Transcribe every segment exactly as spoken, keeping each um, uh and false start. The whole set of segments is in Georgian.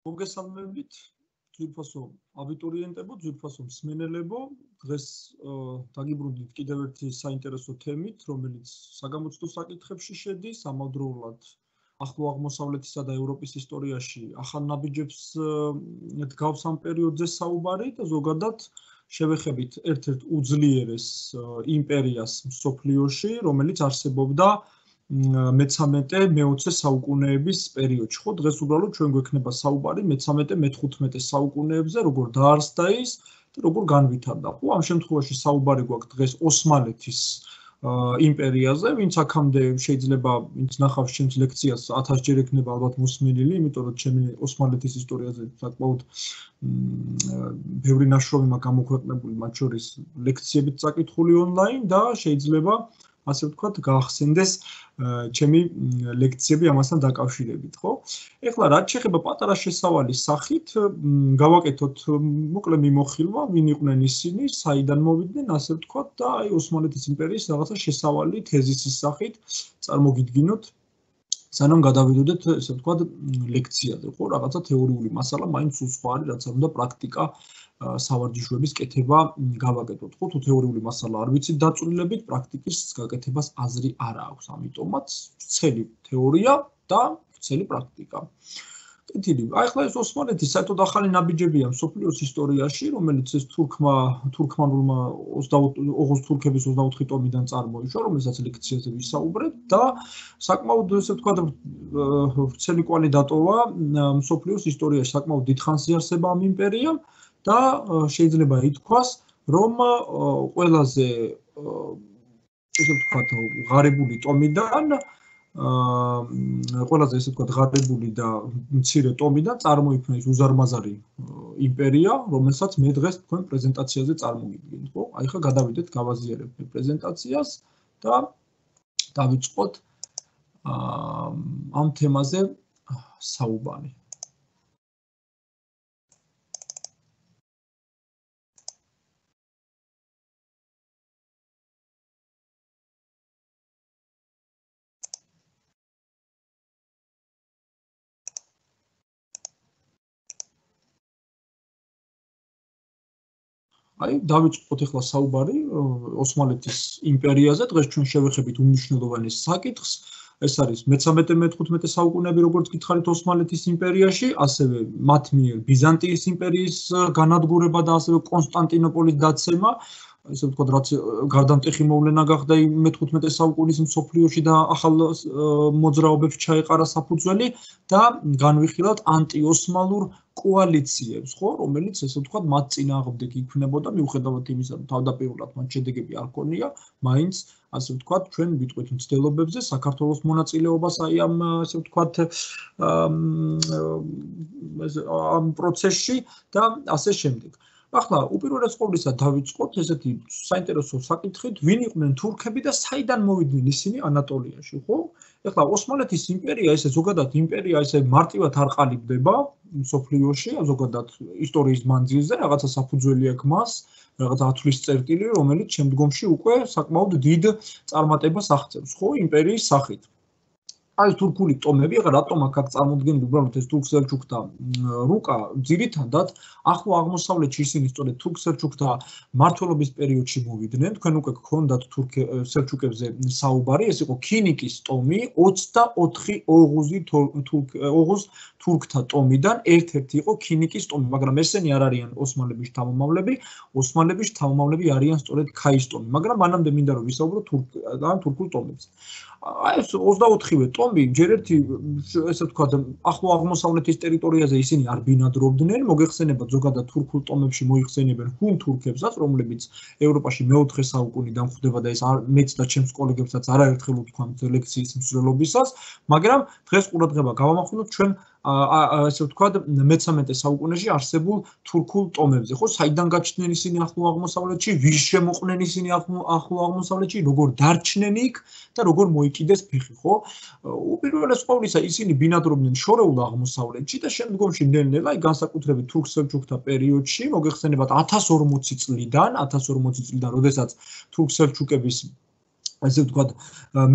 მოგესალმებით, ძვირფასო აბიტურიენტებო, ძვირფასო მსმენელებო, დღეს დაგიბრუნდით კიდევ ერთი საინტერესო თემით, რომელიც საგამოცდო საკითხებში შედის, ამავდროულად ახლო აღმოსავლეთისა და ევროპის ისტორიაში ახალ ნაბიჯებს დგავს ამ პერიოდზე საუბარი და ზოგადად შევეხებით ერთ-ერთ უძლიერეს იმპერიას მსოფლიოში, რომელიც არსებობდა მეცამეტე მეოცე საუკუნეების პერიოდში. ხო, დღეს უბრალოდ ჩვენ გვექნება საუბარი მეცამეტე მეთერთმეტე საუკუნეებზე, როგორ დაარსდა ის და როგორ განვითარდა. ხო, ამ შემთხვევაში საუბარი გვაქვს დღეს ოსმალეთის იმპერიაზე, ვინც აქამდე შეიძლება ვინც ნახავს ჩემს ლექციას ათასჯერ ექნება ალბათ მოსმენილი, იმიტომ რომ ჩემი ოსმალეთის ისტორიაზე საკმაოდ ბევრი ნაშრომი მაქვს გამოქვეყნებული, მათ შორის ლექციებით წაკითხული ონლაინ და შეიძლება ასე ვთქვათ, გაახსენდეს ჩემი ლექციები ამასთან დაკავშირებით, ხო? ეხლა რაც შეეხება პატარა შესავალის სახით, გავაკეთოთ მოკლე მიმოხილვა, ვინ იყვნენ ისინი, საიდან მოვიდნენ, ასე ვთქვათ, და აი ოსმალეთის იმპერიის რაღაცა შესავალი თეზისის სახით წარმოგიდგინოთ, სანამ გადავიდოდეთ, ესე ვთქვათ, ლექციაზე, ხო? რაღაცა თეორიული მასალა, მაინც სულ სხვა არის, რაც არ უნდა პრაქტიკა სავარჯიშოების კეთება გავაკეთოთ. ხო, თუ თეორიული მასალა არ ვიცით დაწვრილებით, პრაქტიკის გაკეთებას აზრი არ აქვს. ამიტომაც ვრცელი თეორია და ვრცელი პრაქტიკა. კეთილი. აი ახლა ეს ოსმალეთი საერთოდ ახალი ნაბიჯებია მსოფლიოს ისტორიაში, რომელიც ეს თურქმა თურქმანულმა ოღონდ თურქების ოცდაოთხი ტომიდან წარმოიშვა, რომელსაც ლექციაზე ვისაუბრეთ და საკმაოდ ესე ვთქვათ ვრცელი კვალი დატოვა მსოფლიოს ისტორიაში, საკმაოდ დიდხანს იარსება ამ იმპერიამ. და შეიძლება ითქვას, რომ ყველაზე ესე ვთქვათ, ღარიბული ტომიდან, ყველაზე ესე ვთქვათ, ღარიბული და მცირე ტომიდან წარმოიქმნა ის უზარმაზარი იმპერია, რომელსაც მე დღეს თქვენ პრეზენტაციაზე წარმოგიდგენთ, ხო? აი ხა გადავიდეთ, გავაზიარებთ პრეზენტაციას და დავიწყოთ ამ თემაზე საუბარი. აი, დავიწყოთ ახლა საუბარი ოსმალეთის იმპერიაზე. დღეს ჩვენ შევეხებით უმნიშვნელოვანეს საკითხს. ეს არის მეცამეტე მეთერთმეტე საუკუნეები, როგორც გითხარით ოსმალეთის იმპერიაში, ასევე მათ მიერ ბიზანტიის იმპერიის განადგურება და ასევე კონსტანტინოპოლის დაცემა. ესე ვთქვათ, რაც გარდამტეხი მოვლენა გახდა მეთერთმეტე საუკუნის მსოფლიოში და ახალ მოძრაობებს ჩაეყარა საფუძველი და განვიხილავთ ანტიოსმალურ კოალიციებს, ხო, რომელიც ესე ვთქვათ, მათ წინააღმდეგ იქმნებოდა, მიუხედავად იმისა, რომ თავდაპირველად მათ შედეგები არ ჰქონია, მაინც ასე ვთქვათ, ჩვენ ვიტყვით მცდელობებზე საქართველოს მონაწილეობას აი ამ ასე ვთქვათ ამ პროცესში და ასე შემდეგ. ახლა უპირველეს ყოვლისა დავიწყოთ ესეთი საინტერესო საკითხით, ვინ იყვნენ თურქები და საიდან მოვიდნენ ისინი ანატოლიაში, ხო? ეხლა ოსმალეთის იმპერია, ესე ზოგადად იმპერია ესე მარტივად არ ყალიბდება მსოფლიოში, ზოგადად ისტორიის მანძილზე, რაღაცა საფუძველი აქვს მას, რაღაცა ათვლის წერტილი, რომელიც შემდგომში უკვე საკმაოდ დიდ წარმატებას აღწევს, ხო, იმპერიის სახით. აი თურქული ტომები, ახლა რატომ აქ აქ წარმოდგენილი უბრალოდ ეს თურქ-სელჩუკთა რუკა, ძირითადად ახლო აღმოსავლეთში ისინი სწორედ თურქ-სელჩუკთა მმართველობის პერიოდში მოვიდნენ. თქვენ უკვე გქონდათ თურქ-სელჩუკებზე საუბარი, ეს იყო ქინიკის ტომი, ოცდაოთხი ოღუზი ოღუზ თურქთა ტომიდან ერთ-ერთი იყო ქინიკის ტომი, მაგრამ ესენი არ არიან ოსმალების შთამომავლები, ოსმალების შთამომავლები არიან სწორედ ქაის ტომი, მაგრამ მანამდე მინდა რომ ვისაუბრო თურქულ ტომებზე. აი ეს ოცდაოთხივე ტომი ჯერ ერთი ესე ვთქვათ ახლო აღმოსავლეთის ტერიტორიაზე ისინი არ ბინადრობდნენ, მოგეხსენებათ ზოგადად თურქულ ტომებში მოიხსენებენ ჰუნ თურქებსაც, რომლებიც ევროპაში მეოთხე საუკუნიდან ხვდება და ეს მეც და ჩემს კოლეგებსაც არაერთხელ ვთქვამთ ლექციის მსვლელობისას, მაგრამ დღეს ყურადღება გავამახვილოთ ჩვენ ასე ვთქვათ მეცამეტე საუკუნეში არსებულ თურქულ ტომებზე, ხო, საიდან გაჩნდნენ ისინი ახლო აღმოსავლეთში, ვის შემოყვნენ ისინი ახლო აღმოსავლეთში, როგორ დარჩნენ იქ და როგორ მოიკიდეს ფეხი, ხო? უპირველეს ყოვლისა ისინი ბინადრობდნენ შორეულ აღმოსავლეთში და შემდგომში ნელ-ნელა აი განსაკუთრებით თურქ-სელჩუკთა პერიოდში, მოგეხსენებათ ათას ორმოცი წლიდან, ათას ორმოცი წლიდან, როდესაც თურქ-სელჩუკების ასე ვთქვათ,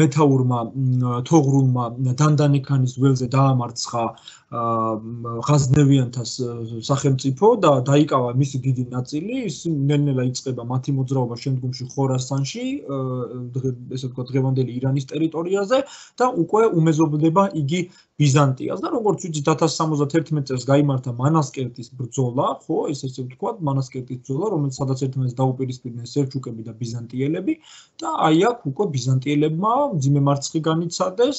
მეთაურმა თოღრულმა დანდანიქანის ველზე დაამარცხა ღაზნევიანთა სახელმწიფო და დაიკავა მისი დიდი ნაწილი, ის ნელ-ნელა იწყება მათი მოძრაობა შემდგომში ხორასანში, ესე ვთქვათ, დღევანდელი ირანის ტერიტორიაზე და უკვე უმეზობდება იგი ბიზანტიას და როგორც ვიცით ათას სამოცდაერთი წელს გაიმართა მანასკერტის ბრძოლა, ხო, ეს ესე ვთქვათ, მანასკერტის ბრძოლა, რომელიც სადაც ერთმანეთს დაუპირისპირდნენ სელჩუკები და ბიზანტიელები და აი აქ უკვე ბიზანტიელებმა მძიმე მარცხი განიცადეს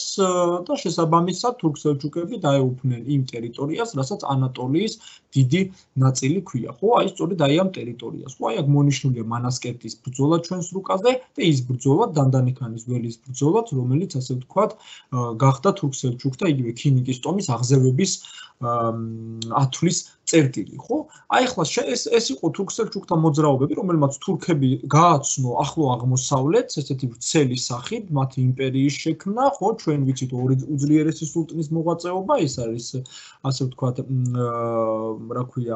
და შესაბამისად თურქ-სელჩუკები დაეუფლნენ იმ ტერიტორიას, რასაც ანატოლიის დიდი ნაწილი ქვია, ხო, აი სწორედ აი ამ ტერიტორიას, ხო, აი აქ მონიშნულია მანასკერტის ბრძოლა ჩვენს რუკაზე და ის ბრძოლა დანდანიქანის ველის ბრძოლაც, რომელიც ასე ვთქვათ, გახდა თურქ-სელჩუკთა იგივე ქინიკის ტომის აღზევების ათვლის წერტილი, ხო? აი ახლა ეს ეს იყო თურქ-სელჩუკთა მოძრაობები, რომელმაც თურქები გააცნო ახლო აღმოსავლეთს, ესეთი ვრცელი სახით, მათი იმპერიის შექმნა, ხო, ჩვენ ვიცით ორი უძლიერესი სულტნის მოღვაწეობა, ეს არის ასე ვთქვათ, რა ქვია,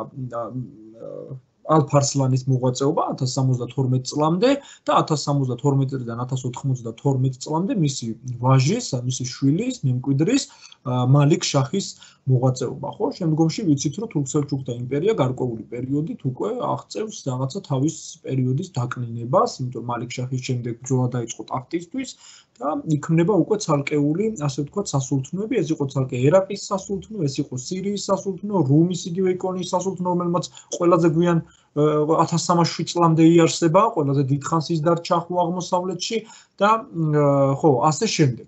ალფ-არსლანის მოღვაწეობა ათას სამოცდათორმეტ წლამდე და ათას სამოცდათორმეტ წლიდან ათას ოთხმოცდათორმეტ წლამდე მისი ვაჟის, მისი შვილის, მემკვიდრის მალიქ შაჰის მოღვაწეობა, ხო? შემდგომში ვიცით, რომ თურქ-სელჩუკთა იმპერია გარკვეული პერიოდით უკვე აღწევს რაღაცა თავის პერიოდის დაკნინებას, იმიტომ რომ მალიქ შაჰის შემდეგ ბრძოლა დაიწყო ტახტისთვის და იქმნება უკვე ცალკეული, ასე ვთქვათ, სასულთნოები, ეს იყო ცალკე ერაყის სასულთნო, ეს იყო სირიის სასულთნო, რუმის იგივე იკონიის სასულთნო, რომელმაც ყველაზე გვიან ათას სამას შვიდ წლამდე იარსება, ყველაზე დიდხანს ის დარჩა ახლო აღმოსავლეთში და ხო, ასე შემდეგ.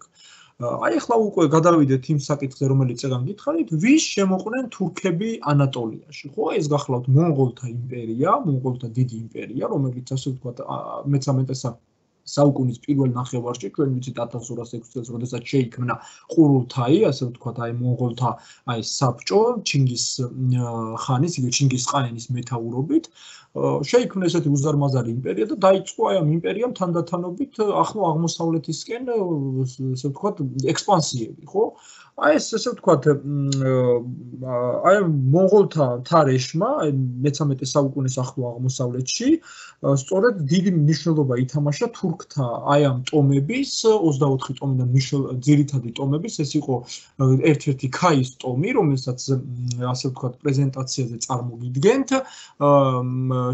აი ახლა უკვე გადავიდეთ იმ საკითხზე, რომელიც წეგან გითხარით, ვის შემოყვნენ თურქები ანატოლიაში, ხო? ეს გახლავთ მონღოლთა იმპერია, მონღოლთა დიდი იმპერია, რომელიც ასე ვთქვათ, მეთერთმეტე საუკუნის პირველ ნახევარში, ჩვენ ვიცით ათას ორას ექვსი წელს, როდესაც შეიქმნა ყურულთაი, ასე ვთქვათ, აი მონღოლთა აი საბჭო, ჩინგის ხანის, იგივე ჩინგის ყაენის მეთაურობით, შეიქმნა ესეთი უზარმაზარი იმპერია და დაიწყო აი ამ იმპერიამ თანდათანობით ახლო აღმოსავლეთისკენ, ასე ვთქვათ, ექსპანსიები, ხო? აი ეს ესე ვთქვათ, აი მონღოლთა თარეშმა, აი მეთერთმეტე საუკუნის ახლო აღმოსავლეთში, სწორედ დიდი მნიშვნელობა ითამაშა თურქთა აი ამ ტომების, ოცდაოთხი ტომიდან ძირითადი ტომების, ეს იყო ერთ-ერთი ქაის ტომი, რომელსაც ასე ვთქვათ, პრეზენტაციაზე წარმოგიდგენთ,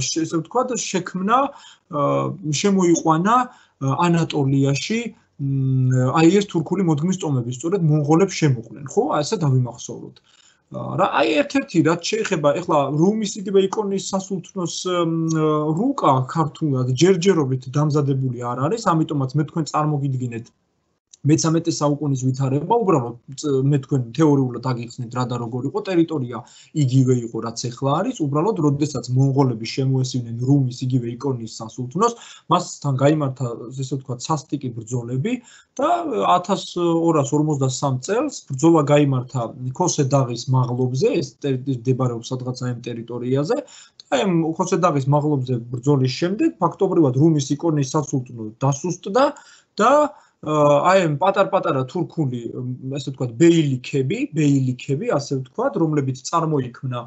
ესე ვთქვათ, შექმნა, შემოიყვანა ანატოლიაში აი ეს თურქული მოდგმის ტომები, სწორედ მონღოლებს შემოყვნენ, ხო? ასე დავიმახსოვროთ. რა აი ერთ-ერთი რაც შეეხება ეხლა რუმის იგივე იკონიის სასულთნოს რუკა ქართულად ჯერჯერობით დამზადებული არ არის, ამიტომაც მე თქვენ წარმოგიდგინეთ მეთერთმეტე საუკუნის ვითარება, უბრალოდ მე თქვენ თეორიულად აგიხსნით რა და როგორ იყო, ტერიტორია იგივე იყო, რაც ახლა არის, უბრალოდ როდესაც მონღოლები შემოესივნენ რუმის იგივე იკონიის სასულთნოს, მასთან გაიმართა, ესე ვთქვათ, სასტიკი ბრძოლები და ათას ორას ორმოცდასამ წელს ბრძოლა გაიმართა ქოსე-დაღის მაღლობზე, ეს მდებარეობს სადღაც ამ ტერიტორიაზე. აი ამ ქოსე-დაღის მაღლობზე ბრძოლის შემდეგ ფაქტობრივად რუმის იკონიის სასულთნო დასუსტდა და აი ამ პატარ-პატარა თურქული, ესე ვთქვათ, ბეილიქები, ბეილიქები, ასე ვთქვათ, რომლებიც წარმოიქმნა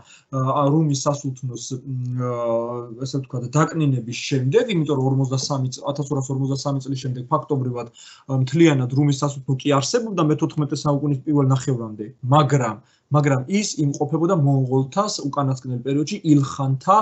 რუმის სასულთნოს, ესე ვთქვათ, დაკნინების შემდეგ, იმიტომ რომ ორმოცდასამი ათას ორას ორმოცდასამი წლის შემდეგ ფაქტობრივად მთლიანად რუმის სასულთნო კი არსებობდა მეთოთხმეტე საუკუნის პირველ ნახევრამდე, მაგრამ მაგრამ ის იმყოფებოდა მონღოლთას უკანასკნელ პერიოდში ილხანთა,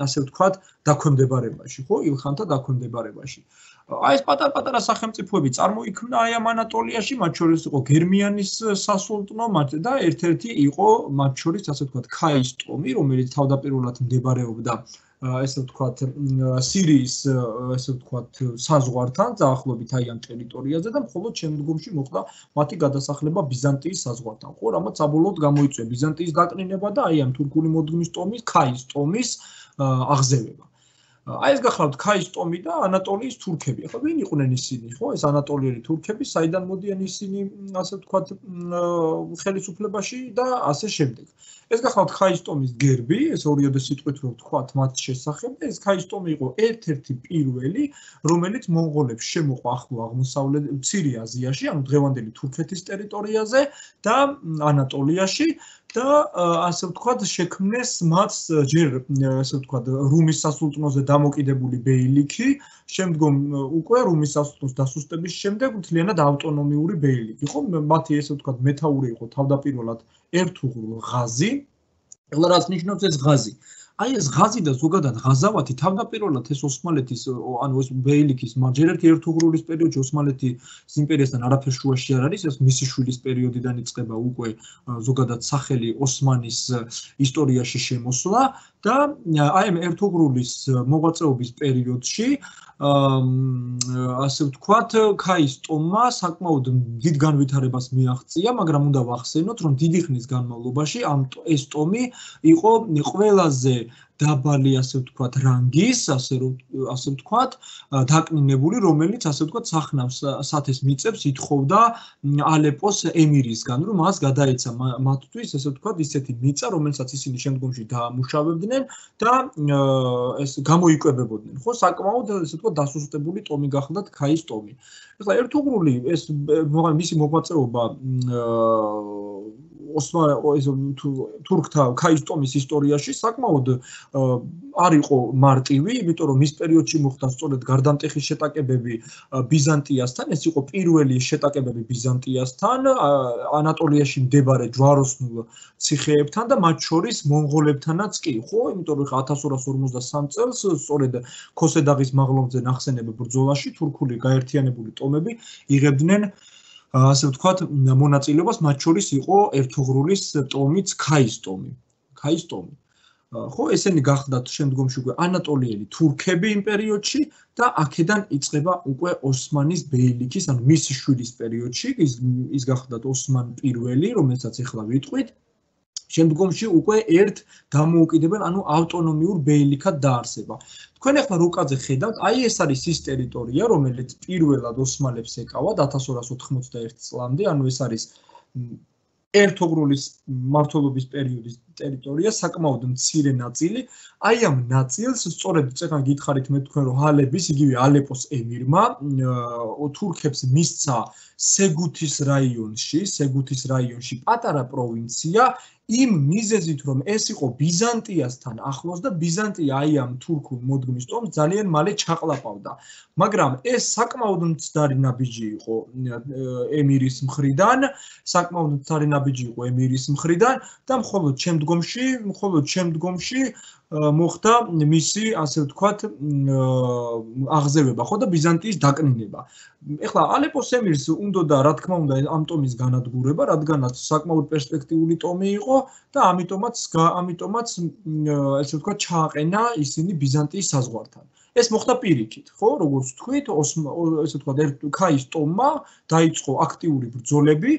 ასე ვთქვათ, დაქვემდებარებაში, ხო, ილხანთა დაქვემდებარებაში. აი ეს პატარ-პატარა სახელმწიფოები წარმოიქმნა აი ამ ანატოლიაში, მათ შორის იყო გერმიანის სასულთნო და ერთ-ერთი იყო მათ შორის, ასე ვთქვათ, ქაის ტომი, რომელიც თავდაპირველად მდებარეობდა, ესე ვთქვათ, სირიის, ესე ვთქვათ, საზღვართან, დაახლოებით აი ამ ტერიტორიაზე და მხოლოდ შემდგომში მოხდა მათი გადასახლება ბიზანტიის საზღვართან, ხო, რამაც საბოლოოდ გამოიწვია ბიზანტიის დაკნინება და აი ამ თურქული მოდგმის ტომის, ქაის ტომის აღზევება. აი ეს გახლავთ ქაის ტომი და ანატოლიის თურქები. ახლა ვინ იყვნენ ისინი, ხო? ეს ანატოლიელი თურქები, საიდან მოდიან ისინი, ასე ვთქვათ, ხელისუფლებაში და ასე შემდეგ. ეს გახლავთ ქაის ტომის გერბი, ეს ორიოდე სიტყვით რო ვთქვათ მათ შესახებ და ეს ქაის ტომი იყო ერთ-ერთი პირველი, რომელიც მონღოლებს შემოყვა ახლო აღმოსავლეთ მცირე აზიაში, ანუ დღევანდელი თურქეთის ტერიტორიაზე და ანატოლიაში და ასე ვთქვათ, შექმნეს მათ ჯერ ასე ვთქვათ, რუმის სასულთნოზე დამოკიდებული ბეილიქი, შემდგომ უკვე რუმის სასულთნოს დასუსტების შემდეგ მთლიანად ავტონომიური ბეილიქი. ხო, მათი ესე ვთქვათ, მეთაური იყო თავდაპირველად ერთუღრულ ღაზი. ეხლა რაც ნიშნავს ეს ღაზი? აი ეს ღაზი და ზოგადად ღაზავათი თავდაპირველად ეს ოსმალეთის ანუ ეს ბეილიქის ჯერ ერთი ერთუღრულის პერიოდში ოსმალეთის იმპერიასთან არაფერ შუაში არ არის, ეს მისი შვილის პერიოდიდან იწყება უკვე ზოგადად სახელი ოსმანის ისტორიაში შემოსვლა და აი ამ ერთუღრულის მოღვაწეობის პერიოდში ასე ვთქვათ, ქაის ტომმა საკმაოდ დიდ განვითარებას მიაღწია, მაგრამ უნდა ვახსენოთ, რომ დიდი ხნის განმავლობაში ამ ეს ტომი იყო ყველაზე დაბალი ასე ვთქვათ რანგის, ასე ასე ვთქვათ, დაკნინებული, რომელიც ასე ვთქვათ სახნავს სათეს მიწებს ითხოვდა ალეპოს ემირისგან, რომ მას გადაეცა მათთვის ესე ვთქვათ ისეთი მიწა, რომელსაც ისინი შემდგომში დაამუშავებდნენ და ეს გამოიკვებებოდნენ. ხო, საკმაოდ ესე ვთქვათ დასუსტებული ტომი გახლდათ ქაის ტომი. ეხლა ერთუღრული ეს მისი მოღვაწეობა თურქთა ქაის ტომის ისტორიაში საკმაოდ არ იყო მარტივი, იმიტომ რომ მის პერიოდში მოხდა სწორედ გარდამტეხი შეტაკებები ბიზანტიასთან, ეს იყო პირველი შეტაკებები ბიზანტიასთან, ანატოლიაში მდებარე ჯვაროსნულ ციხეებთან და მათ შორის მონღოლებთანაც კი, ხო, იმიტომ რომ ათას ორას ორმოცდასამ წელს სწორედ ქოსედაღის მაღლობზე ნახსენებ ბრძოლაში თურქული გაერთიანებული ტომები იღებდნენ ასე ვთქვათ, მონაწილეობას, მათ შორის იყო ერთუღრულის ტომიც ქაის ტომი. ქაის ტომი. ხო, ესენი გახდათ შემდგომში უკვე ანატოლიელი თურქები იმ პერიოდში და აქედან იწყება უკვე ოსმანის ბეილიქის, ანუ მისი შვილის პერიოდში, ის ის გახდათ ოსმან პირველი, რომელსაც ახლა ვიტყვით. შემდგომში უკვე ერთ დამოუკიდებელ, ანუ ავტონომიურ ბეილიქად დაარსება. თქვენ ახლა რუკაზე ხედავთ, აი ეს არის ის ტერიტორია, რომელიც პირველად ოსმალებს ეკავათ ათას ორას ოთხმოცდაერთი წლამდე, ანუ ეს არის ერთუღრულის მმართველობის პერიოდის ტერიტორია, საკმაოდ მცირე ნაწილი. აი ამ ნაწილს სწორედ წეგან გითხარით მე თქვენ რომ ჰალების, იგივე ალეპოს ემირმა თურქებს მისცა სეგუთის რაიონში, სეგუთის რაიონში პატარა პროვინცია იმ მიზეზით რომ ეს იყო ბიზანტიასთან ახლოს და ბიზანტია აი ამ თურქულ მოდგმის ტომს ძალიან მალე ჩაყლაპავდა. მაგრამ ეს საკმაოდ მცდარი ნაბიჯი იყო ემირის მხრიდან, საკმაოდ მცდარი ნაბიჯი იყო ემირის მხრიდან და მხოლოდ შემდგომში, მხოლოდ შემდგომში მოხდა მისი ასე ვთქვათ აღზევება, ხო და ბიზანტიის დაკნინება. ეხლა ალეპოს ემირს უნდოდა რა თქმა უნდა ამ ტომის განადგურება, რადგანაც საკმაოდ პერსპექტიული ტომი იყო და ამიტომაც ამიტომაც ესე ვთქვათ ჩააყენა ისინი ბიზანტიის საზღვართან. ეს მოხდა პირიქით, ხო, როგორც თქვით, ესე ვთქვათ ქაის ტომმა დაიწყო აქტიური ბრძოლები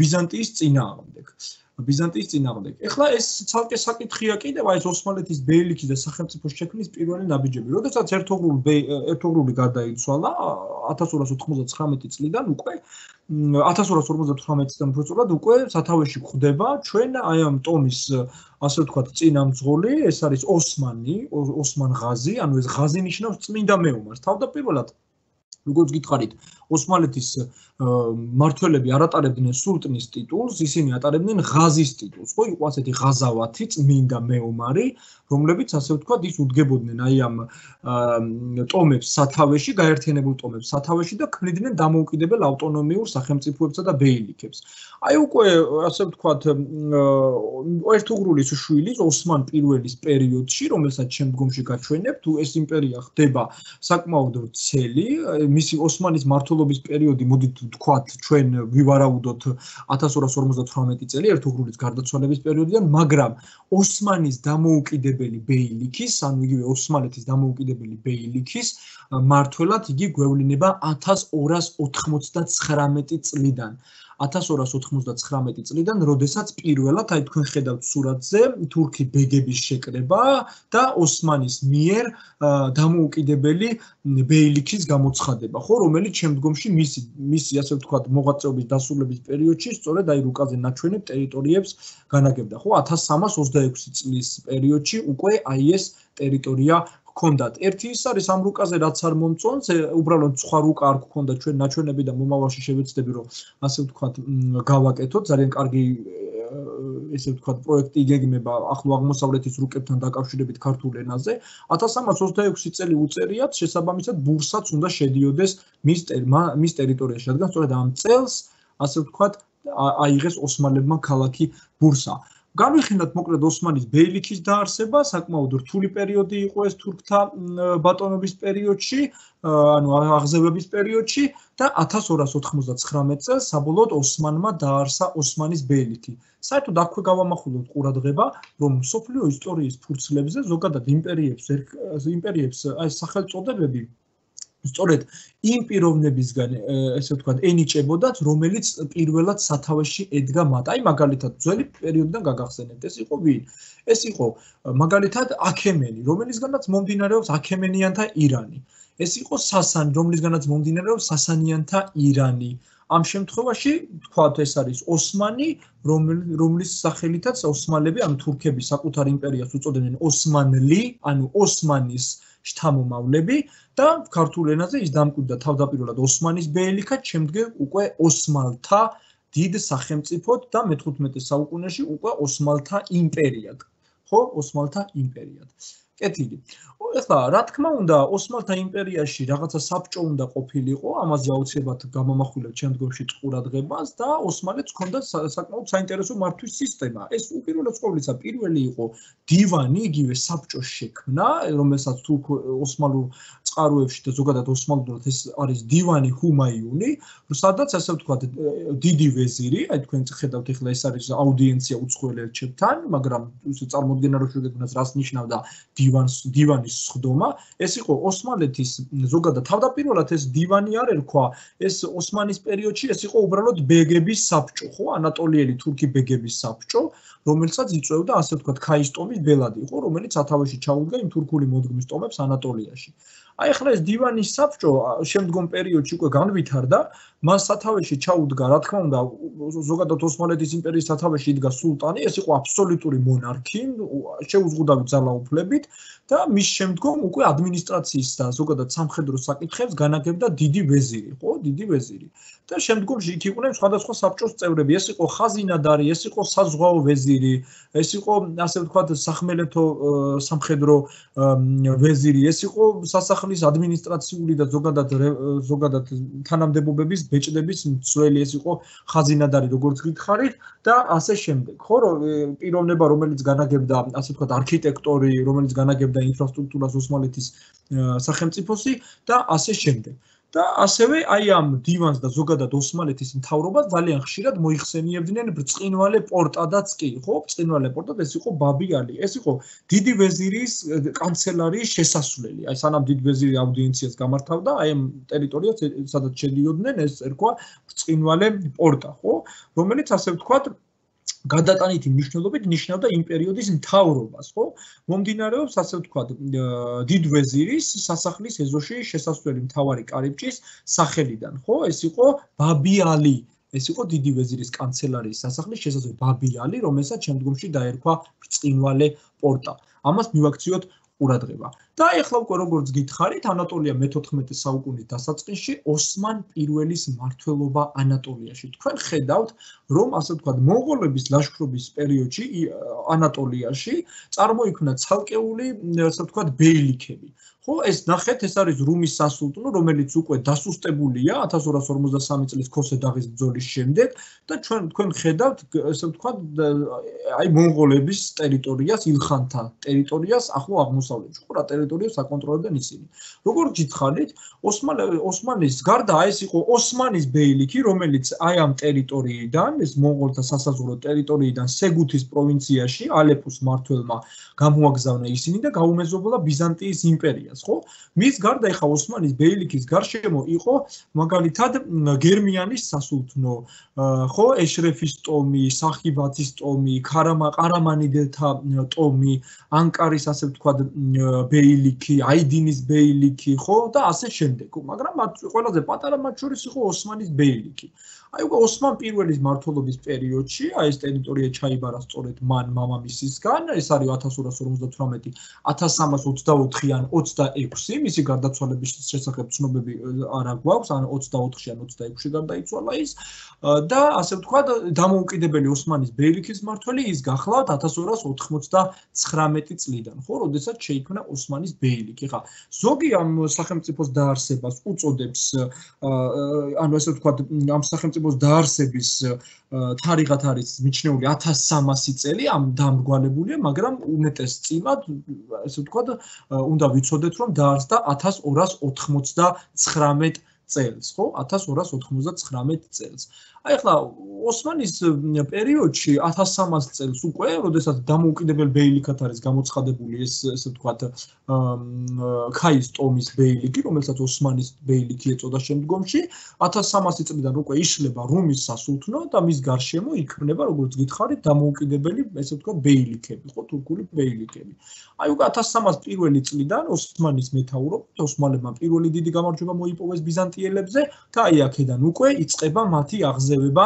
ბიზანტიის წინააღმდეგ. ბიზანტიის წინააღმდეგ. ეხლა ეს ცალკე საკითხია კიდევ აი ეს ოსმალეთის ბეილიქის და სახელმწიფოს შექმნის პირველი ნაბიჯები. როდესაც ერთუღრული ერთუღრული გარდაიცვალა ათას ორას ოთხმოცდათხრამეტი წლიდან უკვე ათას ორას ორმოცდათვრამეტი წლიდან უბრალოდ უკვე სათავეში გვხვდება ჩვენ აი ამ ტომის ასე ვთქვათ წინამძღოლი, ეს არის ოსმანი, ოსმან ღაზი, ანუ ეს ღაზი ნიშნავს წმინდა მეომარს. თავდაპირველად როგორც გითხარით, ოსმალეთის მმართველები არ ატარებდნენ სულტნის ტიტულს, ისინი ატარებდნენ ღაზის ტიტულს. ხო, იყო ასეთი ღაზავათი, წმინდა მეომარი, რომლებიც ასე ვთქვათ, ის უდგებოდნენ აი ამ ტომებს სათავეში, გაერთიანებულ ტომებს სათავეში და ქმნიდნენ დამოუკიდებელ ავტონომიურ სახელმწიფოებსა და ბეილიქებს. აი უკვე ასე ვთქვათ, ერთუღრულის შვილის ოსმან პირველის პერიოდში, რომელსაც შემდგომში გაჩვენებთ, ეს იმპერია ხდება საკმაოდ ვრცელი, მისი ოსმანის მმართველობის პერიოდი, მოდით ვთქვათ, ჩვენ ვივარაუდოთ ათას ორას ორმოცდათვრამეტი წელი ერთუღრულის გარდაცვალების პერიოდიდან, მაგრამ ოსმანის დამოუკიდებელი ბეილიქის, ანუ იგივე ოსმალეთის დამოუკიდებელი ბეილიქის მმართველად იგი გვევლინება ათას ორას ოთხმოცდაცხრამეტი წლიდან. ათას ორას ოთხმოცდაცხრამეტი წლიდან, როდესაც პირველად, აი თქვენ ხედავთ სურათზე, თურქი ბეგების შეკრება და ოსმანის მიერ დამოუკიდებელი ბეილიქის გამოცხადება, ხო, რომელიც შემდგომში მისი მისი ასე ვთქვათ, მოღვაწეობის დასრულების პერიოდში სწორედ აი რუკაზე ნაჩვენებ ტერიტორიებს განაგებდა, ხო, ათას სამას ოცდაექვსი წლის პერიოდში უკვე აი ეს ტერიტორია ჰქონდათ. ერთი ის არის ამ რუკაზე რაც არ მომწონს, უბრალოდ სხვა რუკა არ გქონდა ჩვენ ნაჩვენები და მომავალში შევეცდები რომ ასე ვთქვათ გავაკეთოთ, ძალიან კარგი ესე ვთქვათ, პროექტი იგეგმება ახლო აღმოსავლეთის რუკებთან დაკავშირებით ქართულ ენაზე, ათას სამას ოცდაექვსი წელი უწერიათ, შესაბამისად ბურსაც უნდა შედიოდეს მის მის ტერიტორიაში, რადგან სწორედ ამ წელს, ასე ვთქვათ, აიღეს ოსმალებმა ქალაქი ბურსა. Განვიხილოთ მოკლედ ოსმანის ბეილიქის დაარსება, საკმაოდ რთული პერიოდი იყო ეს თურქთა ბატონობის პერიოდში, ანუ აღზევების პერიოდში და ათას ორას ოთხმოცდათხრამეტ წელს საბოლოოდ ოსმანმა დაარსა ოსმანის ბეილიქი. საერთოდ აქვე გავამახვილოთ ყურადღება, რომ მსოფლიო ისტორიის ფურცლებზე ზოგადად იმპერიებს იმპერიებს აი სახელწოდებები სწორედ იმ პიროვნებისგან, ესე ვთქვათ, ენიჭებოდათ, რომელიც პირველად სათავეში ედგა მათ. აი მაგალითად, ძველი პერიოდიდან გაგახსენებთ, ეს იყო ვინ? ეს იყო მაგალითად აქემენი, რომელისგანაც მომდინარეობს აქემენიანთა ირანი. ეს იყო სასანი, რომლისგანაც მომდინარეობს სასანიანთა ირანი. ამ შემთხვევაში, თქვათ, ეს არის ოსმანი, რომლის სახელითაც ოსმალები, ანუ თურქები საკუთარ იმპერიას უწოდებდნენ ოსმანლი, ანუ ოსმანის შთამომავლები და ქართულ ენაზე ის დამკვიდრდა თავდაპირველად ოსმანის ბეილიქად, შემდგომ უკვე ოსმალთა დიდ სახელმწიფოდ და მეთხუთმეტე საუკუნეში უკვე ოსმალთა იმპერიად. ხო, ოსმალთა იმპერიად. კეთილი. ეხლა, რა თქმა უნდა, ოსმალთა იმპერიაში რაღაცა საბჭო უნდა ყოფილიყო, ამაზე აუცილებლად გამომახვილებთ შემდგომში ყურადღებას და ოსმალეთს ჰქონდა საკმაოდ საინტერესო მართვის სისტემა. ეს უპირველეს ყოვლისა პირველი იყო დივანი, იგივე საბჭოს შექმნა, რომელსაც თურქ ოსმალურ წყაროებში და ზოგადად ოსმალურად ეს არის დივანი ჰუმაიუნი, სადაც ასე ვთქვათ, დიდი ვეზირი, აი თქვენ ხედავთ ეხლა ეს არის აუდიენცია უცხოელ ელჩებთან, მაგრამ წარმოუდგენლად რო შეგექმნას რას ნიშნავდა დივანს დივანის სხდომა, ეს იყო ოსმალეთის ზოგადად თავდაპირველად ეს დივანი არ ერქვა, ეს ოსმანის პერიოდში ეს იყო უბრალოდ ბეგების საბჭო, ხო, ანატოლიელი თურქი ბეგების საბჭო, რომელსაც იწვევდა ასე ვთქვათ ქაისტომის ბელადი, ხო, რომელიც სათავეში ჩაუდგა იმ თურქული მოდგმის ტომებს ანატოლიაში. აი ახლა ეს დივანის საბჭო შემდგომ პერიოდში უკვე განვითარდა, მას სათავეში ჩაუდგა, რა თქმა უნდა, ზოგადად ოსმალეთის იმპერიის სათავეში იდგა სულტანი, ეს იყო აბსოლუტური მონარქი, შეუზღუდავი ძალაუფლებით და მის შემდგომ უკვე ადმინისტრაციის და ზოგადად სამხედრო საკითხებს განაგებდა დიდი ვეზირი, ხო, დიდი ვეზირი. და შემდგომში იქ იყვნენ სხვადასხვა საბჭოს წევრები, ეს იყო ხაზინადარი, ეს იყო საზღვაო ვეზირი, ეს იყო ასე ვთქვათ სახმელეთო სამხედრო ვეზირი, ეს იყო სასახლის ადმინისტრაციული და ზოგადად ზოგადად თანამდებობების ბეჭდების მცველი, ეს იყო ხაზინადარი, როგორც გითხარით და ასე შემდეგ. ხო, პიროვნება, რომელიც განაგებდა ასე ვთქვათ არქიტექტორი, რომელიც განაგებდა ინფრასტრუქტურას ოსმალეთის სახელმწიფოსი და ასე შემდეგ. და ასევე აი ამ დივანს და ზოგადად ოსმალეთის მთავრობას ძალიან ხშირად მოიხსენიებდნენ ბრწყინვალე პორტადაც კი, ხო? ბრწყინვალე პორტად ეს იყო ბაბი-ალი. ეს იყო დიდი ვეზირის კანცელარიის შესასვლელი. აი სანამ დიდ ვეზირი აუდიენციას გამართავდა, აი ამ ტერიტორიას სადაც შედიოდნენ, ეს ერქვა ბრწყინვალე პორტა, ხო? რომელიც ასე ვთქვათ გადატანითი მნიშვნელობით ნიშნავდა იმ პერიოდის მთავრობას, ხო? მომდინარეობს ასე ვთქვათ დიდ ვეზირის სასახლის ეზოში შესასვლელი მთავარი კარიბჭის სახელიდან, ხო? ეს იყო ბაბი-ალი. ეს იყო დიდი ვეზირის კანცელარიის სასახლის შესასვლელი ბაბი-ალი, რომელსაც შემდგომში დაერქვა ბრწყინვალე პორტა. ამას მივაქციოთ ყურადღება. და ეხლა უკვე როგორც გითხარით, ანატოლია მეთოთხმეტე საუკუნის დასაწყისში ოსმან პირველის მმართველობა ანატოლიაში. თქვენ ხედავთ, რომ ასე ვთქვათ, მონღოლების ლაშქრობის პერიოდში ანატოლიაში წარმოიქმნა ცალკეული, ასე ვთქვათ, ბეილიქები. ხო, ეს ნახეთ, ეს არის რუმის სასულთნო, რომელიც უკვე დასუსტებულია ათას ორას ორმოცდასამი წლის ქოსე-დაღის ბრძოლის შემდეგ და ჩვენ თქვენ ხედავთ, ასე ვთქვათ, აი მონღოლების ტერიტორიას, ილხანთა ტერიტორიას ახლო აღმოსავლეთში. ხო, რა ტერიტორიას აკონტროლებდნენ ისინი. როგორც გითხარით, ოსმანის გარდა ეს იყო ოსმანის ბეილიქი, რომელიც აი ამ ტერიტორიიდან, ეს მონღოლთა სასაზღვრო ტერიტორიიდან სეგუთის პროვინციაში ალეპოს მმართველმა გამოაგზავნა ისინი და გაუმეზობლა ბიზანტიის იმპერიას. ხო? მის გარდა ეხა ოსმანის ბეილიქის გარშემო იყო მაგალითად გერმიანის სასულთნო, ხო, ეშრეფის ტომი, სახიბათის ტომი, ყარამანიდელთა ტომი, ანკარის ასე ვთქვათ ბეილიქი, აიდინის ბეილიქი, ხო და ასე შემდეგ. მაგრამ მათ ყველაზე პატარა მათ შორის იყო ოსმანის ბეილიქი. აი უკვე ოსმან პირველის მმართველობის პერიოდში აი ეს ტერიტორია ჩაიბარა სწორედ მან მამამისისგან, ეს არის ათას ორას ორმოცდათვრამეტი ათას სამას ოცდაოთხი ან ოცდაექვსი, მისი გარდაცვალების შესახებ ცნობები არა გვაქვს, ან ოცდაოთხში ან ოცდაექვსში გარდაიცვალა ის და ასე ვთქვათ, დამოუკიდებელი ოსმანის ბეილიქის მმართველი ის გახლავთ ათას ორას ოცდათვრამეტი წლიდან, ხო, როდესაც შეიქმნა ოსმანის ბეილიქი. ხა, ზოგი ამ სახელმწიფოს დაარსებას უწოდებს, ანუ ასე ვთქვათ, ამ სახელმწიფოს დაარსების თარიღად არის მიჩნეული ათას სამასი წელი, ამ დამრგვალებულია, მაგრამ უმეტესწილად, ასე ვთქვათ, უნდა ვიცოდეთ, რომ დაარსდა ათას ორას ოთხმოცდათხრამეტ წელს, ხო? ათას ორას ოთხმოცდათხრამეტ წელს. აი ახლა ოსმანის პერიოდში ათას სამას წელს უკვე, როდესაც დამოუკიდებელ ბეილიქად არის გამოცხადებული ეს, ესე ვთქვათ, ქაის ტომის ბეილიქი, რომელსაც ოსმანის ბეილიქი ეწოდა შემდგომში, ათას სამასი წლიდან უკვე იშლება რუმის სასულთნო და მის გარშემო იქმნება, როგორც გითხარით, დამოუკიდებელი, ესე ვთქვათ, ბეილიქები, ხო, თურქული ბეილიქები. აი უკვე ათას სამას პირველი წლიდან ოსმანის მეთაურობით ოსმალებმა პირველი დიდი გამარჯვება მოიპოვეს ბიზანტიელებზე და აი აქედან უკვე იწყება მათი აღზევება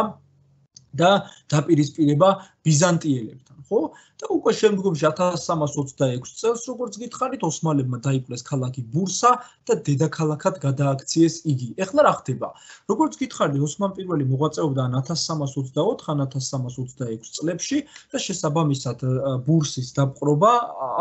და დაპირისპირება ბიზანტიელებთან, ხო? და უკვე შემდგომში ათას სამას ოცდაექვსი წელს, როგორც გითხარით, ოსმალებმა დაიპყრეს ქალაქი ბურსა და დედაქალაქად გადააქციეს იგი. ეხლა რა ხდება? როგორც გითხარით, ოსმან პირველი მოღვაწეობდა ან ათას სამას ოცდაოთხ ან ათას სამას ოცდაექვსი წლებში და შესაბამისად ბურსის დაპყრობა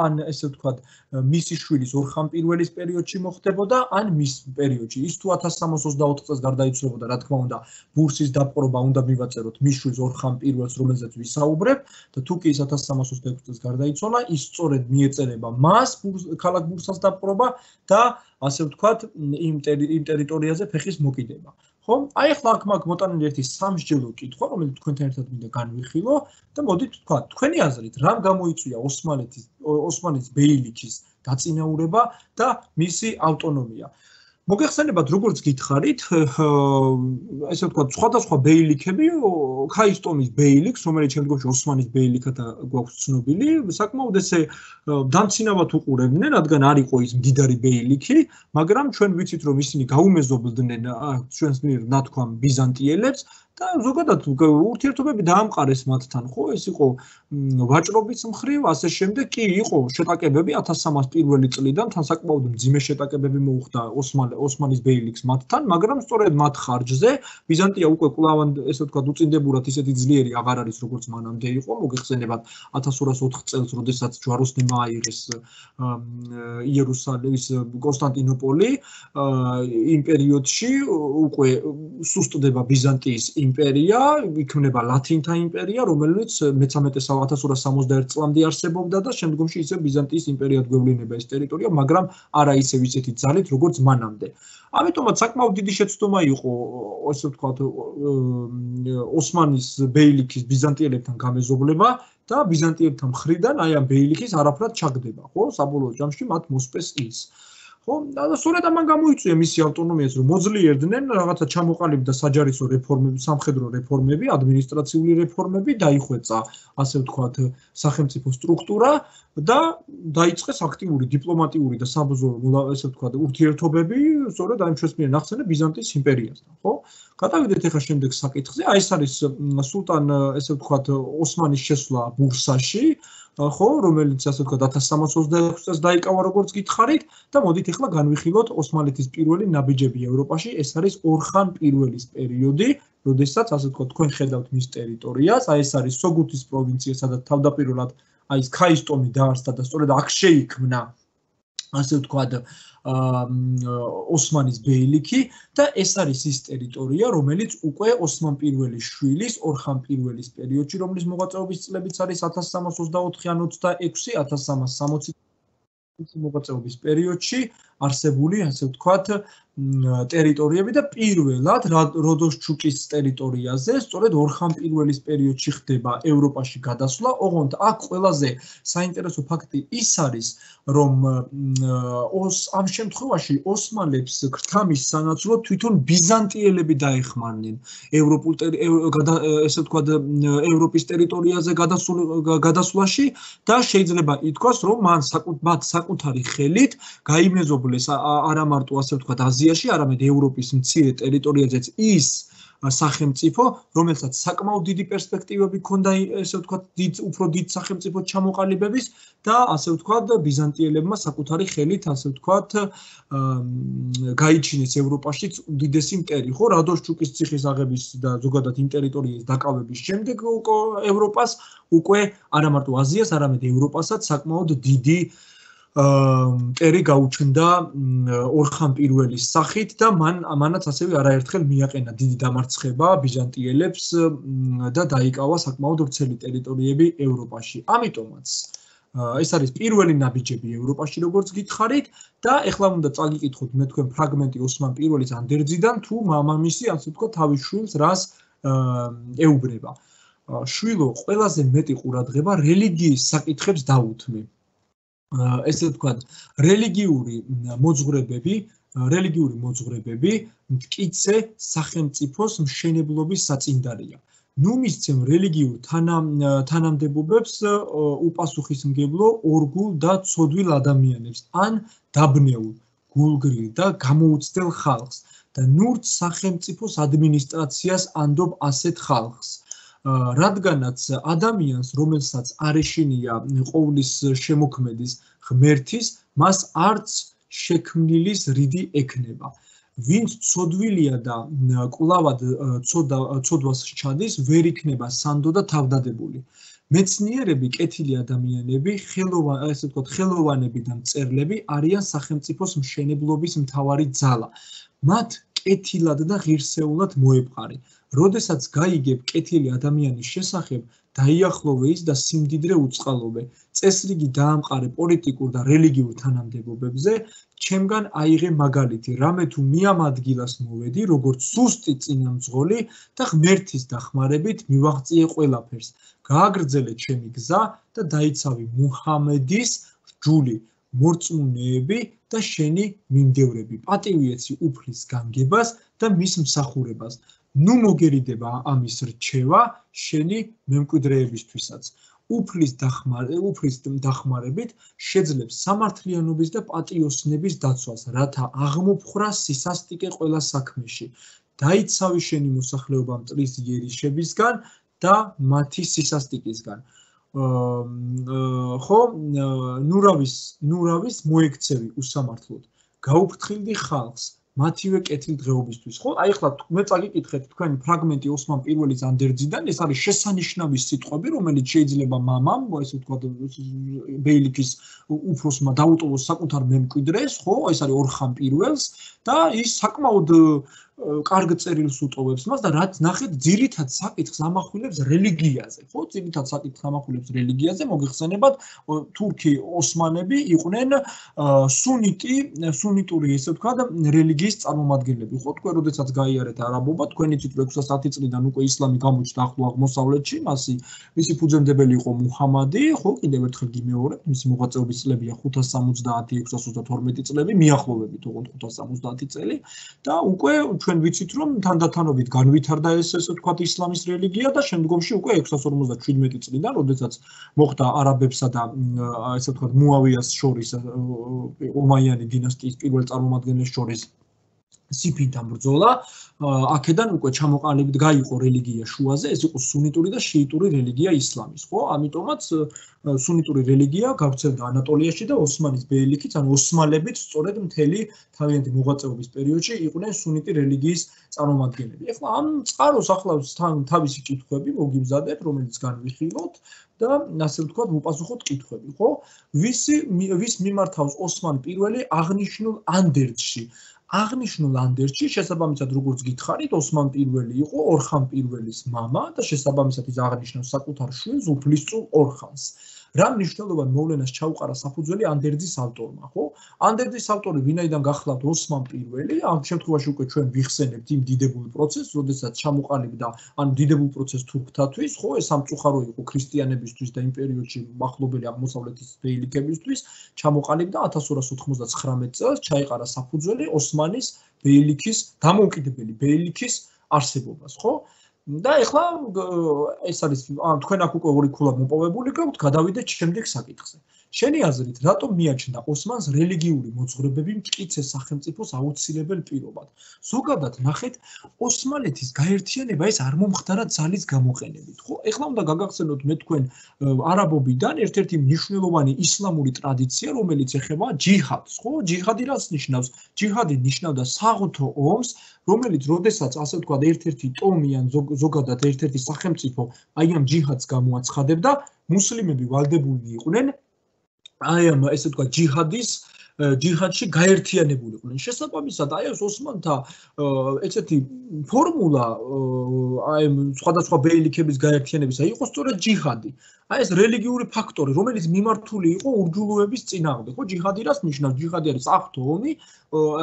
ან ესე ვთქვათ, მისი შვილის ორხან პირველის პერიოდში მოხდებოდა, ან მის პერიოდში. ის თუ ათას სამას ოცდაოთხ წელს გარდაიცვალებოდა, რა თქმა უნდა, ბურსის დაპყრობა უნდა მივაწეროთ მის შვილს ორხან პირველს, რომელზეც ვისაუბრებ და თუ კი ის ათას სამას ოცდაექვსი წელს გარდაიცვალა, ის სწორედ მიეწერება მას ქალაქ ბურსას დაპყრობა და ასე ვთქვათ, იმ ტერიტორიაზე ფეხის მოკიდება. ხო? აი ახლა აქ მაგ მოტანილი ერთი სამსჯელო კითხვა, რომელიც თქვენთან ერთად მინდა განვიხილო და მოდით ვთქვათ, თქვენი აზრით, რამ გამოიწვია ოსმალეთის ოსმანის ბეილიქის დაწინაურება და მისი ავტონომია? მოგეხსენებათ, როგორც გითხარით, ესე ვთქვათ, სხვადასხვა ბეილიქები, ქაის ტომის ბეილიქს, რომელიც შემდგომში ოსმანის ბეილიქად გვაქვს ცნობილი, საკმაოდ ესე დამცინავად უყურებდნენ, რადგან არ იყო ის მდიდარი ბეილიქი, მაგრამ ჩვენ ვიცით, რომ ისინი გაუმეზობდნენ ჩვენს მიერ ნათქვამ ბიზანტიელებს და ზოგადად ურთიერთობები დაამყარეს მათთან, ხო? ეს იყო ვაჭრობის მხრივ, ასე შემდეგ კი იყო შეტაკებები ათას სამას პირველი წლიდან, თან საკმაოდ მძიმე შეტაკებები მოუხდა ოსმანის ბეილიქს მათთან, მაგრამ სწორედ მათ ხარჯზე ბიზანტია უკვე კვლავ, ესე ვთქვათ, უწინდებურად ისეთი ძლიერი აღარ არის, როგორც მანამდე იყო. მოგეხსენებათ ათას ორას ოთხ წელს, როდესაც ჯვაროსნებმა აიღეს იერუსალიმის კონსტანტინოპოლი, იმ პერიოდში უკვე სუსტდება ბიზანტიის იმპერია, იქმნება ლათინთა იმპერია, რომელიც მეთერთმეტე ათას ორას სამოცდაერთ წლამდე არსებობდა და შემდგომში ისე ბიზანტიის იმპერიად გვევლინება ეს ტერიტორია, მაგრამ არა ისევ ისეთი ძალით, როგორც მანამდე. ამიტომაც საკმაოდ დიდი შეცდომა იყო, ასე ვთქვათ, ოსმანის ბეილიქის ბიზანტიელებთან გამეზობლება და ბიზანტიელთა მხრიდან აი ამ ბეილიქის არაფრად ჩაგდება, ხო? საბოლოო ჯამში მათ მოსპეს ის. ხო, და სწორედ ამან გამოიწვია მისი ავტონომიაც, რომ მოძლიერდნენ, რაღაცა ჩამოყალიბდა საჯარისო რეფორმები, სამხედრო რეფორმები, ადმინისტრაციული რეფორმები, დაიხვეწა, ასე ვთქვათ, სახელმწიფო სტრუქტურა და დაიწყეს აქტიური დიპლომატიური და საბრძოლო, ასე ვთქვათ, ურთიერთობები, სწორედ აი ჩვენს მიერ ნახსენებ ბიზანტიის იმპერიასთან, ხო? გადავიდეთ ახლა შემდეგ საკითხზე, აი ეს არის სულტან, ესე ვთქვათ, ოსმანის შესვლა ბურსაში, ხო, რომელიც ასე ვთქვათ ათას სამას ოცდაექვსი წელს დაიკავა, როგორც გითხარით და მოდით ახლა განვიხილოთ ოსმალეთის პირველი ნაბიჯები ევროპაში, ეს არის ორხან პირველის პერიოდი, როდესაც ასე ვთქვათ, თქვენ ხედავთ მის ტერიტორიას, აი ეს არის სოგუთის პროვინცია, სადაც თავდაპირველად აი ეს ქაის ტომი დაარსდა და სწორედ აქ შეიქმნა, ასე ვთქვათ, ოსმანის ბეილიქი და ეს არის ის ტერიტორია, რომელიც უკვე ოსმან პირველის შვილის ორხან პირველის პერიოდში, რომლის მოღვაწეობის წლებიც არის ათას სამას ოცდაოთხი ან ოცდაექვსი, ათას სამას სამოცი მოღვაწეობის პერიოდში არსებული, ასე ვთქვათ, ტერიტორიები და პირველად როდოსჩუკის ტერიტორიაზე, სწორედ ორხან პირველის პერიოდში ხდება ევროპაში გადასვლა. ოღონდ აქ ყველაზე საინტერესო ფაქტი ის არის, რომ ამ შემთხვევაში ოსმალებს ქრთამის სანაცვლოდ თვითონ ბიზანტიელები დაეხმარნენ ევროპულ ესე ვთქვათ, ევროპის ტერიტორიაზე გადასვლაში და შეიძლება ითქვას, რომ მან მათ საკუთარი ხელით გაიმეზობლეს არა მარტო ასე ვთქვათ აზიაში, არამედ ევროპის მცირე ტერიტორიაზეც ის სახელმწიფო, რომელსაც საკმაოდ დიდი პერსპექტივები ჰქონდა, ესე ვთქვათ, დიდ უფრო დიდ სახელმწიფო ჩამოყალიბების და ასე ვთქვათ, ბიზანტიელებმა საკუთარი ხელით, ასე ვთქვათ, გაიჩინეს ევროპაშიც უდიდესი იმპერია, ხო, რადოშჩუკის ციხის აღების და ზოგადად იმ ტერიტორიის დაკავების შემდეგ ევროპას უკვე არა მარტო აზიას, არამედ ევროპასაც საკმაოდ დიდი მტერი გაუჩნდა ორხან პირველის სახით და მან ამანაც ასევე არაერთხელ მიაყენა დიდი დამარცხება ბიზანტიელებს და დაიკავა საკმაოდ ვრცელი ტერიტორიები ევროპაში. ამიტომაც ეს არის პირველი ნაბიჯები ევროპაში, როგორც გითხარით და ეხლა უნდა წაგიკითხოთ მე თქვენ ფრაგმენტი ოსმან პირველის ანდერძიდან თუ მამამისი, ასე ვთქვათ, თავის შვილს რას ეუბნება. შვილო, ყველაზე მეტი ყურადღება რელიგიის საკითხებს დაუთმი. ესე ვთქვათ, რელიგიური მოძღვრებები, რელიგიური მოძღვრებები მტკიცე სახელმწიფოს მშენებლობის საწინდარია. ნუ მისცემ რელიგიურ თანამდებობებს უპასუხისმგებლო ორგულ და ცოდვილ ადამიანებს, ან დაბნეულ, გულგრილ და გამოუცდელ ხალხს და ნურც სახელმწიფოს ადმინისტრაციას ანდობ ასეთ ხალხს. რადგანაც ადამიანს, რომელსაც არ ეშინია ყოვლის შემოქმედის ღმერთის, მას არც შექმნილის რიდი ექნება. ვინც ცოდვილია და კვლავად ცოდვას სჩადის, ვერ იქნება სანდო და თავდადებული. მეცნიერები, კეთილი ადამიანები, ესე ვთქვათ, ხელოვანები და მწერლები არიან სახელმწიფოს მშენებლობის მთავარი ძალა. მათ კეთილად და ღირსეულად მოეპყარი. როდესაც გაიგებ კეთილი ადამიანის შესახებ, დაიახლოვე ის და სიმდიდრე უწყალობე. წესრიგი დაამყარე პოლიტიკურ და რელიგიურ თანამდებობებზე, ჩემგან აიღე მაგალითი, რამე თუ მე ამ ადგილას მოვედი, როგორც სუსტი წინამძღოლი და ღმერთის დახმარებით მივაღწიე ყველაფერს. გააგრძელე ჩემი გზა და დაიცავი მუჰამედის რჯული, მორწმუნეები და შენი მიმდევრები. პატივიეცი უფლის განგებას და მის მსახურებას. ნუ მოგერიდება ამის რჩევა შენი მემკვიდრეებისთვისაც. უფლის დახმარებით შეძლებს სამართლიანობის და პატიოსნების დაცვას, რათა აღმოფხრა სისასტიკე ყველა საქმეში. დაიცავი შენი მოსახლეობა მტრის იერიშებისგან და მათი სისასტიკისგან. ხო, ნურავის ნურავის მოექცევი უსამართლოდ. გაუფრთხილდი ხალხს მათივე კეთილ დღეობისთვის. ხო, აი ახლა მე წაგიკითხეთ თქვენი ფრაგმენტი ოსმან პირველის ანდერძიდან, ეს არის შესანიშნავი სიტყვები, რომელიც შეიძლება მამამ, ესე ვთქვათ, ბეილიქის უფროსმა დაუტოვოს საკუთარ მემკვიდრეს, ხო, ეს არის ორხან პირველს და ის საკმაოდ კარგ წერილს უტოვებს მას და რაც ნახეთ, ძირითად საკითხს ამახვილებს რელიგიაზე, ხო, ძირითად საკითხს ამახვილებს რელიგიაზე, მოგეხსენებათ, თურქი ოსმანები იყვნენ სუნიტი, სუნიტური, ესე ვთქვათ, რელიგიის წარმომადგენლები, ხო, თქვენ როდესაც გაიარეთ არაბობა, თქვენი იცით ექვსი ას ათი წლიდან უკვე ისლამი გამოჩნდა ახლო აღმოსავლეთში, მასი მისი ფუძემდებელი იყო მუჰამადი, ხო, კიდევ ერთხელ გიმეორებთ, მისი მოღვაწეობის წლებია ხუთ ას სამოცდაათი ექვსი ას ოცდათორმეტი წლები, მიახლოვებით ოღონდ ხუთ ას სამოცდაათი წელი და უკვე ჩვენ ვიცით რომ თანდათანობით განვითარდა ეს ესე ვთქვათ ისლამის რელიგია და შემდგომში უკვე ექვსი ას ორმოცდაშვიდმეტი წლიდან, როდესაც მოხდა არაბებსა და ესე ვთქვათ მუავიას შორის ომაიანი დინასტიის პირველ წარმომადგენლებს შორის სიფინთან ბრძოლა, აქედან უკვე ჩამოყალიბდა გაიყო რელიგია შუაზე, ეს იყო სუნიტური და შიიტური რელიგია ისლამის, ხო? ამიტომაც სუნიტური რელიგია გავრცელდა ანატოლიაში და ოსმანის ბეილიქით, ანუ ოსმალებიც სწორედ მთელი თავიანთი მოღვაწეობის პერიოდში იყვნენ სუნიტი რელიგიის წარმომადგენლები. ეხლა ამ წყაროს ახლავს თავისი კითხვები, მოგიმზადეთ, რომელიც განვიხილოთ და ასე ვთქვათ, ვუპასუხოთ კითხვები, ხო? ვისი ვის მიმართავს ოსმან პირველი აღნიშნულ ანდერძში? აღნიშნულ ანდერძში შესაბამისად როგორც გითხარით, ოსმან პირველი იყო ორხან პირველის მამა და შესაბამისად ის აღნიშნავს საკუთარ შვილს უფლისწულ ორხანს. რა მნიშვნელობა მოვლენას ჩაუყარა საფუძველი ანდერძის ავტორმა, ხო? ანდერძის ავტორი ვინაიდან გახლავთ ოსმან პირველი, ამ შემთხვევაში უკვე ჩვენ ვიხსენებთ იმ დიდებულ პროცესს, როდესაც ჩამოყალიბდა, ანუ დიდებულ პროცესს თურქთათვის, ხო, ეს სამწუხარო იყო ქრისტიანებისთვის და იმ პერიოდში მახლობელი აღმოსავლეთის ბეილიქებისთვის, ჩამოყალიბდა ათას ორას ოთხმოცდაცხრამეტ წელს ჩაეყარა საფუძველი ოსმანის ბეილიქის, დამოუკიდებელი ბეილიქის არსებობას, ხო? და ეხლა ეს არის თქვენ აქ უკვე ორი ქულა მოპოვებული გაქვთ, გადავიდეთ შემდეგ საკითხზე. შენი აზრით, რატომ მიაჩნდა ოსმანს რელიგიური მოძღვრებები მტკიცე სახელმწიფოს აუცილებელ პირობად? ზოგადად ნახეთ, ოსმალეთის გაერთიანება ეს არ მომხდარა ძალის გამოყენებით, ხო? ეხლა უნდა გაგახსენოთ მე თქვენ არაბობიდან ერთ-ერთი მნიშვნელოვანი ისლამური ტრადიცია, რომელიც ეხება ჯიჰადს, ხო? ჯიჰადი რას ნიშნავს? ჯიჰადი ნიშნავდა საღვთო ომს, რომელიც როდესაც ასე ვთქვათ, ერთ-ერთი ტომი ან ზოგადად ერთ-ერთი სახელმწიფო აი ამ ჯიჰადს გამოაცხადებდა, მუსლიმები ვალდებული იყვნენ აი ამ ესე ვთქვათ ჯიჰადის ჯიჰადში გაერთიანებული იყვნენ. შესაბამისად, აი ეს ოსმანთა ესეთი ფორმულა აი სხვადასხვა ბეილიქების გაერთიანებისა იყო სწორედ ჯიჰადი. აი ეს რელიგიური ფაქტორი, რომელიც მიმართული იყო ურჯულუების წინააღმდეგ. ხო, ჯიჰადი რას ნიშნავს? ჯიჰადი არის საღვთო ომი,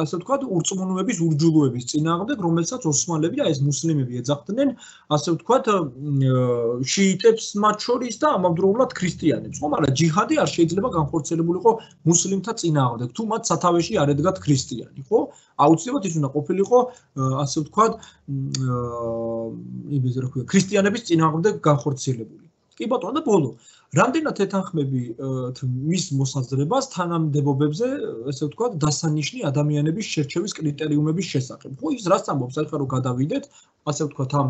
ასე ვთქვათ, ურწმუნოების ურჯულუების წინააღმდეგ, რომელსაც ოსმალები, აი ეს მუსლიმები ეძახდნენ, ასე ვთქვათ, შიიტებს მათ შორის და ამავდროულად ქრისტიანებს. ხო, მაგრამ ჯიჰადი არ შეიძლება განხორციელებულიყო მუსლიმთა წინააღმდეგ, თუ მათ სათავეში არ ედგათ ქრისტიანი, ხო? აუცილებლად ის უნდა ყოფილიყო, ასე ვთქვათ, იმის რა ქვია, ქრისტიანების წინააღმდეგ განხორციელებული. კი ბატონო, და ბოლო, რამდენად ეთანხმები მის მოსაზრებას თანამდებობებზე, ესე ვთქვათ, დასანიშნი ადამიანების შერჩევის კრიტერიუმების შესახებ. ხო, ის რაც ამბობს, ახლა რომ გადავიდეთ, ასე ვთქვათ, ამ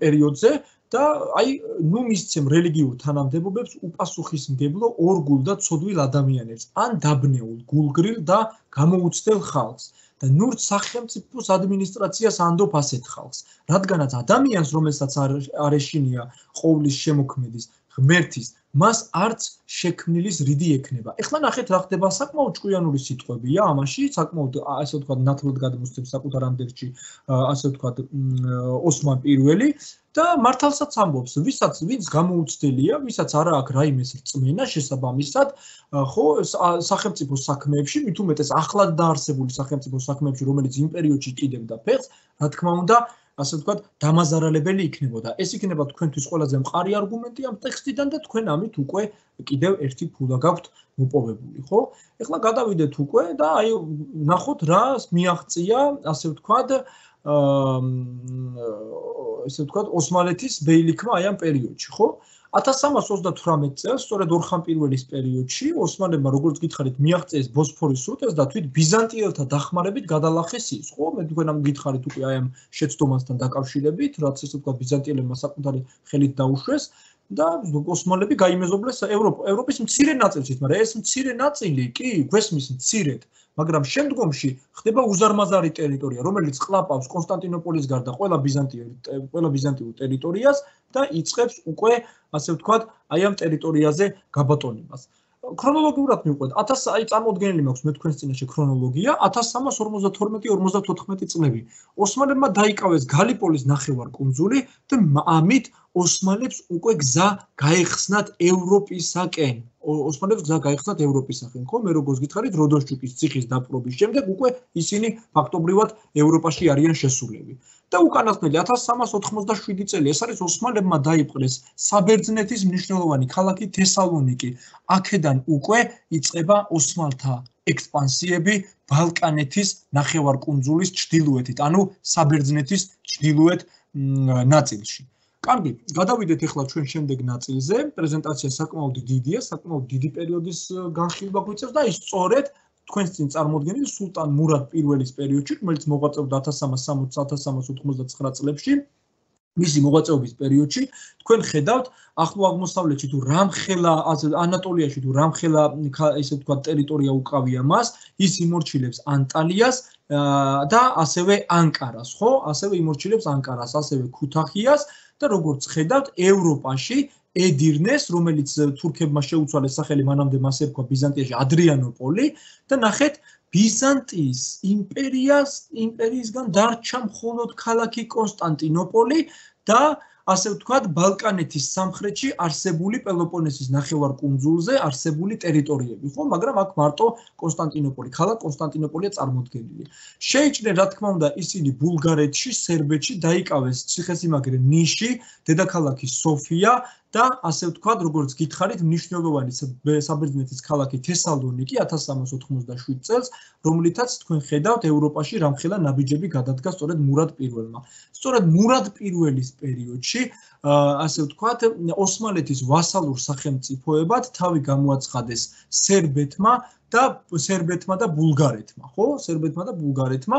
პერიოდზე და აი, ნუ მისცემ რელიგიურ თანამდებობებს უპასუხისმგებლო ორგულ და ცოდვილ ადამიანებს, ან დაბნეულ, გულგრილ და გამოუცდელ ხალხს. და ნურთ სახელმწიფოს ადმინისტრაციას ანდობ ასეთ ხალხს, რადგანაც ადამიანს, რომელსაც არ ეშინია ყოვლის შემოქმედის, ღმერთის, მას არც შექმნილის რიდი ექნება. ეხლა ნახეთ რა ხდება, საკმაოდ ჭკვიანური სიტყვებია ამაში, საკმაოდ ასე ვთქვათ, ნათლად გადმოსცემს საკუთარ ამდერში, ასე ვთქვათ, ოსმან პირველი და მართალსაც ამბობს, ვისაც ვინც გამოუცდელია, ვისაც არა აქვს რაიმეს რწმენა შესაბამისად, ხო, სახელმწიფო საქმეებში, მით უმეტეს ახლად დაარსებული სახელმწიფო საქმეებში, რომელიც იმ პერიოდში კიდევდა ფეხს, რა თქმა უნდა, ასე ვთქვათ, დამაზარალებელი იქნებოდა. ეს იქნება თქვენთვის ყველაზე მყარი არგუმენტი ამ ტექსტიდან და თქვენ ამით უკვე კიდევ ერთი ფულა გაქვთ მოპოვებული, ხო? ეხლა გადავიდეთ უკვე და აი ნახოთ რა მიაღწია, ასე ვთქვათ, ესე ვთქვათ, ოსმალეთის ბეილიქმა აი ამ პერიოდში, ხო? ათას სამას ოცდათვრამეტ წელს, სწორედ ორხან პირველის პერიოდში, ოსმალებმა, როგორც გითხარით, მიაღწიეს ბოსფორის სრუტეს და თვით ბიზანტიელთა დახმარებით გადალახეს ის, ხო? მე თქვენ ამ გითხარით უკვე აი ამ შეცდომასთან დაკავშირებით, რაც ესე ვთქვათ, ბიზანტიელებმა საკუთარი ხელით დაუშვეს და ოსმალები გაიმეზობლეს ევროპის მცირე ნაწილშიც, მაგრამ ეს მცირე ნაწილი კი გვესმის მცირედ, მაგრამ შემდგომში ხდება უზარმაზარი ტერიტორია, რომელიც ყლაპავს კონსტანტინოპოლის გარდა ყველა ბიზანტიურ ყველა ბიზანტიურ ტერიტორიას და იწყებს უკვე, ასე ვთქვათ, აი ამ ტერიტორიაზე გაბატონებას. ქრონოლოგიურად მივყვეთ, ათას აი წარმოუდგენელი მაქვს მე თქვენს წინაშე ქრონოლოგია, ათას სამას ორმოცდათორმეტი ორმოცდათოთხმეტი წლები. ოსმალებმა დაიკავეს გალიპოლის ნახევარკუნძული და ამით ოსმალებს უკვე გზა გაეხსნათ ევროპისაკენ. ოსმალებს გზა გაეხსნათ ევროპისაკენ, ხო? მე როგორც გითხარით, როდოსჩუკის ციხის დაპყრობის შემდეგ უკვე ისინი ფაქტობრივად ევროპაში არიან შესულები. და უკანასკნელი ათას სამას ოთხმოცდაშვიდი წელი, ეს არის ოსმალებმა დაიპყრეს საბერძნეთის მნიშვნელოვანი ქალაქი თესალონიკი. აქედან უკვე იწყება ოსმალთა ექსპანსიები ბალკანეთის ნახევარკუნძულის ჩრდილოეთით, ანუ საბერძნეთის ჩრდილოეთ ნაწილში. კარგი, გადავიდეთ ახლა ჩვენ შემდეგ ნაწილზე. პრეზენტაცია საკმაოდ დიდია, საკმაოდ დიდი პერიოდის განხილვა გვიწევს და ის სწორედ თქვენს წინ წარმოდგენილი სულტან მურად პირველის პერიოდში, რომელიც მოღვაწეობდა ათას სამას სამოცდა ათას სამას ოთხმოცდაცხრა წლებში, მისი მოღვაწეობის პერიოდში, თქვენ ხედავთ ახლო აღმოსავლეთში თუ რამხელა ანატოლიაში თუ რამხელა ესე ვთქვათ ტერიტორია უკავია მას, ის იმორჩილებს ანტალიას და ასევე ანკარას, ხო? ასევე იმორჩილებს ანკარას, ასევე ქუთაჰიას და როგორც ხედავთ, ევროპაში ედირნეს, რომელიც თურქებმა შეუცვალეს სახელი, მანამდე მას ერქვა ბიზანტიაში ადრიანოპოლი და ნახეთ, ბიზანტიის იმპერიას იმპერიისგან დარჩა მხოლოდ ქალაქი კონსტანტინოპოლი და ასე ვთქვათ, ბალკანეთის სამხრეთში არსებული პელოპონესის ნახევარკუნძულზე არსებული ტერიტორიები, ხო? მაგრამ აქ მარტო კონსტანტინოპოლი, ქალაქ კონსტანტინოპოლია წარმოდგენილი. შეიჭრნენ, რა თქმა უნდა, ისინი ბულგარეთში, სერბეთში დაიკავეს ციხესიმაგრე ნიში, დედაქალაქი სოფია და ასე ვთქვათ, როგორც გითხარით, მნიშვნელოვანი საბერძნეთის ქალაქი თესალონიკი ათას სამას ოთხმოცდაშვიდ წელს, რომლითაც თქვენ ხედავთ ევროპაში რამხელა ნაბიჯები გადადგა სწორედ მურად პირველმა. სწორედ მურად პირველის პერიოდში, ასე ვთქვათ, ოსმალეთის ვასალურ სახელმწიფოებად თავი გამოაცხადეს სერბეთმა და სერბეთმა და ბულგარეთმა, ხო? სერბეთმა და ბულგარეთმა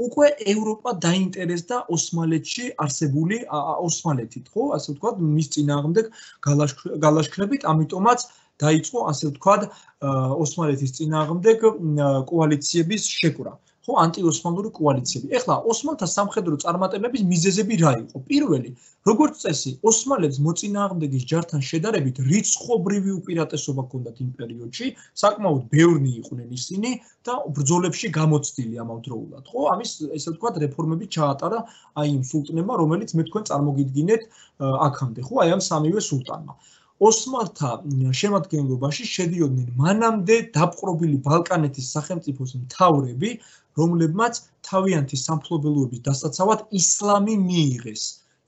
უკვე ევროპა დაინტერესდა ოსმალეთში არსებული ოსმალეთით, ხო? ასე ვთქვათ, მის წინააღმდეგ გალაშქრებით, ამიტომაც დაიწყო, ასე ვთქვათ, ოსმალეთის წინააღმდეგ კოალიციების შეკვრა. ხო, ანტიოსმალური კოალიციები. ეხლა ოსმალთა სამხედრო წარმატებების მიზეზები რა იყო? პირველი, როგორც წესი, ოსმალებს მოწინააღმდეგის ჯართან შედარებით რიცხობრივი უპირატესობა ჰქონდათ იმ პერიოდში, საკმაოდ ბევრნი იყვნენ ისინი და ბრძოლებში გამოცდილი ამავდროულად, ხო? ამის ესე ვთქვათ, რეფორმები ჩაატარა აი იმ სულტნებმა, რომელიც მე თქვენ წარმოგიდგინეთ აქამდე, ხო? აი ამ სამივე სულტანმა. ოსმალთა შემადგენლობაში შედიოდნენ მანამდე დაპყრობილი ბალკანეთის სახელმწიფოს მთავრები, რომლებმაც თავიანთი სამფლობელოების დასაცავად ისლამი მიიღეს.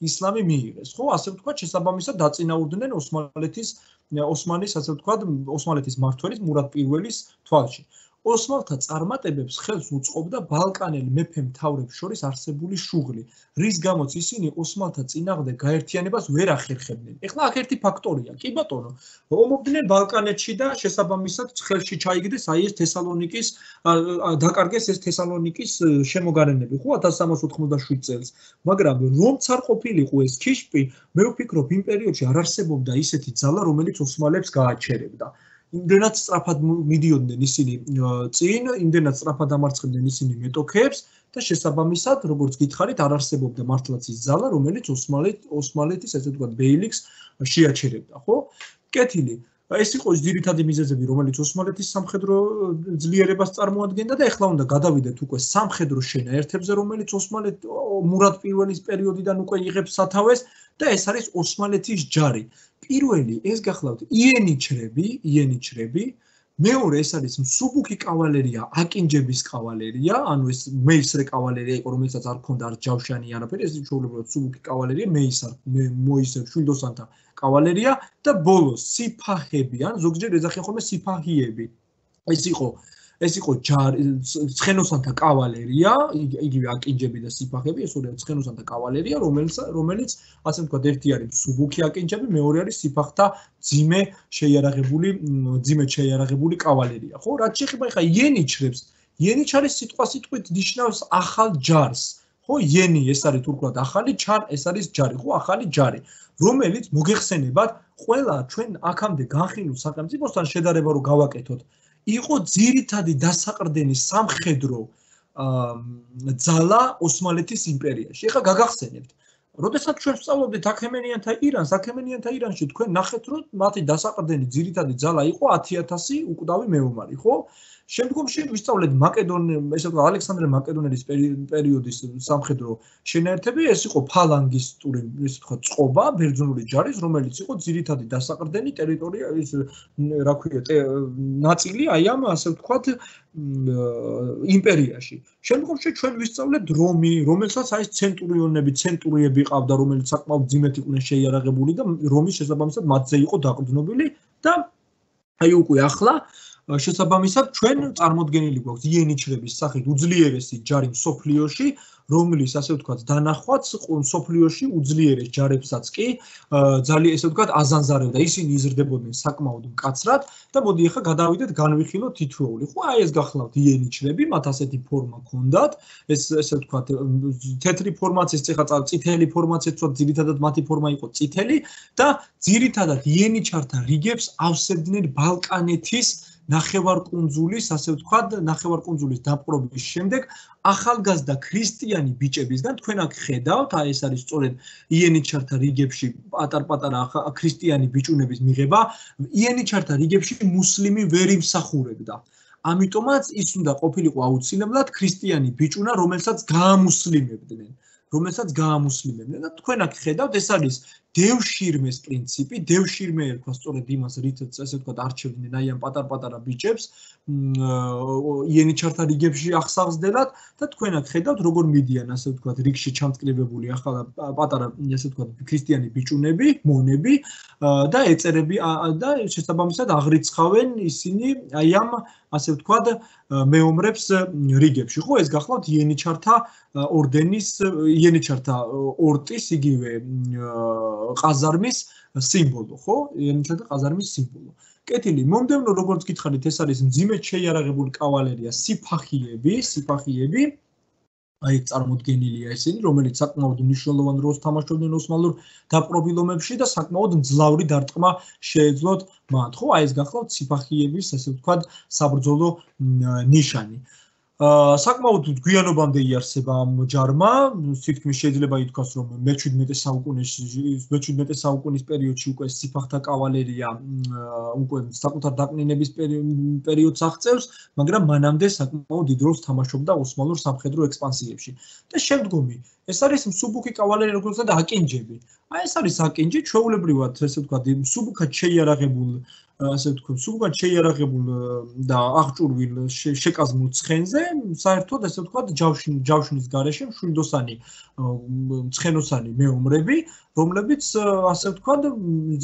ისლამი მიიღეს, ხო? ასე ვთქვათ, შესაბამისად დაწინაურდნენ ოსმალეთის ოსმანის, ასე ვთქვათ, ოსმალეთის მმართველის მურად პირველის თვალში. ოსმალთა წარმატებებს ხელს უწყობდა ბალკანელ მეფე მთავრებს შორის არსებული შუღლი, რის გამოც ისინი ოსმალთა წინააღმდეგ გაერთიანებას ვერ ახერხებდნენ. ეხლა აქ ერთი ფაქტორია, კი ბატონო, ომობდნენ ბალკანეთში და შესაბამისად ხელში ჩაიგდეს აი ეს თესალონიკის დაკარგეს ეს თესალონიკის შემოგარენები, ხო, ათას სამას ოთხმოცდაშვიდ წელს. მაგრამ რომც არ ყოფილიყო ეს ქიშპი, მე ვფიქრობ, იმ პერიოდში არ არსებობდა ისეთი ძალა, რომელიც ოსმალებს გააჩერებდა. იმდენად სწრაფად მიდიოდნენ ისინი წინ, იმდენად სწრაფად ამარცხებდნენ ისინი მეტოქეებს და შესაბამისად, როგორც გითხარით, არ არსებობდა მართლაც ის ძალა, რომელიც ოსმალეთ ოსმალეთის, ასე ვთქვათ, ბეილიქს შეაჩერებდა, ხო? კეთილი. ეს იყო ის ძირითადი მიზეზები, რომელიც ოსმალეთის სამხედრო ძლიერებას წარმოადგენდა და ეხლა უნდა გადავიდეთ უკვე სამხედრო შენაერთებზე, რომელიც ოსმალეთ მურად პირველის პერიოდიდან უკვე იღებს სათავეს და ეს არის ოსმალეთის ჯარი. პირველი ეს გახლავთ იენიჩრები, იენიჩრები, მეორე ეს არის მსუბუქი კავალერია, აკინჯების კავალერია, ანუ ეს მეისრე კავალერია იყო, რომელსაც არ ჰქონდა არ ჯავშანი არაფერი, ეს ჩვეულებრივად მსუბუქი კავალერია, მეისარ, მოისრ შვილდოსანთა კავალერია და ბოლოს სიფაჰები, ან ზოგჯერ ეძახიან ხოლმე სიფაჰიები. ეს იყო ეს იყო ცხენოსანთა კავალერია, იგივე აკინჯები და სიფაჰები, ეს ორი ცხენოსანთა კავალერია, რომელიც რომელიც ასე ვთქვათ, ერთი არის მსუბუქი აკინჯები, მეორე არის სიფაჰთა ძიმე შეიარაღებული, ძიმე შეიარაღებული კავალერია, ხო? რაც შეეხება ხა იენიჩრებს, იენიჩ არის სიტყვასიტყვით ნიშნავს ახალ ჯარს, ხო? იენი ეს არის თურქულად ახალი, ჩარ ეს არის ჯარი, ხო? ახალი ჯარი, რომელიც მოგეხსენებათ, ყველა ჩვენ აქამდე განხილულ სახელმწიფოსთან შედარება რო გავაკეთოთ, იყო ძირითადი დასაყრდენი სამხედრო ძალა ოსმალეთის იმპერიაში. ეხლა გაგახსენებთ, როდესაც ჩვენ ვსწავლობდით აქემენიანთა ირანს, აქემენიანთა ირანში თქვენ ნახეთ, რომ მათი დასაყრდენი ძირითადი ძალა იყო ათი ათასი უკვდავი მეომარი, ხო? შემდგომში ვისწავლეთ მაკედონია, ესე ვთქვათ, ალექსანდრე მაკედონელის პერიოდის სამხედრო შენაერთები, ეს იყო ფალანგისტური, ესე ვთქვათ, წყობა ბერძნული ჯარის, რომელიც იყო ძირითადი დასაყრდენი ტერიტორია, ის რა ქვია, ნაწილი აი ამ, ასე ვთქვათ, იმპერიაში. შემდგომში ჩვენ ვისწავლეთ რომი, რომელსაც აი ცენტურიონები, ცენტურიები ყავდა, რომელიც საკმაოდ ძიმეთ იყვნენ შეიარაღებული და რომის შესაბამისად მათზე იყო დაყრდნობილი და აი უკვე ახლა შესაბამისად ჩვენ წარმოდგენილი გვაქვს იენიჩრების სახით უძლიერესი ჯარი მსოფლიოში, რომლის ასე ვთქვათ დანახვაც მსოფლიოში უძლიერეს ჯარებსაც კი ძალიან ესე ვთქვათ აზანზარებდა, ისინი იზრდებოდნენ საკმაოდ მკაცრად და მოდი ახლა გადავიდეთ განვიხილოთ თითოეული. ხო, აი ეს გახლავთ იენიჩრები, მათ ასეთი ფორმა ჰქონდათ, ეს ესე ვთქვათ თეთრი ფორმაც, ეს ეხლა წითელი ფორმაც, ეს ვთქვათ ძირითადად მათი ფორმა იყო წითელი და ძირითადად იენიჩართა რიგებს ავსებდნენ ბალკანეთის ნახევარკუნძულის, ასე ვთქვათ, ნახევარკუნძულის დაპყრობის შემდეგ ახალგაზრდა ქრისტიანი ბიჭებისგან თქვენ აქ ხედავთ, აი ეს არის სწორედ იენიჩართა რიგებში პატარ-პატარა ქრისტიანი ბიჭუნების მიღება, იენიჩართა რიგებში მუსლიმი ვერ იმსახურებდა. ამიტომაც ის უნდა ყოფილიყო აუცილებლად ქრისტიანი ბიჭუნა, რომელსაც გაამუსლიმებდნენ. რომელსაც გაამუსლიმებდნენ და თქვენ აქ ხედავთ, ეს არის დევშირმეს პრინციპი, დევშირმე ერქვა სწორედ იმას, რითაც ესე ვთქვათ არჩევდნენ აი ამ პატარ-პატარა ბიჭებს იენიჩართა რიგებში ახსავსდელად და თქვენ აქ ხედავთ როგორ მიდიან ასე ვთქვათ რიგში ჩამწკრივებული ახლა პატარა ასე ვთქვათ ქრისტიანი ბიჭუნები, მონები და ეწერები და შესაბამისად აღრიცხავენ ისინი აი ამ ასე ვთქვათ მეომრებს რიგებში. ხო, ეს გახლავთ იენიჩართა ორდენის იენიჩართა ორტის იგივე ყაზარმის სიმბოლო, ხო? იენიჩართა ყაზარმის სიმბოლო. კეთილი, მომდევნო როგორც გითხარით, ეს არის მძიმედ შეიარაღებული კავალერია, სიფახიები, სიფახიები. აი წარმოდგენილია ესენი, რომელიც საკმაოდ მნიშვნელოვან როლს თამაშობდნენ ოსმალურ დაპყრობილობებში და საკმაოდ მძლავრი დარტყმა შეეძლოთ მათ. ხო, აი ეს გახლავთ სიფახიების, ასე ვთქვათ, საბრძოლო ნიშანი. საკმაოდ გვიანობამდე იარსება ამ ჯარმა, თითქმის შეიძლება ითქვას, რომ მეჩვიდმეტე საუკუნის მეჩვიდმეტე საუკუნის პერიოდში უკვე სიფახთა კავალერია უკვე საკუთარ დაკნინების პერიოდს აღწევს, მაგრამ მანამდე საკმაოდ დიდ როლს თამაშობდა ოსმალურ სამხედრო ექსპანსიებში. და შემდგომი, ეს არის მსუბუქი კავალერია, როგორც და აკინჯები. აი ეს არის აკინჯი, ჩვეულებრივად, ესე ვთქვათ, მსუბუქად შეიარაღებულ ასე ვთქვათ, სულგან შეიარაღებულ და აღჭურვილ შეკაზმულ ცხენზე, საერთოდ ასე ვთქვათ, ჯავშნის გარეშე მშვიდოსანი ცხენოსანი მეომრები, რომლებიც ასე ვთქვათ,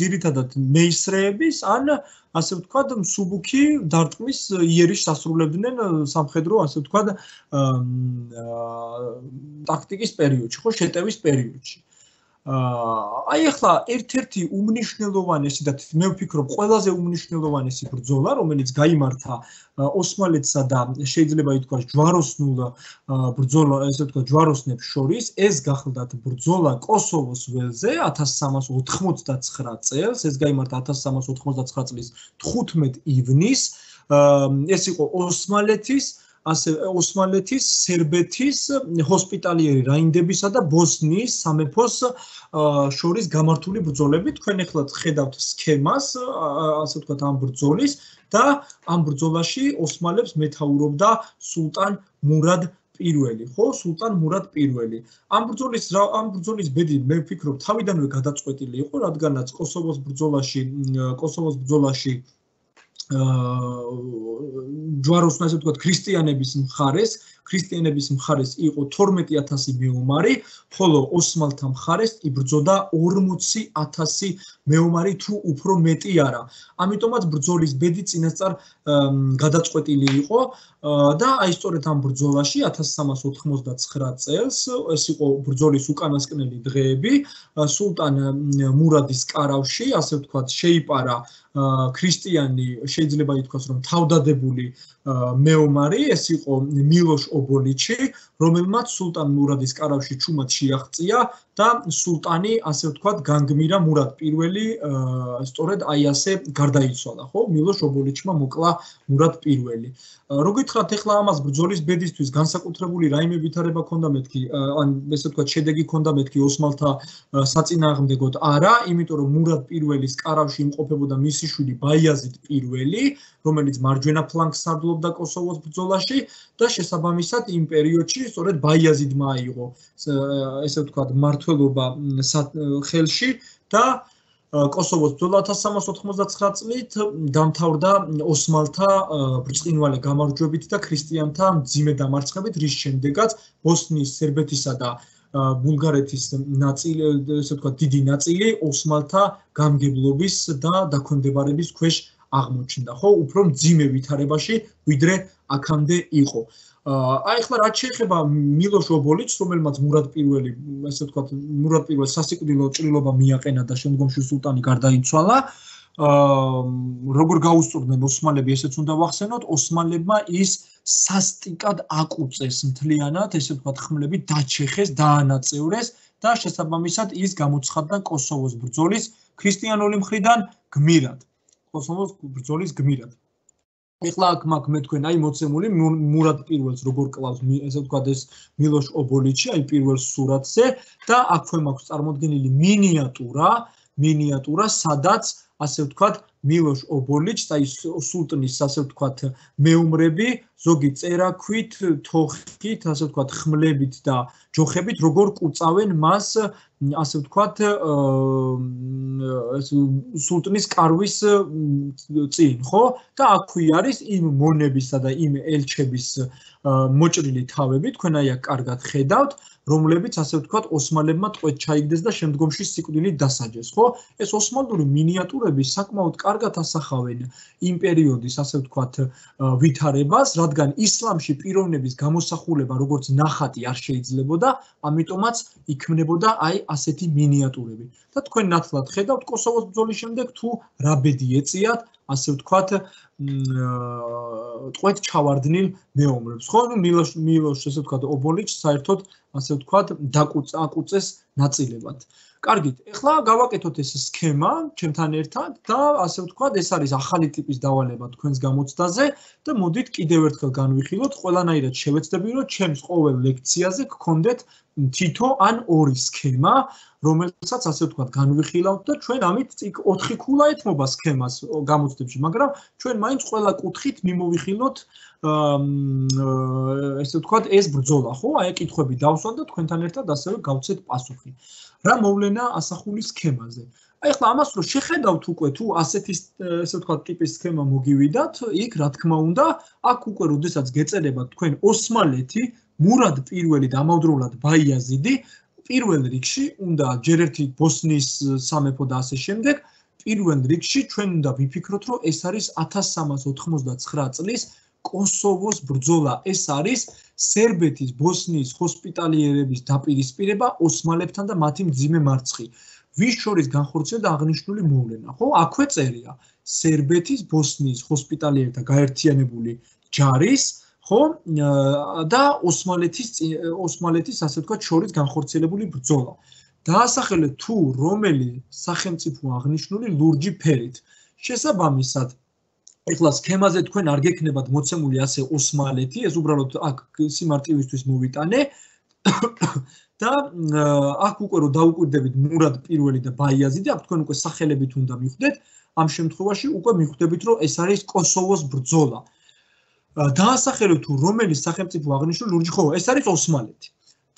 ძირითადად მეისრეების ან ასე ვთქვათ, მსუბუქი დარტყმის იერიშს ასრულებდნენ სამხედრო, ასე ვთქვათ, ტაქტიკის პერიოდში, ხო, შეტევის პერიოდში. აი ახლა ერთ-ერთი უმნიშვნელოვანესი და მე ვფიქრობ ყველაზე უმნიშვნელოვანესი ბრძოლა, რომელიც გაიმართა ოსმალეთსა და შეიძლება ითქვას ჯვაროსნულ ბრძოლა, ესე ვთქვათ, ჯვაროსნებს შორის, ეს გახლდათ ბრძოლა კოსოვოს ველზე ათას სამას ოთხმოცდაცხრა წელს, ეს გაიმართა ათას სამას ოთხმოცდაცხრა წლის თხუთმეტ ივნისს, ეს იყო ოსმალეთის ასე ოსმალეთის, სერბეთის, ჰოსპიტალიერი რაინდებისა და ბოსნიის სამეფოს შორის გამართული ბრძოლები. თქვენ ახლა ხედავთ სქემას, ასე ვთქვათ, ამ ბრძოლის და ამ ბრძოლაში ოსმალებს მეთაურობდა სულტან მურად პირველი, ხო, სულტან მურად პირველი. ამ ბრძოლის ამ ბრძოლის ბედი მე ვფიქრობ თავიდანვე გადაწყვეტილი იყო, რადგანაც კოსოვოს ბრძოლაში, კოსოვოს ბრძოლაში ჯვაროსნ ასე ვთქვათ, ქრისტიანების მხარეს, ქრისტიანების მხარეს იყო თორმეტი ათასი მეომარი, ხოლო ოსმალთა მხარეს იბრძოდა ორმოცი ათასი მეომარი თუ უფრო მეტი არა. ამიტომაც ბრძოლის ბედი წინასწარ გადაწყვეტილი იყო და აი სწორედ ამ ბრძოლაში ათას სამას ოთხმოცდაცხრა წელს, ეს იყო ბრძოლის უკანასკნელი დღეები, სულტან მურადის კარავში, ასე ვთქვათ, შეიპარა ქრისტიანი, შეიძლება ითქვას, რომ თავდადებული მეომარი, ეს იყო მილოშ ობოლიჩი, რომელმაც სულტან მურადის კარავში ჩუმად შეაღწია და სულტანი, ასე ვთქვათ, განგმირა მურად პირველი, სწორედ აი ასე გარდაიცვალა, ხო? მილოშ ობოლიჩმა მოკლა მურად პირველი. რო გითხრათ, ახლა ამას ბრძოლის ბედისთვის განსაკუთრებული რაიმე ვითარება ქონდა მეთქი, ან ესე ვთქვათ, შედეგი ქონდა მეთქი ოსმალთა საწინააღმდეგოდ არა, იმიტომ რომ მურად პირველის კარავში იმყოფებოდა მისი შვილი ბაიაზიდ პირველი, რომელიც მარჯვენა ფლანგს სარდლობდა კოსოვოს ბრძოლაში და შესაბამისად იმ პერიოდში სწორედ ბაიაზიდმა აიღო, ესე ვთქვათ, მმართველობა ხელში და კოსოვოს ბრძოლა ათას სამას ოთხმოცდაცხრა წლით დამთავრდა ოსმალთა ბრწყინვალე გამარჯვებით და ქრისტიანთა მძიმე დამარცხებით, რის შემდეგაც ბოსნიის, სერბეთისა და ბულგარეთის ნაწილი, ესე ვთქვათ, დიდი ნაწილი ოსმალთა გამგებლობის და დაქვემდებარების ქვეშ აღმოჩნდა, ხო, უფრო მძიმე ვითარებაში, ვიდრე აქამდე იყო. აი ახლა რაც შეეხება მილოშ ობოლიჩს, რომელმაც მურად პირველი, ესე ვთქვათ, მურად პირველი სასიკვდილო ჭრილობა მიაყენა და შემდგომში სულტანი გარდაიცვალა, როგორ გაუსწორდნენ ოსმალები, ესეც უნდა ვახსენოთ, ოსმალებმა ის სასტიკად აკუწეს მთლიანად, ესე ვთქვათ, ხმლებით დაჩეხეს, დაანაწევრეს და შესაბამისად ის გამოცხადდა კოსოვოს ბრძოლის ქრისტიანული მხრიდან გმირად. კოსოვოს ბრძოლის გმირად. ეხლა აქ მაქვს მე თქვენ აი მოცემული მურად პირველს როგორ კლავს, ესე ვთქვათ, ეს მილოშ ობოლიჩი, აი პირველ სურათზე და აქვე მაქვს წარმოდგენილი მინიატურა, მინიატურა, სადაც ასე ვთქვათ, მილოშ ობოლიჩს, აი სულტნის ასე ვთქვათ, მეომრები, ზოგი წერაქვით, თოხით, ასე ვთქვათ, ხმლებით და ჯოხებით, როგორ კუწავენ მას, ასე ვთქვათ, სულტნის კარვის წინ, ხო? და აქვე არის იმ მონებისა და იმ ელჩების მოჭრილი თავები, თქვენ აი აქ კარგად ხედავთ, რომლებიც ასე ვთქვათ, ოსმალებმა ტყვედ ჩაიგდეს და შემდგომში სიკვდილით დასაჯეს, ხო? ეს ოსმალური მინიატურები საკმაოდ კარგად ასახავენ იმ პერიოდის, ასე ვთქვათ, ვითარებას, რადგან ისლამში პიროვნების გამოსახულება როგორც ნახატი არ შეიძლებოდა, ამიტომაც იქმნებოდა აი ასეთი მინიატურები. და თქვენ ნათლად ხედავთ კოსოვოს ბრძოლის შემდეგ თუ რა ბედი ეწიათ, ასე ვთქვათ, ტყვედ ჩავარდნილ მეომრებს, ხო? ნუ მილოშ მილოშ ესე ვთქვათ, ობოლიჩს საერთოდ ასე ვთქვათ, დაკუწეს ნაწილებად. კარგით, ეხლა გავაკეთოთ ეს სქემა ჩემთან ერთად და ასე ვთქვათ, ეს არის ახალი ტიპის დავალება თქვენს გამოცდაზე და მოდით კიდევ ერთხელ განვიხილოთ, ყველანაირად შევეცდები, რომ ჩემს ყოველ ლექციაზე გქონდეთ თითო ან ორი სქემა, რომელსაც ასე ვთქვათ, განვიხილავთ და ჩვენ ამით ოთხი ქულა ეთმობა სქემას გამოცდებში, მაგრამ ჩვენ მაინც ყველა კუთხით მიმოვიხილოთ ესე ვთქვათ, ეს ბრძოლა, ხო? აი კითხვები დავსვათ და თქვენთან ერთად ასევე გავცეთ პასუხი. რა მოვლენა ასახული სქემაზე? აი ახლა ამას რო შეხედავთ უკვე თუ ასეთი ესე ვთქვათ, ტიპის სქემა მოგივიდათ, იქ რა თქმა უნდა, აქ უკვე როდესაც გეწერებათ თქვენ ოსმალეთი, მურად პირველი და ამავდროულად ბაიაზიდი, პირველ რიგში უნდა ჯერ ერთი ბოსნიის სამეფო და ასე შემდეგ, პირველ რიგში ჩვენ უნდა ვიფიქროთ, რომ ეს არის ათას სამას ოთხმოცდაცხრა წლის კოსოვოს ბრძოლა. ეს არის სერბეთის, ბოსნიის ჰოსპიტალიერების დაპირისპირება ოსმალებთან და მათი მძიმე მარცხი. ვის შორის განხორციელდა აღნიშნული მოვლენა, ხო? აქვე წერია სერბეთის, ბოსნიის ჰოსპიტალიერთა გაერთიანებული ჯარის, ხო? და ოსმალეთის ოსმალეთის ასე ვთქვათ, შორის განხორციელებული ბრძოლა. დაასახელეთ თუ რომელი სახელმწიფო აღნიშნული ლურჯი ფერით. შესაბამისად ეხლა სქემაზე თქვენ არ გექნებათ მოცემული ასე ოსმალეთი, ეს უბრალოდ აქ სიმარტივისთვის მოვიტანე და აქ უკვე რომ დაუკვირდებით მურად პირველი და ბაიაზიდი, აქ თქვენ უკვე სახელებით უნდა მიხვდეთ, ამ შემთხვევაში უკვე მიხვდებით, რომ ეს არის კოსოვოს ბრძოლა. დაასახელეთ თუ რომელი სახელმწიფო აღნიშნული ლურჯი, ხო, ეს არის ოსმალეთი.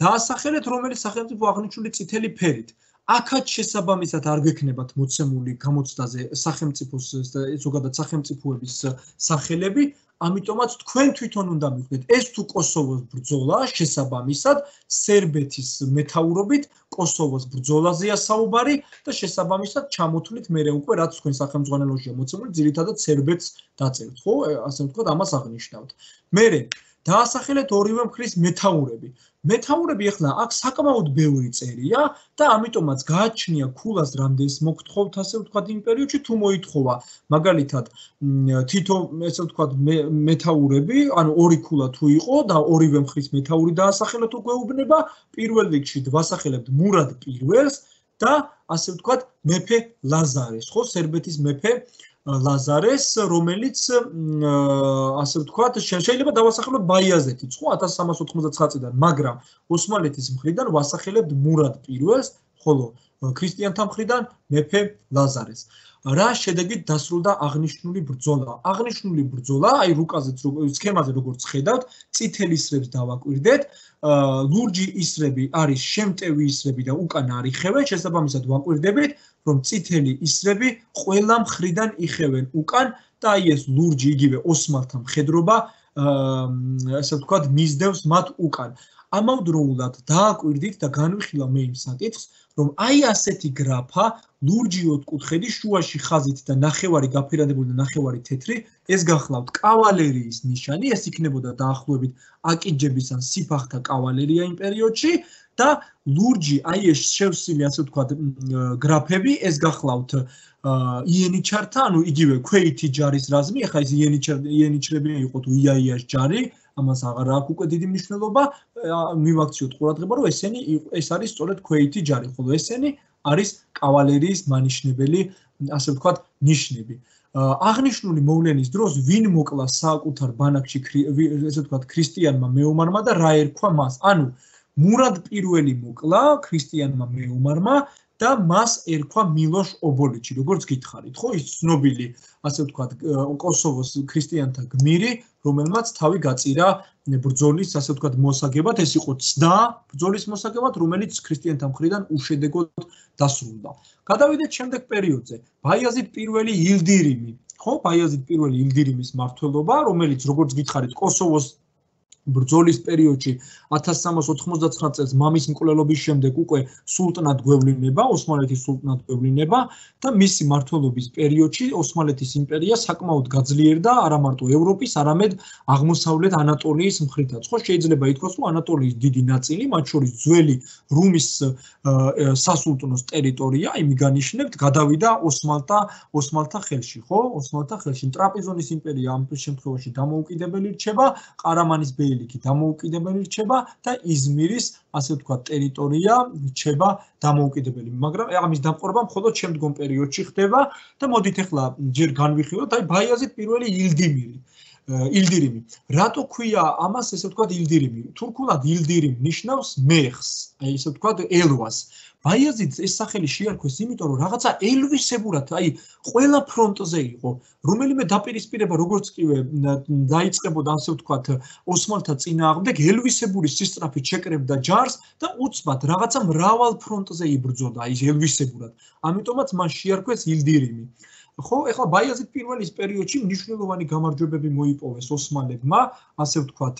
დაასახელეთ რომელი სახელმწიფო აღნიშნული წითელი ფერით. აქაც შესაბამისად არ გექნებათ მოცემული გამოცდაზე სახელმწიფოს ზოგადად სახელმწიფოების სახელები, ამიტომაც თქვენ თვითონ უნდა მიხვდეთ, ეს თუ კოსოვოს ბრძოლა, შესაბამისად სერბეთის მეთაურობით კოსოვოს ბრძოლაზეა საუბარი და შესაბამისად ჩამოთვლით მერე უკვე რაც თქვენ სახელმძღვანელოშია მოცემული, ძირითადად სერბეთს დაწერთ, ხო? ასე ვთქვათ, ამას აღნიშნავთ. მერე დაასახელეთ ორივე მხრის მეთაურები. მეთაურები ახლა აქ საკმაოდ ბევრი წერია და ამიტომაც გააჩნია ქულას რამდენს მოგთხოვთ ასე ვთქვათ იმ პერიოდში თუ მოითხოვა მაგალითად თითო ესე ვთქვათ მეთაურები ანუ ორი ქულა თუ იყო და ორივე მხრის მეთაური დაასახელოთ უგვეუბნება პირველ რიგში ვასახელებთ მურად პირველს და ასე ვთქვათ მეფე ლაზარეს ხო სერბეთის მეფე ლაზარეს რომელიც ასე ვთქვათ შეიძლება დავასახელოთ ბაიაზეთიც ხო ათას სამას ოთხმოცდაცხრა წლიდან მაგრამ ოსმალეთის მხრიდან ვასახელებთ მურად პირველს ხოლო ქრისტიანთა მხრიდან მეფე ლაზარეს რა შედეგით დასრულდა აღნიშნული ბრძოლა აღნიშნული ბრძოლა აი რუკაზეც სქემაზე როგორც ხედავთ წითელი ისრებს დავაკვირდეთ ლურჯი ისრები არის შემტევი ისრები და უკან არ იხევენ შესაბამისად ვაკვირდებით რომ წითელი ისრები ყველა მხრიდან იხევენ უკან და აი ეს ლურჯი იგივე ოსმალთა მხედრობა ასე ვთქვათ მისდევს მათ უკან ამავდროულად დააკვირდით და განვიხილავ მე იმ საკითხს რომ აი ასეთი გრაფა ლურჯი ოთხკუთხედი შუაში ხაზით და ნახევარი გაფერადებული და ნახევარი თეთრი ეს გახლავთ კავალერიის ნიშანი ეს იქნებოდა დაახლოებით აკიჯების ან სიფახთა კავალერია იმ პერიოდში და ლურჯი აი ეს შევსილი ასე ვთქვათ გრაფები ეს გახლავთ იენიჩართა ანუ იგივე ქვეითი ჯარის რაზმი ახლა ეს იენიჩრები იყო თუ იაიას ჯარი ამას აღარ აქვს უკვე დიდი მნიშვნელობა მივაქციოთ ყურადღება რომ ესენი ეს არის სწორედ ქვეითი ჯარი ხოლო ესენი არის კავალერიის მანიშნებელი ასე ვთქვათ ნიშნები აღნიშნული მოვლენის დროს ვინ მოკლა საკუთარ ბანაკში ესე ვთქვათ ქრისტიანმა მეომარმა და რა ერქვა მას ანუ მურად პირველი მოკლა ქრისტიანმა მეომარმა და მას ერქვა მილოშ ობოლიჩი, როგორც გითხარით, ხო, ის ცნობილი, ასე ვთქვათ, კოსოვოს ქრისტიანთა გმირი, რომელმაც თავი გაწირა ბრძოლის, ასე ვთქვათ, მოსაგებად, ეს იყო ცდა ბრძოლის მოსაგებად, რომელიც ქრისტიანთა მხრიდან უშედეგოდ დასრულდა. გადავიდეთ შემდეგ პერიოდზე. ბაიაზიდ პირველი ილდირიმი, ხო, ბაიაზიდ პირველი ილდირიმის მმართველობა, რომელიც, როგორც გითხარით, კოსოვოს ბრძოლის პერიოდში ათას სამას ოთხმოცდაცხრა წელს მამის მკვლელობის შემდეგ უკვე სულტნად გვევლინება, ოსმალეთის სულტნად გვევლინება და მისი მმართველობის პერიოდში ოსმალეთის იმპერია საკმაოდ გაძლიერდა არა მარტო ევროპის, არამედ აღმოსავლეთ ანატოლიის მხრითაც. ხო, შეიძლება ითქვას, რომ ანატოლიის დიდი ნაწილი, მათ შორის ძველი რუმის სასულტნოს ტერიტორია, იმი განიშნებთ, გადავიდა ოსმალთა ოსმალთა ხელში, ხო? ოსმალთა ხელში. ტრაპიზონის იმპერია ამ შემთხვევაში დამოუკიდებელი რჩება, ყარამანის ბეილიქი დამოუკიდებელი რჩება და იზმირის, ასე ვთქვათ, ტერიტორია რჩება დამოუკიდებელი. მაგრამ ამის დამყარება მხოლოდ შემდგომ პერიოდში ხდება და მოდით ახლა ჯერ განვიხილოთ, აი ბაიაზიდ პირველი ილდიმირი. ილდირიმი. რატო ქვია ამას, ესე ვთქვათ, ილდირიმი? თურქულად ილდირიმ ნიშნავს მეხს, აი ესე ვთქვათ, ელვას. ბაიაზიდს ეს სახელი შეარქვეს, იმიტომ რომ რაღაცა ელვისებურად, აი ყველა ფრონტზე იყო, რომელიმე დაპირისპირება როგორც კივე დაიწყებოდა, ასე ვთქვათ, ოსმალთა წინააღმდეგ, ელვისებური სისწრაფით შეკრებდა ჯარს და უცბად რაღაცა მრავალ ფრონტზე იბრძოდა, აი ელვისებურად. ამიტომაც მან შეარქვეს ილდირიმი. ხო, ეხლა ბაიაზიდ პირველის პერიოდში მნიშვნელოვანი გამარჯვებები მოიპოვეს ოსმალებმა, ასე ვთქვათ,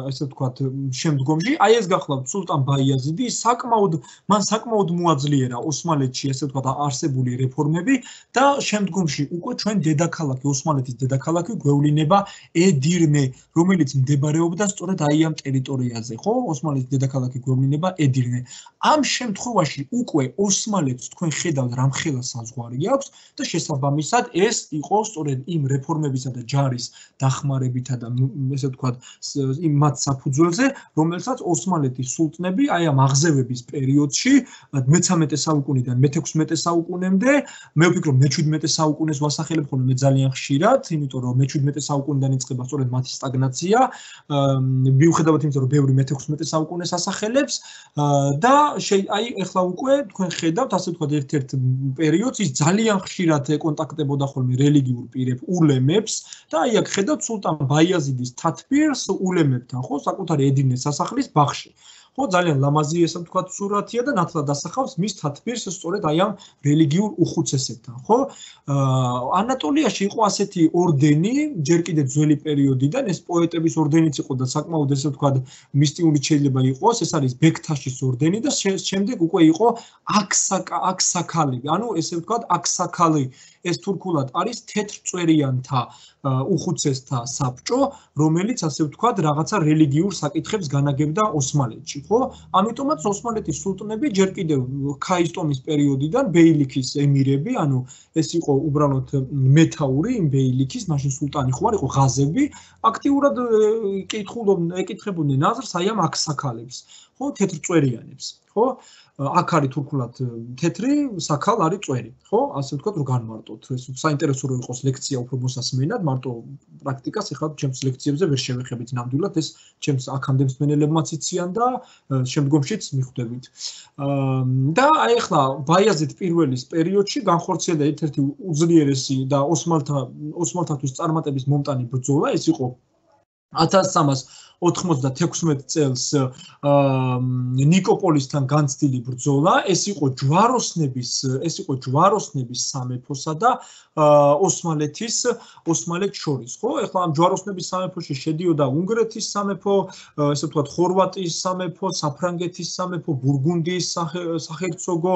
ასე ვთქვათ, შემდგომში. აი ეს გახლავთ სულტან ბაიაზიდი, საკმაოდ მან საკმაოდ მოაძლიერა ოსმალეთში, ასე ვთქვათ, არსებული რეფორმები და შემდგომში უკვე ჩვენ დედაქალაქი, ოსმალეთის დედაქალაქი გვევლინება ედირნე, რომელიც მდებარეობდა სწორედ აი ამ ტერიტორიაზე, ხო? ოსმალეთის დედაქალაქი გვევლინება ედირნე. ამ შემთხვევაში უკვე ოსმალეთს თქვენ ხედავთ რამხელა საზღვარი აქვს და შესაბამისად ეს იყო სწორედ იმ რეფორმებისა და ჯარის დახმარებითა და ესე ვთქვათ იმ მათ საფუძველზე, რომელსაც ოსმალეთის სულტნები აი ამ აღზევების პერიოდში მეთერთმეტე საუკუნიდან მეთექვსმეტე საუკუნემდე, მე ვფიქრობ მეჩვიდმეტე საუკუნეს ვასახელებ ხოლმე მე ძალიან ხშირად, იმიტომ რომ მეჩვიდმეტე საუკუნიდან იწყება სწორედ მათი სტაგნაცია, მიუხედავად იმისა, რომ ბევრი მეთექვსმეტე საუკუნეს ასახელებს და აი ეხლა უკვე თქვენ ხედავთ, ასე ვთქვათ, ერთ-ერთ პერიოდს ის ძალიან ხშირად ეკონტაქტებოდა ხოლმე რელიგიურ პირებს, ულემებს და აი აქ ხედავთ სულტან ბაიაზიდის თათბირს ულემებთან, ხო, საკუთარი ედინეს სასახლის ბაღში. ხო, ძალიან ლამაზი ესე ვთქვათ სურათია და ნათლად ასახავს მის თათბირს სწორედ აი ამ რელიგიურ უხუცესებთან, ხო? ანატოლიაში იყო ასეთი ორდენი, ჯერ კიდევ ძველი პერიოდიდან, ეს პოეტების ორდენიც იყო და საკმაოდ ესე ვთქვათ მისტიური შეიძლება იყოს, ეს არის ბექთაშის ორდენი და შემდეგ უკვე იყო აქსაქალი, ანუ ესე ვთქვათ აქსაქალი, ეს თურქულად არის თეთრწვერიანთა უხუცესთა საბჭო, რომელიც ასე ვთქვათ რაღაცა რელიგიურ საკითხებს განაგებდა ოსმალეთში, ხო? ამიტომაც ოსმალეთის სულტნები ჯერ კიდევ ქაისტომის პერიოდიდან ბეილიქის ემირები, ანუ ეს იყო უბრალოდ მეთაური იმ ბეილიქის, მაშინ სულტანი ხო არ იყო ღაზები, აქტიურად ეკითხებოდნენ აზრს აი ამ აქსაქალებს, ხო, თეთრწვერიანებს, ხო? აქ არის თურქულად თეთრი, საქალ არის წვერი, ხო? ასე ვთქვათ, რომ განმარტოთ. ეს საინტერესო რო იყოს ლექცია უფრო მოსასმენად, მარტო პრაქტიკას ეხლა ჩემს ლექციებზე ვერ შევეხებით ნამდვილად, ეს ჩემს აქამდე მსმენელებმაც იციან და შემდგომშიც მიხვდებით. და აი ეხლა ბაიაზიდ პირველის პერიოდში განხორციელდა ერთ-ერთი უძლიერესი და ოსმალთა ოსმალთათვის წარმატების მომტანი ბრძოლა, ეს იყო ათას სამას ოთხმოცდათექვსმეტ წელს ნიკოპოლისთან განცდილი ბრძოლა, ეს იყო ჯვაროსნების, ეს იყო ჯვაროსნების სამეფოსა და ოსმალეთის ოსმალეთს შორის, ხო? ეხლა ამ ჯვაროსნების სამეფოში შედიოდა უნგრეთის სამეფო, ესე ვთქვათ, ხორვატიის სამეფო, საფრანგეთის სამეფო, ბურგუნდიის საჰერცოგო,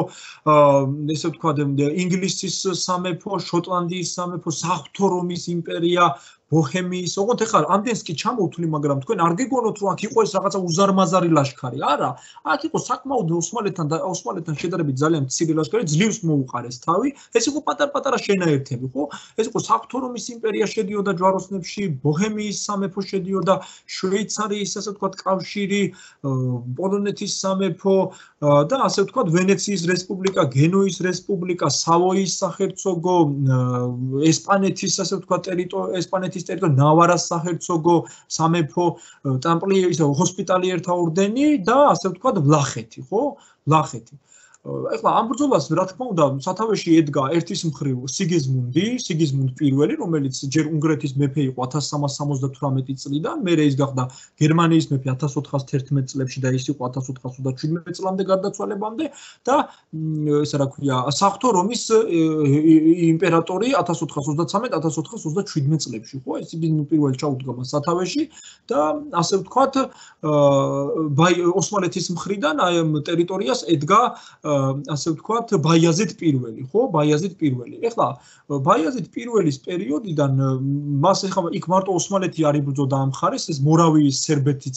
ესე ვთქვათ, ინგლისის სამეფო, შოტლანდიის სამეფო, საღვთო რომის იმპერია, ბოჰემიის, ოღონდ ეხლა ამდენს კი ჩამოვთვლი, მაგრამ თქვენ არ გეგონოთ, რომ აქ იყო ეს რაღაცა უზარმაზარი ლაშქარი. არა, აქ იყო საკმაოდ ოსმალეთთან და ოსმალეთთან შედარებით ძალიან მცირე ლაშქარი, ძლივს მოუყარეს თავი. ეს იყო პატარ-პატარა შენაერთები, ხო? ეს იყო საღვთო რომის იმპერია შედიოდა ჯვაროსნებში, ბოჰემიის სამეფო შედიოდა, შვეიცარიის, ასე ვთქვათ, კავშირი, პოლონეთის სამეფო და ასე ვთქვათ, ვენეციის რესპუბლიკა, გენუის რესპუბლიკა, სავოიის საჰერცოგო, ესპანეთის, ასე ვთქვათ, ტერიტორია, ესპანეთის ტერიტორია, ნავარას საჰერცოგო, სამეფო, ტამპლიერის, ჰოსპიტალიერთა ორდენი და ასე ვთქვათ, ვლახეთი, ხო? ვლახეთი. ეხლა ამ ბრძოლას რა თქმა უნდა სათავეში ედგა ერთის მხრივ სიგიზმუნდი, სიგიზმუნდ პირველი, რომელიც ჯერ უნგრეთის მეფე იყო ათას სამას სამოცდათვრამეტი წლიდან, მერე ის გახდა გერმანიის მეფე ათას ოთხას თერთმეტ წლებში და ის იყო ათას ოთხას ოცდაშვიდმეტ წლამდე გარდაცვალებამდე და ესე რა ქვია, საღვთო რომის იმპერატორი ათას ოთხას ოცდაცამეტ ათას ოთხას ოცდაშვიდმეტ წლებში, ხო? ეს სიგიზმუნდ პირველი ჩაუდგა მას სათავეში და ასე ვთქვათ, ოსმალეთის მხრიდან აი ამ ტერიტორიას ედგა ასე ვთქვათ, ბაიაზიდ პირველი, ხო? ბაიაზიდ პირველი. ეხლა ბაიაზიდ პირველის პერიოდიდან მას ეხლა იქ მარტო ოსმალეთი არ იბრძოდა ამ მხარეს, ეს მორავიის სერბეთიც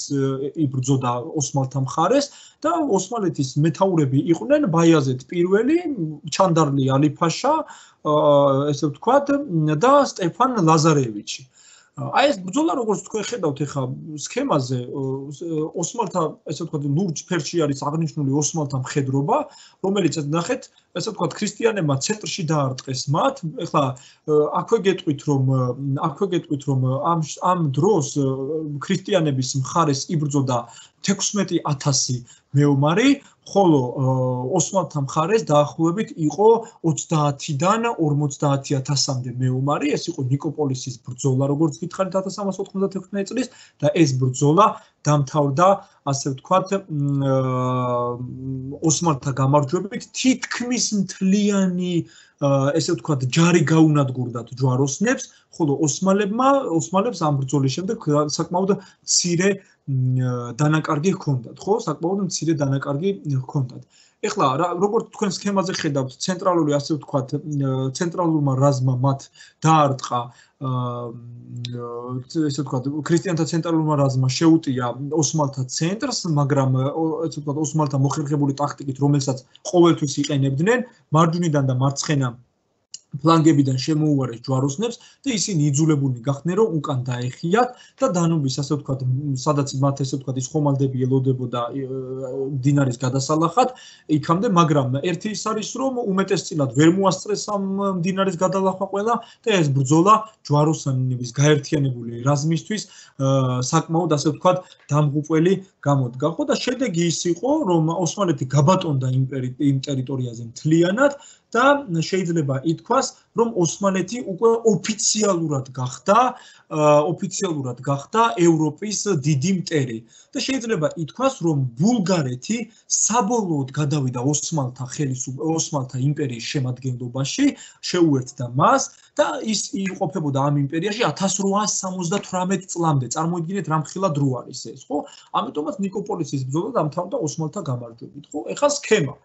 იბრძოდა ოსმალთა მხარეს და ოსმალეთის მეთაურები იყვნენ ბაიაზიდ პირველი, ჩანდარლი ალი-ფაშა, ესე ვთქვათ და სტეფან ლაზარევიჩი. აი ეს ბრძოლა როგორც თქვენ ხედავთ ეხა სქემაზე ოსმალთა ესე ვთქვათ ლურჯ ფერში არის აღნიშნული ოსმალთა მხედრობა, რომელიც ნახეთ ესე ვთქვათ ქრისტიანებმა ცენტრში დაარტყეს მათ. ეხლა აქვე გეტყვით რომ აქვე გეტყვით რომ ამ ამ დროს ქრისტიანების მხარეს იბრძოდა თექვსმეტი ათასი მეომარი, ხოლო ოსმალთა მხარეს დაახლოებით იყო ოცდაათიდან ორმოცდაათი ათასამდე მეომარი, ეს იყო ნიკოპოლისის ბრძოლა, როგორც გითხარით ათას სამას ოთხმოცდათექვსმეტ წლის და ეს ბრძოლა დამთავრდა, ასე ვთქვათ, ოსმალთა გამარჯვებით, თითქმის მთლიანი ესე ვთქვათ, ჯარი გაუნადგურდათ ჯვაროსნებს, ხოლო ოსმალებმა, ოსმალებს ამ ბრძოლის შემდეგ საკმაოდ მცირე დანაკარგი ჰქონდათ, ხო? საკმაოდ მცირე დანაკარგი ჰქონდათ. ეხლა როგორც თქვენ სქემაზე ხედავთ, ცენტრალური ასე ვთქვათ, ცენტრალურმა რაზმა მათ დაარტყა ესე ვთქვათ, ქრისტიანთა ცენტრალურმა რაზმა შეუტია ოსმალთა ცენტრს, მაგრამ ესე ვთქვათ, ოსმალთა მოხერხებული ტაქტიკით, რომელსაც ყოველთვის იყენებდნენ, მარჯვნიდან და მარცხენა ფლანგებიდან შემოუარეს ჯვაროსნებს და ისინი იძულებულნი გახდნენ რომ უკან დაეხიათ და დანუბის ასე ვთქვათ, სადაც მათ ესე ვთქვათ ის ხომალდები ელოდებოდა მდინარის გადასალახად, იქამდე, მაგრამ ერთი ის არის რომ უმეტესწილად ვერ მოასწრეს ამ მდინარის გადალახვა ყველა და ეს ბრძოლა ჯვაროსნების გაერთიანებული რაზმისთვის საკმაოდ ასე ვთქვათ დამღუპველი გამოდგა. ხო და შედეგი ის იყო რომ ოსმალეთი გაბატონდა იმ ტერიტორიაზე მთლიანად და შეიძლება ითქვას, რომ ოსმალეთი უკვე ოფიციალურად გახდა, ოფიციალურად გახდა ევროპის დიდი მტერი და შეიძლება ითქვას, რომ ბულგარეთი საბოლოოდ გადავიდა ოსმალთა ხელისუფლების, ოსმალთა იმპერიის შემადგენლობაში, შეუერთდა მას და ის იმყოფებოდა ამ იმპერიაში ათას რვაას სამოცდათვრამეტ წლამდე. წარმოიდგინეთ რამხელა დრო არის ეს, ხო? ამიტომაც ნიკოპოლისის ბრძოლა დამთავრდა ოსმალთა გამარჯვებით, ხო? ეხლა სქემა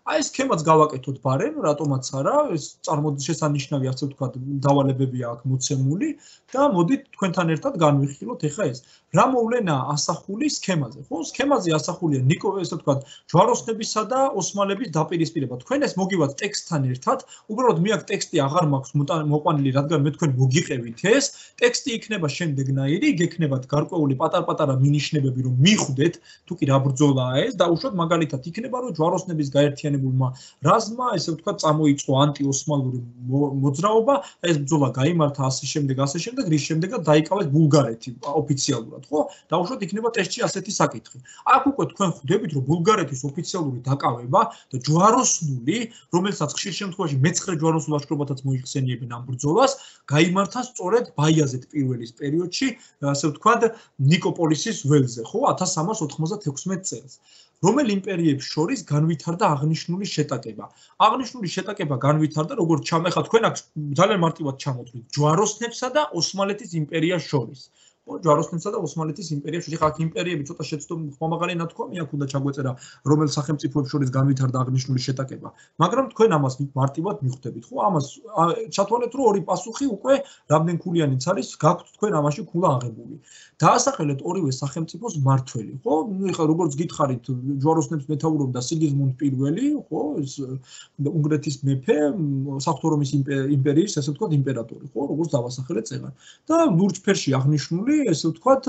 აი ეს სქემაც გავაკეთოთ ბარემ, რატომაც არა, ეს შესანიშნავი ასე ვთქვათ, დავალებებია აქ მოცემული და მოდით თქვენთან ერთად განვიხილოთ ეხა ეს. რა მოვლენა ასახული სქემაზე, ხო? სქემაზე ასახულია ნიკო, ესე ვთქვათ, ჯვაროსნებისა და ოსმალების დაპირისპირება. თქვენ ეს მოგივათ ტექსტთან ერთად, უბრალოდ მე აქ ტექსტი აღარ მაქვს მოყვანილი, რადგან მე თქვენ მოგიყევით ეს, ტექსტი იქნება შემდეგნაირი, იქნებათ გარკვეული პატარ-პატარა მინიშნებები, რომ მიხვდეთ, თუ კი რა ბრძოლაა ეს, დაუშვათ მაგალითად იქნება, რომ ჯვაროსნების გაერთიანებულმა რაზმა, ესე ვთქვათ, წამოიწყო ანტიოსმალური მოძრაობა, ეს ბრძოლა გაიმართა ასე შემდეგ, ასე შემდეგ, რის შემდეგაც დაიკავეს ბულგარეთი ოფიციალურად. ხო? დაუშვათ იქნება ტექსტში ასეთი საკითხი. აქ უკვე თქვენ ხვდებით, რომ ბულგარეთის ოფიციალური დაკავება და ჯვაროსნული, რომელსაც ხშირ შემთხვევაში მეცხრე ჯვაროსნულ ლაშქრობათაც მოიხსენიებენ ამ ბრძოლას, გაიმართა სწორედ ბაიაზიდ პირველის პერიოდში, ასე ვთქვათ, ნიკოპოლისის ველზე, ხო? ათას სამას ოთხმოცდათექვსმეტ წელს. რომელ იმპერიებს შორის განვითარდა აღნიშნული შეტაკება. აღნიშნული შეტაკება განვითარდა, როგორც ჩამეხა თქვენ აქ ძალიან მარტივად ჩამოთვლით, ჯვაროსნებსა და ოსმალეთის იმპერიას შორის. ჯვაროსნებსა და ოსმალეთის იმპერიას შორის. ხა აქ იმპერიები ცოტა შეცდომ ხმამაღალი ნათქვამი აქ უნდა ჩაგვეწერა, რომელ სახელმწიფოებს შორის განვითარდა აღნიშნული შეტაკება. მაგრამ თქვენ ამას მარტივად მიხვდებით, ხო? ამას ჩათვალეთ, რომ ორი პასუხი უკვე რამდენქულიანიც არის, გაქვთ თქვენ ამაში ქულა აღებული. დაასახელეთ ორივე სახელმწიფოს მმართველი, ხო? ეხლა როგორც გითხარით, ჯვაროსნებს მეთაურობდა სიგიზმუნდ პირველი, ხო? ეს უნგრეთის მეფე, საღვთო რომის იმპერიის, ასე ვთქვათ, იმპერატორი, ხო? როგორც დავასახელეთ წეგან. და ლურჯ ფერში აღნიშნული, ესე ვთქვათ,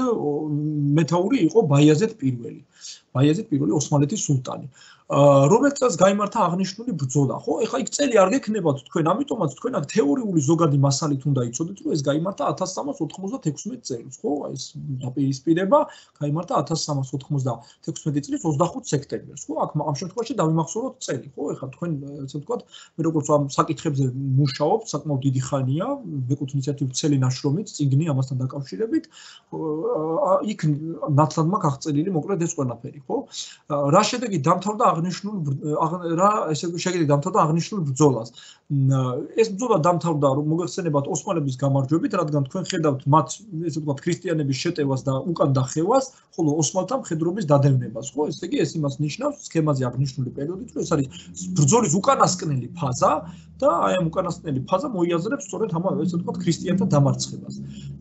მეთაური იყო ბაიაზიდ პირველი. ბაიაზიდ პირველი ოსმალეთის სულტანი. რომელ წელს გაიმართა აღნიშნული ბრძოლა, ხო? ეხლა იქ წელი არ გექნებათ თქვენ, ამიტომაც თქვენ აქ თეორიული ზოგადი მასალით უნდა იცოდეთ, რომ ეს გაიმართა ათას სამას ოთხმოცდათექვსმეტ წელს, ხო? ეს დაპირისპირება გაიმართა ათას სამას ოთხმოცდათექვსმეტ წლის ოცდახუთ სექტემბერს, ხო? აქ ამ შემთხვევაში დავიმახსოვროთ წელი, ხო? ეხლა თქვენ ესე ვთქვათ, მე როგორც ამ საკითხებზე მუშაობ, საკმაოდ დიდი ხანია, ვეკუთ ინიციატივ ცელი ნაშრომით, წიგნი ამასთან დაკავშირებით, იქ ნათლად მაქვს აღწერილი მოკლედ ეს ყველაფერი, ხო? რა შედეგი დამთავრდა აღნიშნულ რა ესე შედეგი დამთავრდა აღნიშნულ ბრძოლას. ეს ბრძოლა დამთავრდა რომ მოგეხსენებათ ოსმალების გამარჯვებით, რადგან თქვენ ხედავთ მათ ესე ვთქვათ ქრისტიანების შეტევას და უკან დახევას, ხოლო ოსმალთა მხედრობის დადევნებას, ხო? ესე იგი ეს იმას ნიშნავს სქემაზე აღნიშნული პერიოდით, რომ ეს არის ბრძოლის უკანასკნელი ფაზა და აი ამ უკანასკნელი ფაზა მოიაზრებს სწორედ ამ ესე ვთქვათ ქრისტიანთა დამარცხებას.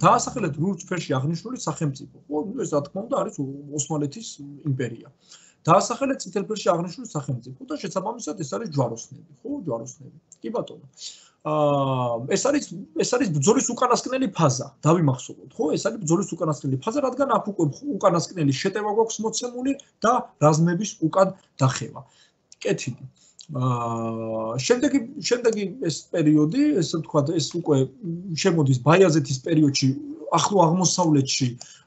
დაასახელეთ ლურჯ ფერში აღნიშნული სახელმწიფო, ხო? ეს რა თქმა უნდა არის ოსმალეთის იმპერია. დაასახელეთ წითელ ფერში აღნიშნული სახელმწიფო და შესაბამისად ეს არის ჯვაროსნები, ხო, ჯვაროსნები. კი ბატონო. აა ეს არის ეს არის ბრძოლის უკანასკნელი ფაზა, დავიმახსოვროთ, ხო? ეს არის ბრძოლის უკანასკნელი ფაზა, რადგან აქ უკვე უკანასკნელი შეტევა გვაქვს მოცემული და რაზმების უკან დახევა. კეთილი. აა შემდეგი შემდეგი ეს პერიოდი, ესე ვთქვათ, ეს უკვე შემოდის ბაიაზეთის პერიოდში, ახლო აღმოსავლეთში აა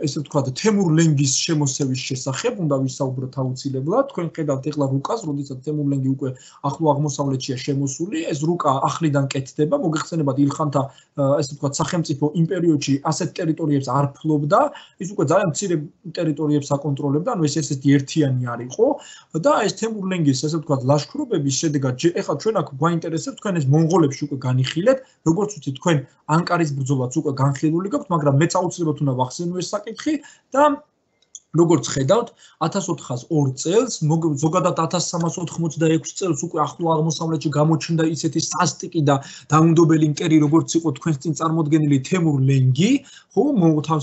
ესე ვთქვათ, თემურ ლენგის შემოსევის შესახებ უნდა ვისაუბროთ აუცილებლად. თქვენ ხედავთ ეხლა რუკას, როდესაც თემურ ლენგი უკვე ახლო აღმოსავლეთშია შემოსული, ეს რუკა ახლიდან კეთდება, მოგეხსენებათ ილხანთა ესე ვთქვათ, სახელმწიფო იმ პერიოდში ასეთ ტერიტორიებს არ ფლობდა, ის უკვე ძალიან მცირე ტერიტორიებს აკონტროლებდა, ანუ ეს ესეთი ერთიანი არ იყო და ეს თემურ ლენგის ესე ვთქვათ, ლაშქრობების შედეგად ეხლა ჩვენ აქ გვაინტერესებს თქვენ ეს მონღოლებში უკვე განიხილეთ, როგორც ვთქვით, თქვენ ანკარის ბრძოლაც უკვე განხილული გაქვთ, მაგრამ მეც აუცილებლად უნდა ვახსენო ეს საკითხი და როგორც ხედავთ, ათას ოთხას ორ წელს, ზოგადად ათას სამას ოთხმოცდაექვსი წელს უკვე ახლო აღმოსავლეთში გამოჩნდა ისეთი სასტიკი და დაუნდობელი მტერი, როგორც იყო თქვენს წინ წარმოდგენილი თემურ ლენგი, ხო,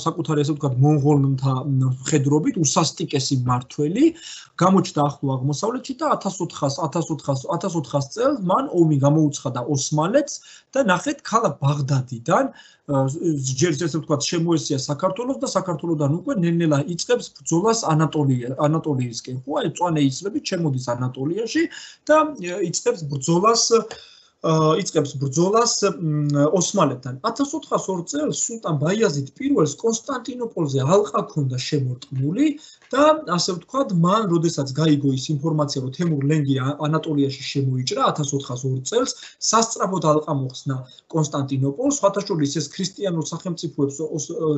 საკუთარი ასე ვთქვათ, მონღოლთა მხედრობით უსასტიკესი მმართველი, გამოჩნდა ახლო აღმოსავლეთში და ათას ოთხას ათას ოთხას ათას ოთხას წელს მან ომი გამოუცხადა ოსმალეთს და ნახეთ ქალაქ ბაღდადიდან ჯერ ესე ვთქვათ, შემოესია საქართველოს და საქართველოსთან უკვე ნელ-ნელა იწყებს ბრძოლას ანატოლია ანატოლიისკენ, ხო, აი წვანე იცლებით შემოდის ანატოლიაში და იწყებს ბრძოლას იწყებს ბრძოლას ოსმალებთან. ათას ოთხას ორ წელს სულტან ბაიაზიდ პირველს კონსტანტინოპოლზე ალყა ჰქონდა შემორტყმული და ასე ვთქვათ, მან როდესაც გაიგო ის ინფორმაცია, რომ თემურ ლენგი ანატოლიაში შემოიჭრა ათას ოთხას ორ წელს, სასწრაფოდ ალყა მოხსნა კონსტანტინოპოლს, სხვათა შორის ეს ქრისტიანულ სახელმწიფოებს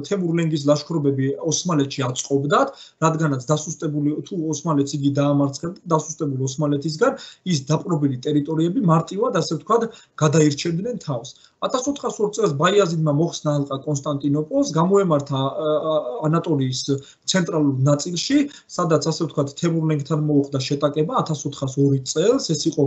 თემურ ლენგის ლაშქრობები ოსმალეთში აწყობდათ, რადგანაც დასუსტებული თუ ოსმალეთს იგი დაამარცხებდა, დასუსტებული ოსმალეთისგან ის დაპყრობილი ტერიტორიები მარტივად ასე ვთქვათ გადაირჩევდნენ თავს. ათას ოთხას ორ წელს ბაიაზიდმა მოხსნა ალყა კონსტანტინოპოლს, გამოემართა ანატოლიის ცენტრალურ ნაწილში, სადაც ასე ვთქვათ თემურ ლენგთან მოუხდა შეტაკება ათას ოთხას ორი წელს, ეს იყო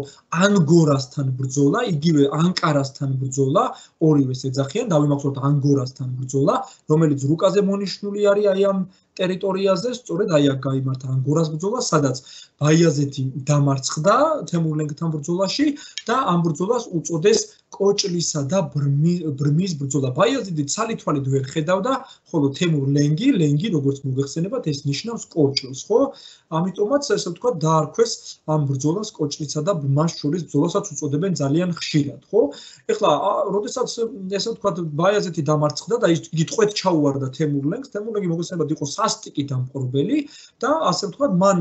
ანგორასთან ბრძოლა, იგივე ანკარასთან ბრძოლა, ორივეს ეძახიან, დავიმახსოვროთ ანგორასთან ბრძოლა, რომელიც რუკაზე მონიშნული არის აი ამ ტერიტორიაზე, სწორედ აი აქ გაიმართა ანგორას ბრძოლა, სადაც ბაიაზეთი დამარცხდა თემურ ლენგთან ბრძოლაში და ამ ბრძოლას უწოდეს კოჭლისა და ბრმის ბრძოლა. ბაიაზიდი ცალითვალით ვერ ხედავდა, ხოლო თემურ ლენგი, ლენგი როგორც მოგეხსენებათ, ეს ნიშნავს კოჭლს, ხო? ამიტომაც ესე ვთქვათ, დაარქვეს ამ ბრძოლას კოჭლისა და ბრმას შორის ბრძოლასაც უწოდებენ ძალიან ხშირად, ხო? ეხლა, როდესაც ესე ვთქვათ, ბაიაზეთი დამარცხდა და ის გიტყვეთ ჩაუვარდა თემურ ლენგს, თემურ ლენგი მოგეხსენებათ, იყო სასტიკი დამპყრობელი და ასე ვთქვათ, მან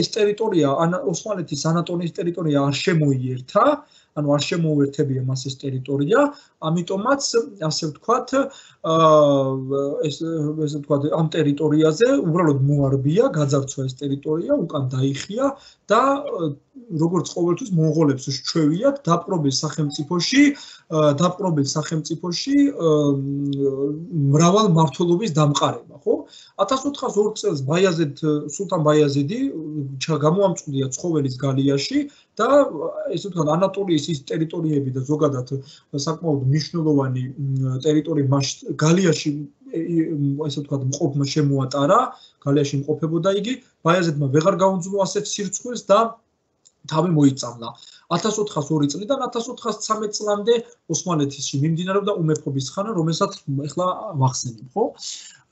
ეს ტერიტორია, ოსმალეთის ანატოლიის ტერიტორია არ შემოიერთა, ანუ არ შემოუერთებია მას ეს ტერიტორია, ამიტომაც ასე ვთქვათ, ეს ესე ვთქვათ, ამ ტერიტორიაზე უბრალოდ მოარბია, გაძარცვა ეს ტერიტორია, უკან დაიხია და როგორც ყოველთვის მონღოლებს შეჩვევიათ დაპყრობილ სახელმწიფოში, დაპყრობილ სახელმწიფოში მრავალ მმართველობის დამყარება, ხო? ათას ოთხას ორ წელს ბაიაზედ სულთან ბაიაზიდი გამოამწყვდია ცხოველის გალიაში და ესე ვთქვათ, ანატოლიის ის ტერიტორიები და ზოგადად საკმაოდ მნიშვნელოვანი ტერიტორიები გალიაში ესე ვთქვათ, მყოფმა შემოატარა, გალიაში მყოფებოდა იგი, ბაიაზედმა ვეღარ გაუძლო ასეთ სირცხვილს და თავი მოიწამლა. ათას ოთხას ორი წლიდან ათას ოთხას ცხრამეტ წლამდე ოსმალეთში მიმდინარეობდა უმეფობის ხანა, რომელსაც ახლა ვახსენებ, ხო?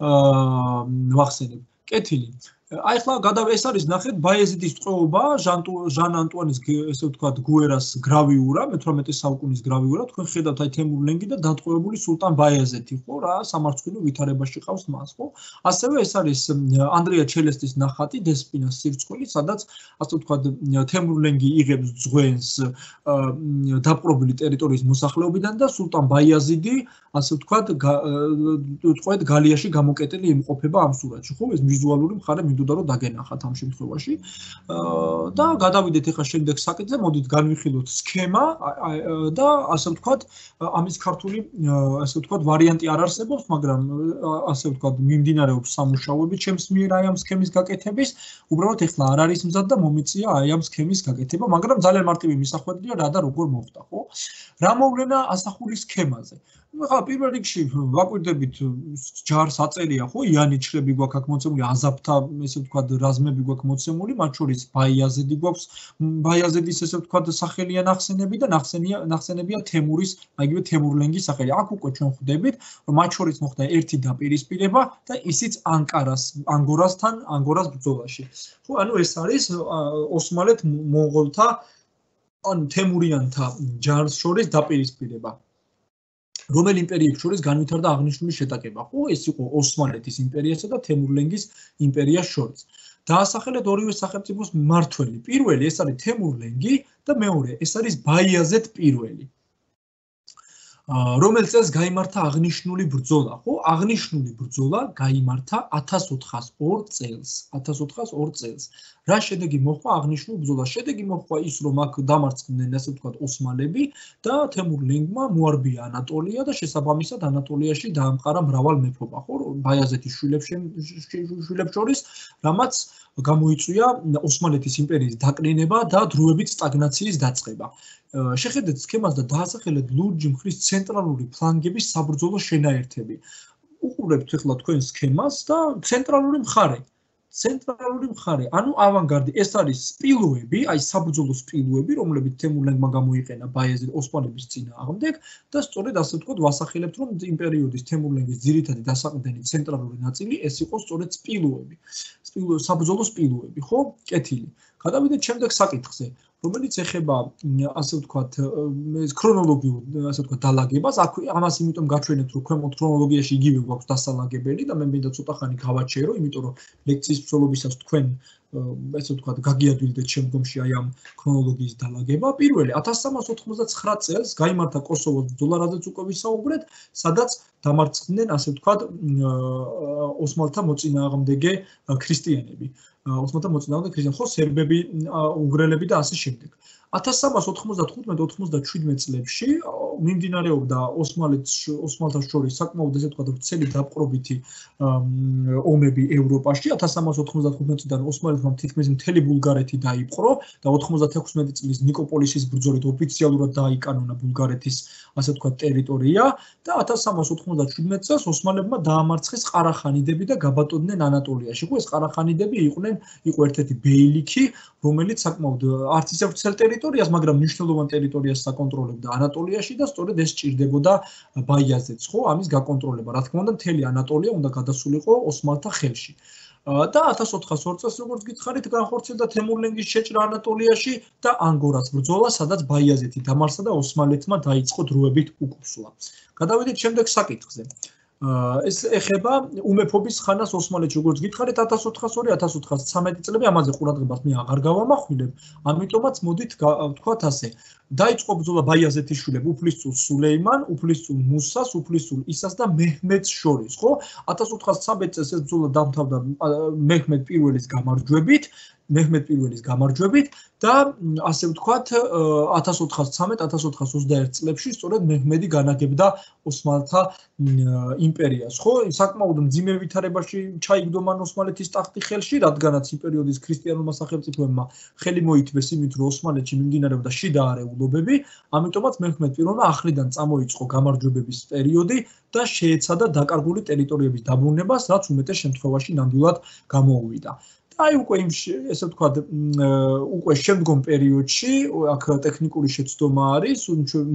აა ვახსენებ. კეთილი. აი ახლა გადავ ეს არის ნახეთ ბაიეზიდის ტყვეობა ჟან ანტუანის ესე ვთქვათ გუერას გრავიურა მეთვრამეტე საუკუნის გრავიურა თქვენ ხედავთ აი თემურ ლენგი და დატყვევებული სულტან ბაიეზეთი ხო რა სამარცხვინო ვითარებაში ყავს მას ხო ასევე ეს არის ანდრია ჩელესტის ნახატი დესპინას სირცხვილი სადაც ასე ვთქვათ თემურ ლენგი იღებს ძღვენს დაპყრობილი ტერიტორიის მოსახლეობიდან და სულტან ბაიაზიდი ასე ვთქვათ თქვენ გალიაში გამოკეტილი იმყოფება ამ სურათში ხო ეს ვიზუალური მხარე მინდოდა რომ დაგენახათ ამ შემთხვევაში და გადავიდეთ ახლა შემდეგ საკითხზე მოდით განვიხილოთ სქემა და ასე ვთქვათ ამის ქართული ასე ვთქვათ ვარიანტი არ არსებობს მაგრამ ასე ვთქვათ მიმდინარეობს სამუშაოები ჩემს მიერ აი ამ სქემის გაკეთების უბრალოდ ახლა არ არის მზად და მომიწია აი ამ სქემის გაკეთება მაგრამ ძალიან მარტივი მისახვედრია რა და როგორ მოხდა ხო რა მოვლენა ასახული სქემაზე ახლა პირველ რიგში ვაკვირდებით ჯარს აწერია ხო იანიჩლები გვაქვს აქ მოცემული აზაფთა ესე ვთქვათ რაზმები გვაქვს მოცემული მათ შორის ბაიაზედი გვაქვს ბაიაზედის ესე ვთქვათ სახელია ნახსენები და ნახსენია ნახსენებია თემურის აიგივე თემურ ლენგის სახელი აქ უკვე ჩვენ ხვდებით რომ მათ შორის მოხდა ერთი დაპირისპირება და ისიც ანკარას ანგორასთან ანგორას ბრძოლაში ხო ანუ ეს არის ოსმალეთ მონღოლთა ან თემურიანთა ჯარს შორის დაპირისპირება რომელ იმპერიებს შორის განვითარდა აღნიშნული შეტაკება ხო ეს იყო ოსმალეთის იმპერიასა და თემურ ლენგის იმპერიას შორის დაასახელეთ ორივე სახელმწიფოს მმართველი პირველი ეს არის თემურ ლენგი და მეორე ეს არის ბაიაზედ პირველი რომელ წელს გაიმართა აღნიშნული ბრძოლა ხო აღნიშნული ბრძოლა გაიმართა ათას ოთხას ორ წელს ათას ოთხას ორ წელს რა შედეგი მოხდა აღნიშნულ ბრძოლას შედეგი მოხდა ის რომ აქ დამარცხდნენ ასე ვთქვათ ოსმალები და თემურ ლენგმა მოარბია ანატოლია და შესაბამისად ანატოლიაში დაამყარა მრავალ მეფობა ხო ბაიაზეთის შვილებს შვილებს შორის რამაც გამოიწვია ოსმალეთის იმპერიის დაკნინება და დროებით სტაგნაციის დაწყება შეხედეთ სქემას და დაასახელეთ ლურჯი მხრის ცენტრალური ფლანგების საბრძოლო შენაერთები უყურებთ ახლა თქვენ სქემას და ცენტრალური მხარე ცენტრალური მხარე ანუ ავანგარდი ეს არის სპილოები აი საბრძოლო სპილოები რომლებიც თემურ ლენგმა გამოიყენა ბაიაზიდ ოსმალების წინააღმდეგ და სწორედ ასე ვთქვათ ვასახელებთ რომ იმ პერიოდის თემურ ლენგის ძირითადი დასაყრდენი ცენტრალური ნაწილი ეს იყო სწორედ სპილოები სპილო საბრძოლო სპილოები ხო კეთილი გადავიდეთ შემდეგ საკითხზე რომელიც ეხება ასე ვთქვათ ეს ქრონოლოგიურ ასე ვთქვათ დალაგებას აქ ამას იმიტომ გაჩვენებთ რომ ქვემოთ ქრონოლოგიაში იგივე გვაქვს დასალაგებელი და მე მინდა ცოტა ხანი გავაჩერო იმიტომ რომ ლექციის მსვლელობისას თქვენ ესე ვთქვათ გაგიადვილდეთ შემდგომში აი ამ ქრონოლოგიის დალაგება პირველი ათას სამას ოთხმოცდაცხრა წელს გაიმართა კოსოვოს ბრძოლა რაზეც უკვე ვისაუბრეთ სადაც დამარცხდნენ ასე ვთქვათ ოსმალთა მოწინააღმდეგე ქრისტიანები ოსმალთა მოწინააღმდეგე ქრისტიანები ხო სერბები უნგრელები და ასე შემდეგ ათას სამას ოთხმოცდათხუთმეტ ოთხმოცდაშვიდმეტ წლებში მიმდინარეობდა ოსმალეთს ოსმალთა შორის საკმაოდ ესე ვთქვათ ვრცელი დაპყრობითი ომები ევროპაში ათას სამას ოთხმოცდათხუთმეტ წლიდან ოსმალეთმა თითქმის მთელი ბულგარეთი დაიპყრო და ოთხმოცდათექვსმეტი წლის ნიკოპოლისის ბრძოლით ოფიციალურად დაიკანონა ბულგარეთის ასე ვთქვათ ტერიტორია და ათას სამას ოთხმოცდაშვიდმეტ წელს ოსმალებმა დაამარცხეს ყარახანიდები და გაბატონდნენ ანატოლიაში ხო ეს ყარახანიდები იყვნენ იყო ერთ-ერთი ბეილიქი რომელიც საკმაოდ არც ისე ვრცელ ტერიტორიას მაგრამ მნიშვნელოვან ტერიტორიას საკონტროლებდა ანატოლიაში და სწორედ ეს ჭირდებოდა ბაიაზედს ხო ამის გაკონტროლება რა თქმა უნდა მთელი ანატოლია უნდა გადასულიყო ოსმალთა ხელში და ათას ოთხას ორ წელს როგორც გითხარით განხორციელდა თემურ ლენგის შეჭრა ანატოლიაში და ანგორას ბრძოლა სადაც ბაიაზეთი დამარცხდა და ოსმალეთმა დაიწყო დროებით უკუსლა გადავიდეთ შემდეგ საკითხზე ეს ეხება უმეფობის ხანას ოსმალეთში როგორც გითხარით ათას ოთხას ორი ათას ოთხას ცხრამეტი წლები ამაზე ყურადღებას მე აღარ გავამახვილებ ამიტომაც მოდით ვთქვათ ასე დაიწყო ბრძოლა ბაიაზეთის შვილებს უფლისწულ სულეიმან უფლისწულ მუსას უფლისწულ ისას და მეჰმედს შორის ხო ათას ოთხას ცხრამეტ წელს ეს ბრძოლა დამთავრდა მეჰმედ პირველის გამარჯვებით მეჰმედ პირველის გამარჯვებით და ასე ვთქვათ ათას ოთხას ცხრამეტ ათას ოთხას ოცდაერთ წლებში სწორედ მეჰმედი განაგებდა ოსმალთა იმპერიას ხო საკმაოდ მძიმე ვითარებაში ჩაიგდო მან ოსმალეთის ტახტი ხელში რადგანაც იმ პერიოდის ქრისტიანულმა სახელმწიფოებმა ხელი მოითმეს იმით რომ ოსმალეთში მიმდინარეობდა შიდა არეულობები ამიტომაც მეჰმედ პირველმა ახლიდან წამოიწყო გამარჯვებების პერიოდი და შეეცადა დაკარგული ტერიტორიების დაბრუნებას რაც უმეტეს შემთხვევაში ნამდვილად გამოუვიდა და აი უკვე იმ ესე ვთქვათ, უკვე შემდგომ პერიოდში აქ ტექნიკური შეცდომა არის,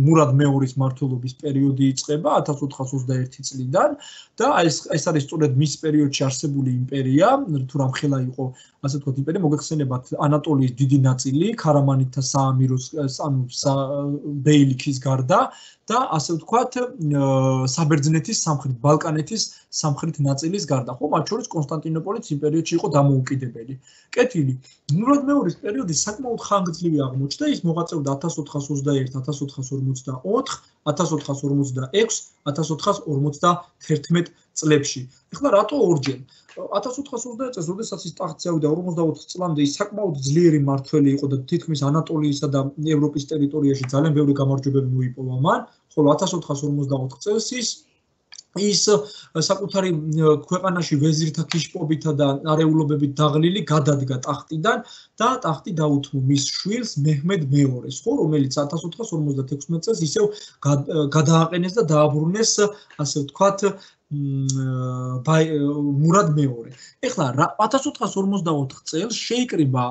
მურად მეორის მმართველობის პერიოდი იწყება ათას ოთხას ოცდაერთი წლიდან და აი ეს არის სწორედ მის პერიოდში არსებული იმპერია, თუ რამხელა იყო ასე ვთქვათ იმპერია, მოგეხსენებათ ანატოლიის დიდი ნაწილი, ქარამანითა საამიროს ანუ ბეილიქის გარდა და ასე ვთქვათ საბერძნეთის სამხრეთ ბალკანეთის სამხრეთ ნაწილის გარდა, ხო, მათ შორის კონსტანტინოპოლიც იმ პერიოდში იყო დამოუკიდებელი. კეთილი, მურად მეორის პერიოდი საკმაოდ ხანგრძლივი აღმოჩნდა, ის მოღვაწეობდა ათას ოთხას ოცდაერთი ათას ოთხას ორმოცდაოთხი ათას ოთხას ორმოცდაექვსი ათას ოთხას ორმოცდათერთმეტ წლებში. ეხლა რატო ორჯერ? ათას ოთხას ოცდაერთი წელს, როდესაც ის ტახტზე ავიდა ორმოცდაოთხ წლამდე, ის საკმაოდ ძლიერი მმართველი იყო და თითქმის ანატოლიისა და ევროპის ტერიტორიაში ძალიან ბევრი გამარჯვებები მოიპოვა მან, ხოლო ათას ოთხას ორმოცდაოთხ წელს ის ის საკუთარი ქვეყანაში ვეზირთა ქიშპობითა და არეულობებით დაღლილი გადადგა ტახტიდან და ტახტი დაუთმო მის შვილს მეჰმედ მეორეს, ხო, რომელიც ათას ოთხას ორმოცდათექვსმეტ წელს ისევ გადააყენეს და დააბრუნეს, ასე ვთქვათ, მურად მეორე. ეხლა ათას ოთხას ორმოცდაოთხ წელს შეიკრიბა,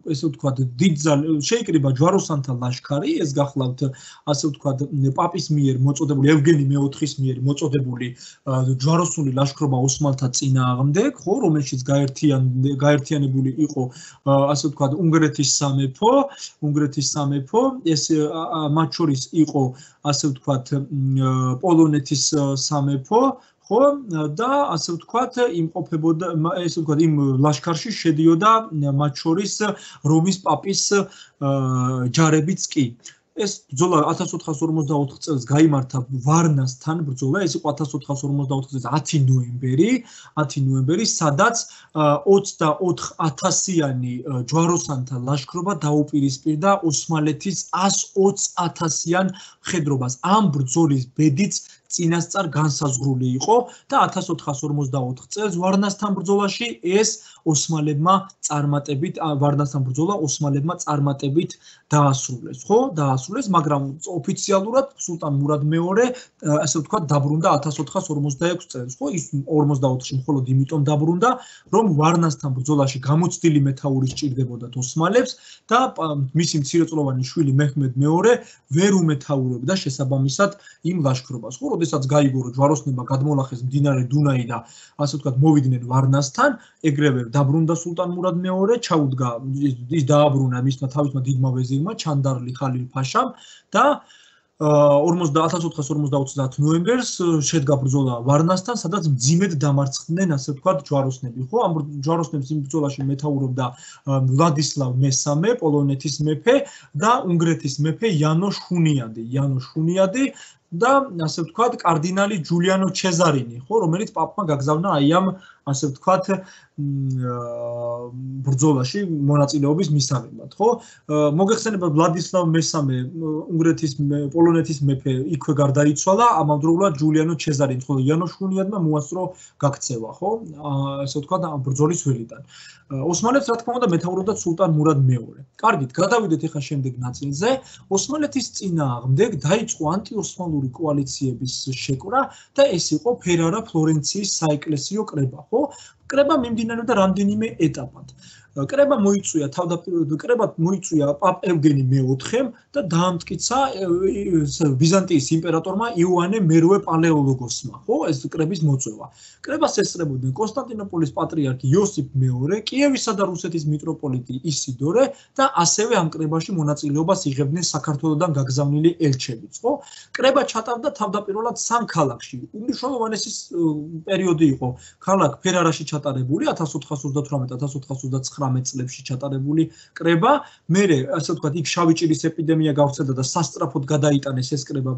ესე ვთქვათ, დიდძალი შეიკრიბა ჯვაროსანთა ლაშქარი, ეს გახლავთ, ასე ვთქვათ, პაპის მიერ მოწოდებული ევგენი მეოთხის მიერ მოწოდებული ჯვაროსული ლაშქრობა ოსმალთა წინააღმდეგ, ხო, რომელშიც გაერთიანებული იყო, ასე ვთქვათ, უნგრეთის სამეფო, უნგრეთის სამეფო, ეს მათ შორის იყო, ასე ვთქვათ, პოლონეთის სამეფო, ხო, და ასე ვთქვათ, იმყოფებოდა, ესე ვთქვათ, იმ ლაშქარში შედიოდა მათ შორის რომის პაპის ჯარებიც კი. ეს ბრძოლა ათას ოთხას ორმოცდაოთხ წელს გაიმართა ვარნასთან ბრძოლა, ეს იყო ათას ოთხას ორმოცდაოთხ წელს ათი ნოემბერი, ათი ნოემბერი, სადაც ოცდაოთხ ათასიანი ჯვაროსანთა ლაშქრობა დაუპირისპირდა ოსმალეთის ას ოცი ათასიან მხედრობას. ამ ბრძოლის ბედიც წინასწარ განსაზღვრული იყო და ათას ოთხას ორმოცდაოთხ წელს ვარნასთან ბრძოლაში ეს ოსმალებმა წარმატებით ვარნასთან ბრძოლა ოსმალებმა წარმატებით დაასრულეს, ხო? დაასრულეს, მაგრამ ოფიციალურად სულტან მურად მეორე, ასე ვთქვათ, დაბრუნდა ათას ოთხას ორმოცდაექვსი წელს, ხო? ის ორმოცდაოთხში მხოლოდ იმიტომ დაბრუნდა, რომ ვარნასთან ბრძოლაში გამოცდილი მეთაური სჭირდებოდათ ოსმალებს და მისი მცირეწლოვანი შვილი მეჰმედ მეორე ვერ უმეთაურებდა შესაბამისად იმ ლაშქრობას, ხო? როდესაც გაიგო, რომ ჯვაროსნებმა გადმოლახეს მდინარე დუნაი და ასე ვთქვათ, მოვიდნენ ვარნასთან, ეგრევე დაბრუნდა სულტან მურად მეორე, ჩაუდგა, ის დააბრუნა მისმა თავისმა დიდმა ვეზირმა, ჩანდარლი ხალილ ფაშამ და ათას ოთხას ორმოცდაოთხ ნოემბერს შედგა ბრძოლა ვარნასთან, სადაც მძიმედ დამარცხდნენ, ასე ვთქვათ, ჯვაროსნები, ხო? ამ ჯვაროსნებს იმ ბრძოლაში მეთაურობდა ვლადისლავ მესამე, პოლონეთის მეფე და უნგრეთის მეფე იანოშ ჰუნიადი, იანოშ ჰუნიადი და ასე ვთქვათ, კარდინალი ჯულიანო ჩეზარინი, ხო, რომელიც პაპმა გაგზავნა აი ამ, ასე ვთქვათ, ბრძოლაში მონაწილეობის მისაღებად, ხო? მოგეხსენებათ ვლადისლავ მესამე, უნგრეთის პოლონეთის მეფე იქვე გარდაიცვალა, ამავდროულად ჯულიანო ჩეზარინი, ხოლო იანოშ ჰუნიადმა მოასწრო გაქცევა, ხო? ასე ვთქვათ, ამ ბრძოლის ველიდან. ოსმალებს, რა თქმა უნდა, მეთაურობდა სულტან მურად მეორე. კარგით, გადავიდეთ ახლა შემდეგ ნაწილზე. ოსმალეთის წინააღმდეგ დაიწყო ანტიოსმალური კოალიციების შეკრა და ეს იყო ფერარა ფლორენციის საეკლესიო კრება, ხო? კრება მიმდინარეობდა რამდენიმე ეტაპად. კრება მოიწვია თავდაპირველად კრებად მოიწვია პაპ ევგენი მეოთხემ და დაამტკიცა ბიზანტიის იმპერატორმა იოანე მერვე პალეოლოგოსმა, ხო, ეს კრების მოწვევა. კრებას ესწრებოდნენ კონსტანტინოპოლის პატრიარქი იოსიფ მეორე, კიევისა და რუსეთის მიტროპოლიტი ისიდორე და ასევე ამ კრებაში მონაწილეობას იღებდნენ საქართველოსდან გაგზავნილი ელჩებიც, ხო? კრება ჩატარდა თავდაპირველად სამ ქალაქში. უმნიშვნელოვანესი პერიოდი იყო ქალაქ ფერარაში ჩატარებული ათას ოთხას ოცდათვრამეტ ათას ოთხას ოცდაცხრამეტ წლებში ჩატარებული კრება, მერე, ასე ვთქვათ, იქ შავი ჭირის ეპიდემია გავრცელდა და სასწრაფოდ გადაიტანეს ეს კრება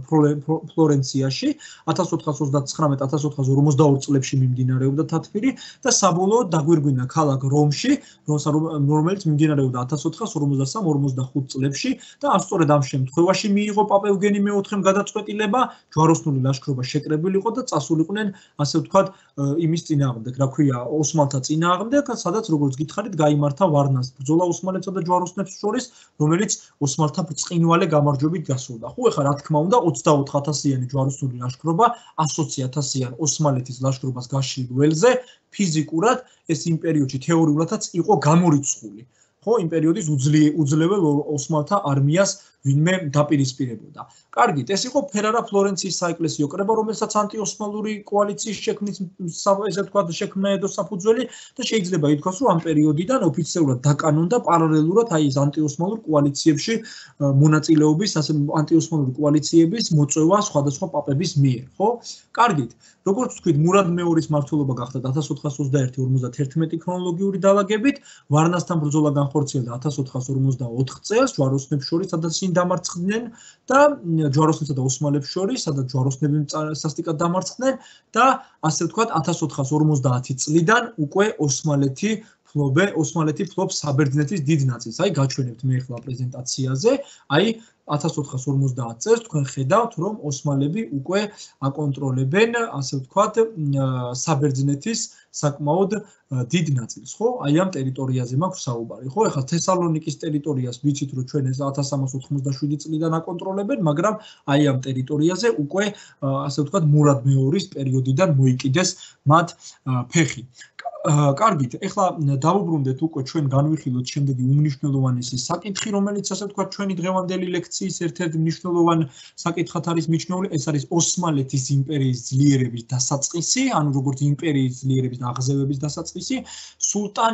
ფლორენციაში ათას ოთხას ოცდაცხრამეტ ათას ოთხას ორმოცდაორ წლებში მიმდინარეობდა თათბირი და საბოლოოდ დაგვირგვინა ქალაქ რომში, რომელიც მიმდინარეობდა ათას ოთხას ორმოცდასამ ორმოცდახუთ წლებში და სწორედ ამ შემთხვევაში მიიღო პაპ ევგენი მეოთხემ გადაწყვეტილება, ჯვაროსნული ლაშქრობა შეკრებილიყო და წასულიყვნენ, ასე ვთქვათ, იმის წინააღმდეგ, რა ქვია, ოსმალთა წინააღმდეგ, სადაც როგორც გითხარით, გაიმართა ვარნას ბრძოლა ოსმალეთსა და ჯვაროსნებს შორის, რომელიც ოსმალთა ბრწყინვალე გამარჯვებით დასრულდა. ხო, ეხლა რა თქმა უნდა ოცდაოთხ ათასიანი ჯვაროსნული ლაშქრობა ათი ათასიან ოსმალეთის ლაშქრობას გაშლილ ველზე ფიზიკურად ეს იმ პერიოდში თეორიულადაც იყო გამორიცხული. ხო, იმ პერიოდის უძლეველ ოსმალთა არმიას ვინმე დაპირისპირებოდა. კარგით, ეს იყო ფერარა ფლორენციის საეკლესიო კრება, რომელსაც ანტიოსმალური კოალიციის შექმნის ესე ვთქვათ შექმნა ედო საფუძველი და შეიძლება ითქვას, რომ ამ პერიოდიდან ოფიციალურად დაკანონდა პარალელურად აი ეს ანტიოსმალურ კოალიციებში მონაწილეობის, ასე ანტიოსმალური კოალიციების მოწვევა სხვადასხვა პაპების მიერ, ხო? კარგით, როგორც ვთქვით, მურად მეორის მმართველობა გახდა ათას ოთხას ოცდაერთი ორმოცდათერთმეტი ქრონოლოგიური დალაგებით, ვარნასთან ბრძოლა განხორციელდა ათას ოთხას ორმოცდაოთხ წელს ჯვაროსნებს შორის, სადაც დამარცხდნენ და ჯვაროსნებსა და ოსმალებს შორის, სადაც ჯვაროსნები სასტიკად დამარცხდნენ და ასე ვთქვათ ათას ოთხას ორმოცდაათი წლიდან უკვე ოსმალეთი ფლობე, ოსმალეთი ფლობს საბერძნეთის დიდ ნაწილს. აი გაჩვენებთ მე ახლა პრეზენტაციაზე, აი ათას ოთხას ორმოცდაათ წელს თქვენ ხედავთ, რომ ოსმალები უკვე აკონტროლებენ, ასე ვთქვათ, საბერძნეთის საკმაოდ დიდ ნაწილს, ხო? აი ამ ტერიტორიაზე მაქვს საუბარი, ხო? ეხლა თესალონიკის ტერიტორიას ვიცით, რომ ჩვენ ეს ათას სამას ოთხმოცდაშვიდი წლიდან აკონტროლებენ, მაგრამ აი ამ ტერიტორიაზე უკვე, ასე ვთქვათ, მურად მეორის პერიოდიდან მოიკიდეს მათ ფეხი. კარგით, ეხლა დავუბრუნდეთ უკვე ჩვენ განვიხილოთ შემდეგი უმნიშვნელოვანესი საკითხი, რომელიც ასე ვთქვათ ჩვენი დღევანდელი ლექციის ერთ-ერთი მნიშვნელოვანი საკითხად არის მიჩნეული, ეს არის ოსმალეთის იმპერიის ძლიერების დასაწყისი, ანუ როგორც იმპერიის ძლიერების აღზევების დასაწყისი, სულტან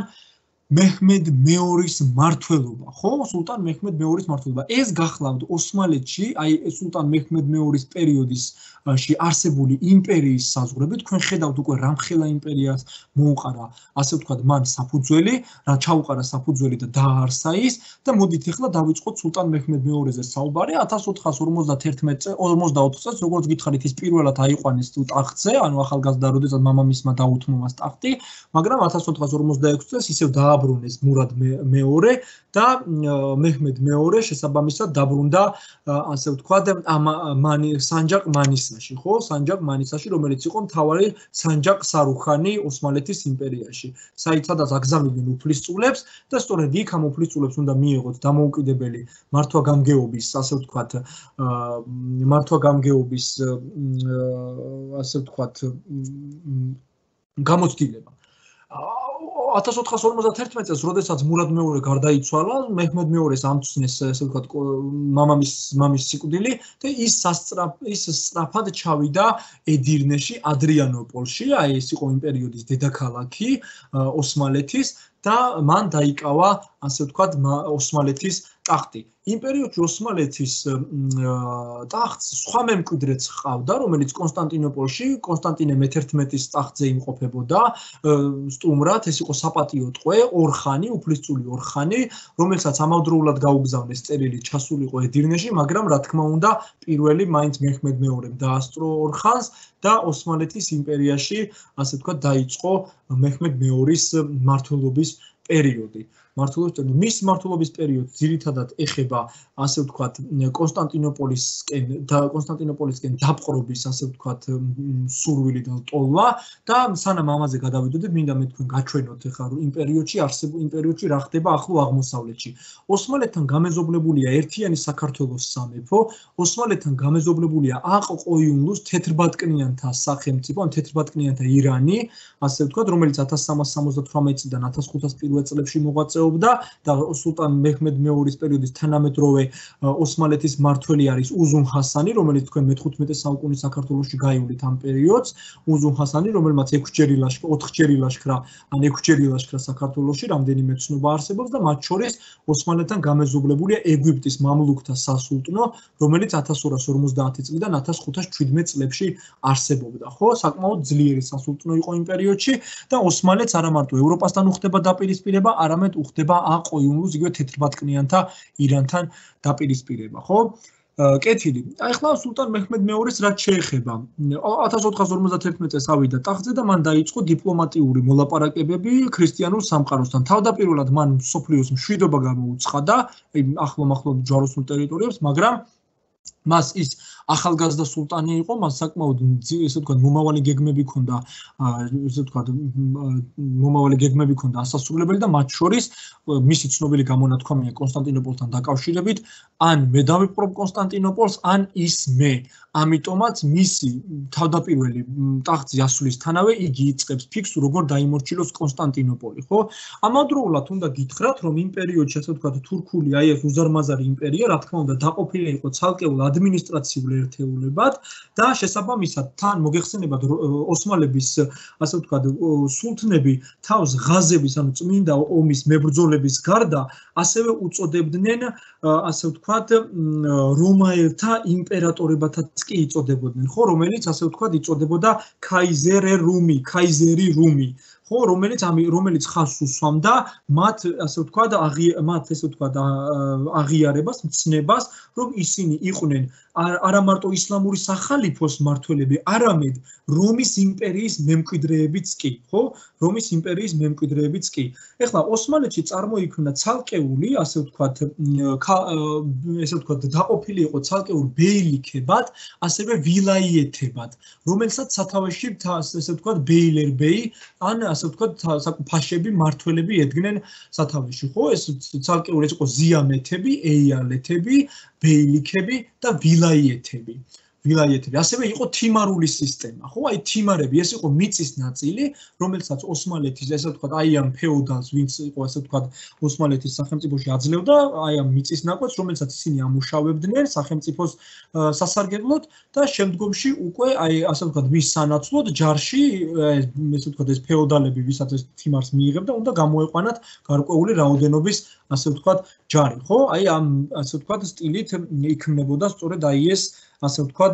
მეჰმედ მეორის მმართველობა, ხო? სულტან მეჰმედ მეორის მმართველობა. ეს გახლავთ ოსმალეთში, აი სულტან მეჰმედ მეორის პერიოდისში არსებული იმპერიის საზღვრები, თქვენ ხედავთ უკვე რამხელა იმპერიას მოუყარა, ასე ვთქვათ, მან საფუძველი, რა ჩაუყარა საფუძველი და დააარსა ის და მოდით ახლა დავიწყოთ სულტან მეჰმედ მეორეზე საუბარი. ათას ოთხას ორმოცდათერთმეტ ორმოცდაოთხ წელს, როგორც გითხარით, ის პირველად აიყვანეს ტახტზე, ანუ ახალგაზრდა, როდესაც მამამისმა დაუთმო მას ტახტი, მაგრამ ათას ოთხას ორმოცდაექვსი წელს ისევ დააბრუნეს მურად მეორე და მეჰმედ მეორე შესაბამისად დაბრუნდა, ასე ვთქვათ, მანი სანჯაკ მანისაში, ხო? სანჯაკ მანისაში, რომელიც იყო მთავარი სანჯაკ სარუხანი ოსმალეთის იმპერიაში. საიცადაც აგზავნიდნენ უფლისწულებს და სწორედ იქ ამ უფლისწულებს უნდა მიიღოთ დამოუკიდებელი მართვა-გამგეობის, ასე ვთქვათ, მართვა-გამგეობის, ასე ვთქვათ, გამოცდილება. ათას ოთხას ორმოცდათერთმეტ წელს, როდესაც მურად მეორე გარდაიცვალა, მეჰმედ მეორეს ამცნეს, ასე ვთქვათ, მამამის მამის სიკვდილი და ის სასწრაფ ის სწრაფად ჩავიდა ედირნეში, ადრიანოპოლში, აი ეს იყო იმ პერიოდის დედაქალაქი ოსმალეთის და მან დაიკავა, ასე ვთქვათ, ოსმალეთის ტახტი. იმ პერიოდში ოსმალეთის ტახტს სხვა მემკვიდრეც ჰყავდა, რომელიც კონსტანტინოპოლში, კონსტანტინე მეთერთმეტის ტახტზე იმყოფებოდა, სტუმრად, ეს იყო საპატიო ტყვე, ორხანი, უფლისწული ორხანი, რომელსაც ამავდროულად გაუგზავნეს წერილი ჩასულიყო ედირნეში, მაგრამ რა თქმა უნდა, პირველი მაინც მეჰმედ მეორემ დაასწრო ორხანს და ოსმალეთის იმპერიაში, ასე ვთქვათ, დაიწყო მეჰმედ მეორის მმართველობის პერიოდი. მმართველობის პერიოდი. მის მმართველობის პერიოდს ძირითადად ეხება, ასე ვთქვათ, კონსტანტინოპოლისკენ და კონსტანტინოპოლისკენ დაპყრობის, ასე ვთქვათ, სურვილი და ტოლვა და სანამ ამაზე გადავიდოდეთ, მინდა მე თქვენ გაჩვენოთ ახლა რომ იმ პერიოდში არსებულ იმ პერიოდში რა ხდება ახლო აღმოსავლეთში. ოსმალეთთან გამეზობლებულია ერთიანი საქართველოს სამეფო, ოსმალეთთან გამეზობლებულია აყ-ყოიუნლუს თეთრბატკნიანთა სახელმწიფო, ან თეთრბატკნიანთა ირანი, ასე ვთქვათ, რომელიც ათას სამას სამოცდათვრამეტ წლიდან ათას ხუთას პირველ წლებში მოღვაწეობდა და სულტან მეჰმედ მეორის პერიოდის თანამედროვე ოსმალეთის მმართველი არის უზუნ ჰასანი, რომელიც თქვენ მეთხუთმეტე საუკუნის საქართველოში გაივლით ამ პერიოდს, უზუნ ჰასანი, რომელმაც ექვსჯერი ლაშქრა, ოთხჯერი ლაშქრა, ან ექვსჯერი ლაშქრა საქართველოში, რამდენიმე ცნობა არსებობს და მათ შორის ოსმალეთთან გამეზობლებულია ეგვიპტის მამლუქთა სასულტნო, რომელიც ათას ორას ორმოცდაათი წლიდან ათას ხუთას შვიდმეტ წლებში არსებობდა, ხო? საკმაოდ ძლიერი სასულტნო იყო იმ პერიოდში და ოსმალეთს არა მარტო ევროპასთან უხდება დაპირისპირება, არამედ უხდება აყ-ყოიუნლუს, იგივე თეთრბატკნიანთა ირანთან დაპირისპირება, ხო? კეთილი. აი ახლა სულტან მეჰმედ მეორის რაც შეეხება, ათას ოთხას ორმოცდათერთმეტ წელს ავიდა ტახტზე და მან დაიწყო დიპლომატიური მოლაპარაკებები ქრისტიანულ სამყაროსთან. თავდაპირველად მან მსოფლიოს მშვიდობა გამოუცხადა, ახლო-ახლო ჯვაროსნულ ტერიტორიებს, მაგრამ მას ის ახალგაზრდა სულტანი იყო, მას საკმაოდ ესე ვთქვათ მომავალი გეგმები ჰქონდა, ესე ვთქვათ მომავალი გეგმები ჰქონდა ასასრულებელი და მათ შორის მისი ცნობილი გამონათქვამია კონსტანტინოპოლთან დაკავშირებით, ან მე დავიპყრობ კონსტანტინოპოლს, ან ის მე. ამიტომაც მისი თავდაპირველი ტახტზე ასვლისთანავე იგი იწყებს ფიქს, როგორ დაიმორჩილოს კონსტანტინოპოლი, ხო? ამავდროულად უნდა გითხრათ, რომ იმ პერიოდში, ასე ვთქვათ, თურქული აი ეს უზარმაზარი იმპერია, რა თქმა უნდა, დაყოფილი იყო ცალკეულ ადმინისტრაციულ ერთეულებად და შესაბამისად თან მოგეხსენებათ ოსმალების, ასე ვთქვათ, სულთნები თავს ღაზების, ანუ წმინდა ომის მებრძოლების გარდა ასევე უწოდებდნენ, ასე ვთქვათ, რომაელთა იმპერატორებათაც კი იწოდებოდნენ, ხო, რომელიც ასე ვთქვათ იწოდებოდა ქაიზერე რუმი, ქაიზერი რუმი. ხო, რომელიც ამი რომელიც ხაზს უსვამდა მათ, ასე ვთქვათ, მათ ესე ვთქვათ, აღიარებას, მცნებას, რომ ისინი იყვნენ არა მარტო ისლამური სახალიფოს მმართველები, არამედ რომის იმპერიის მემკვიდრეებიც კი, ხო? რომის იმპერიის მემკვიდრეებიც კი. ეხლა ოსმალეთში წარმოიქმნა ცალკეული, ასე ვთქვათ, ესე ვთქვათ, დაყოფილი იყო ცალკეულ ბეილიქებად, ასევე ვილაიეთებად, რომელსაც სათავეში ესე ვთქვათ, ბეილერბეი, ან ასე ვთქვათ, ფაშები, მმართველები ედგნენ სათავეში, ხო? ეს ცალკეული ეს იყო ზიამეთები, ეიალეთები, ბეილიქები და ვილაიეთები. ვილაიეთები. ასევე იყო თიმარული სისტემა, ხო? აი თიმარები, ეს იყო მიწის ნაწილი, რომელსაც ოსმალეთის, ესე ვთქვათ, აი ამ ფეოდალს, ვინც იყო, ესე ვთქვათ, ოსმალეთის სახელმწიფოში აძლევდა, აი ამ მიწის ნაკვეთს, რომელსაც ისინი ამუშავებდნენ სახელმწიფოს სასარგებლოდ და შემდგომში უკვე აი ასე ვთქვათ, მის სანაცვლოდ ჯარში, ესე ვთქვათ, ეს ფეოდალები, ვისაც ეს თიმარს მიიღებდა, უნდა გამოეყვანათ გარკვეული რაოდენობის, ასე ვთქვათ, ჯარი, ხო? აი ამ ასე ვთქვათ, სტილით იქმნებოდა სწორედ აი ეს ასე ვთქვათ,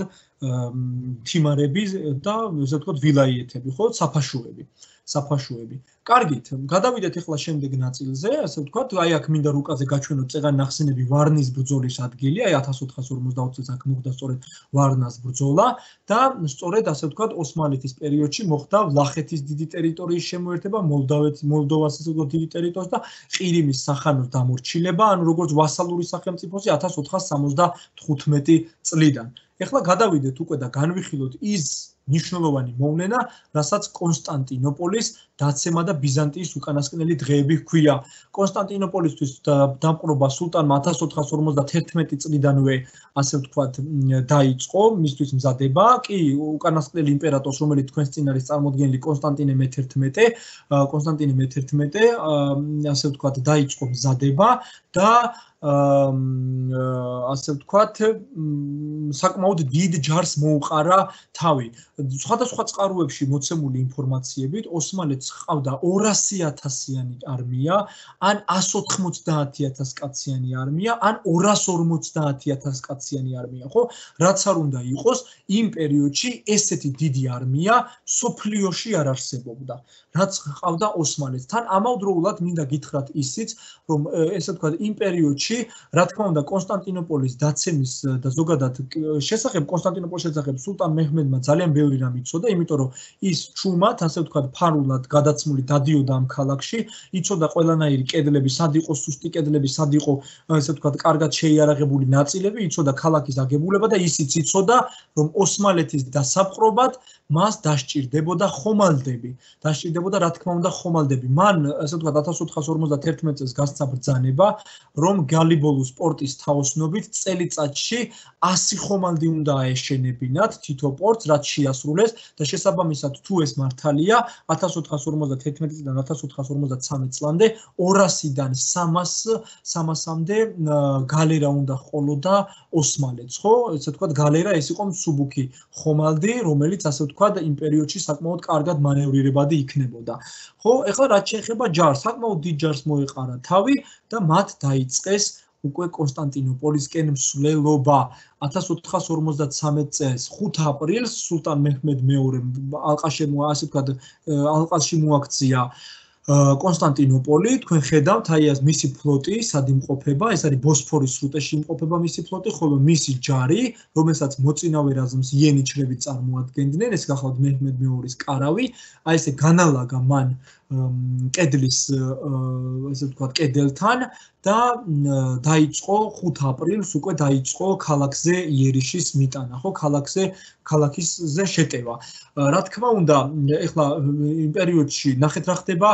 თიმარები და ესე ვთქვათ, ვილაიეთები, ხო, საფაშოები, საფაშოები. კარგით, გადავიდეთ ახლა შემდეგ ნაწილზე, ასე ვთქვათ, აი აქ მინდა რუკაზე გაჩვენოთ წეღან ნახსენები ვარნის ბრძოლის ადგილი, აი ათას ოთხას ორმოცდაოთხ წელს აქ მოხდა სწორედ ვარნას ბრძოლა და სწორედ ასე ვთქვათ, ოსმალეთის პერიოდში მოხდა ვლახეთის დიდი ტერიტორიის შემოერთება, მოლდავეთის, მოლდოვას ესე ვთქვათ, დიდი ტერიტორიას და ყირიმის სახანოს დამორჩილება, ანუ როგორც ვასალური სახელმწიფოსი ათას ოთხას სამოცდათხუთმეტი წლიდან. ეხლა გადავიდეთ უკვე და განვიხილოთ ის ნიშნულოვანი მოვლენა, რასაც კონსტანტინოპოლის დაცემა და ბიზანტიის უკანასკნელი დღეები ჰქვია. კონსტანტინოპოლისთვის დამყრობა სულტანმა ათას ოთხას ორმოცდაათერთმეტი წლიდანვე, ასე ვთქვათ, დაიწყო მისთვის მზადება, კი უკანასკნელი იმპერატორს, რომელიც თქვენს წინ არის წარმოდგენილი კონსტანტინე მეთერთმეტე, კონსტანტინე მეთერთმეტე, ასე ვთქვათ, დაიწყო მზადება და ასე ვთქვათ, საკმაოდ დიდ ჯარს მოუყარა თავი. სხვადასხვა წყაროებში მოცემული ინფორმაციებით, ოსმალეთს ჰყავდა ორასი ათასიანი არმია, ან ასს ოთხმოცდაათი ათას კაციანი არმია, ან ორას ორმოცდაათი ათას კაციანი არმია, ხო? რაც არ უნდა იყოს, იმ პერიოდში ესეთი დიდი არმია სოფლიოში არ არსებობდა. რაც ჰყავდა ოსმალეთს. თან ამავდროულად მინდა გითხრათ ისიც, რომ ესე ვთქვათ, იმ პერიოდში, რა თქმა უნდა, კონსტანტინოპოლის დაცემის და ზოგადად შესახებ კონსტანტინოპოლის შესახებ სულტან მეჰმედმა ძალიან ბევრი რამ იცოდა, იმიტომ რომ ის ჩუმად, ასე ვთქვათ, ფარულად გადაცმული დადიოდა ამ ქალაქში, იცოდა ყველანაირი კედლები, სად იყო სუსტი კედლები, სად იყო, ასე ვთქვათ, კარგად შეიარაღებული ნაწილები, იცოდა ქალაქის აგებულება და ისიც იცოდა, რომ ოსმალეთის დასაპყრობად მას დასჭირდებოდა ხომალდები. დასჭირდებოდა, რა თქმა უნდა, ხომალდები. მან, ასე ვთქვათ, ათას ოთხას ორმოცდაათერთმეტ წელს გასცა ბრძანება, რომ გალიბოლუს პორტის თაოსნობით წელიწადში ასი ხომალდი უნდა აეშენებინათ თითო პორტს, რაც შეასრულეს და შესაბამისად თუ ეს მართალია, ათას ოთხას ორმოცდათერთმეტი წლიდან ათას ოთხას ორმოცდათსამეტ წლამდე ორასიდან სამასამდე გალერა უნდა ჰყოლოდა ოსმალეთს, ხო? ესე ვთქვათ, გალერა ეს იყო მსუბუქი ხომალდი, რომელიც ასე ვთქვათ, იმ პერიოდში საკმაოდ კარგად მანევრირებადი იქნებოდა. ხო, ეხლა რაც შეეხება ჯარს, საკმაოდ დიდ ჯარს მოეყარა თავი და მათ დაიწყეს უკვე კონსტანტინოპოლისკენ მსვლელობა. ათას ოთხას ორმოცდათსამეტ წელს ხუთ აპრილს სულტან მეჰმედ მეორემ ალყაში ასე ვთქვათ, ალყაში მოაქცია კონსტანტინოპოლი, თქვენ ხედავთ, აი ეს მისი ფლოტი სად იმყოფება, ეს არის ბოსფორის სრუტეში იმყოფება მისი ფლოტი, ხოლო მისი ჯარი, რომელსაც მოწინავე რაზმს იენიჩრები წარმოადგენდნენ, ეს გახლავთ მეჰმედ მეორის კარავი, აი ესე განალაგა მან კედლის ესე ვთქვათ კედელთან და დაიწყო ხუთ აპრილს უკვე დაიწყო ქალაქზე იერიშის მიტანა, ხო, ქალაქზე ქალაქისზე შეტევა. რა თქმა უნდა, ეხლა იმ პერიოდში ნახეთ რა ხდება,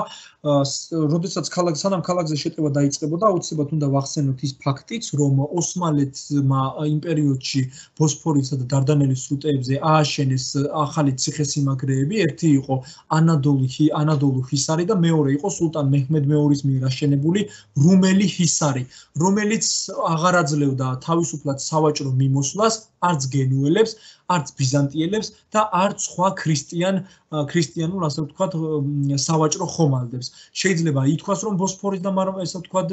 როდესაც ქალაქ სანამ ქალაქზე შეტევა დაიწყებოდა, აუცილებლად უნდა ვახსენოთ ის ფაქტიც, რომ ოსმალეთმა იმ პერიოდში ბოსფორისა და დარდანელის სრუტეებზე ააშენეს ახალი ციხესიმაგრეები, ერთი იყო ანადოლი ანადოლუ ჰისარი და მეორე იყო სულტან მეჰმედ მეორის მიერ აშენებული რუმელი ჰისარი, რომელიც აღარ აძლევდა თავისუფლად სავაჭრო მიმოსვლას არც გენუელებს, არც ბიზანტიელებს და არც სხვა ქრისტიან ქრისტიანულ ასე ვთქვათ სავაჭრო ხომალდებს. შეიძლება ითქვას, რომ ბოსფორის და ესე ვთქვათ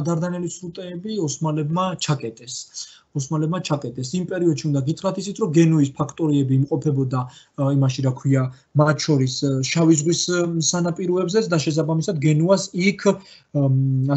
დარდანელის სრუტეები ოსმალებმა ჩაკეტეს. ოსმალებმა ჩაკეტეს. იმ პერიოდში უნდა გითხრათ ისიც, რომ გენუის ფაქტორიები იმყოფებოდა იმაში, რა ქვია, მათ შორის შავი ზღვის სანაპიროებზეც და შესაბამისად გენუას იქ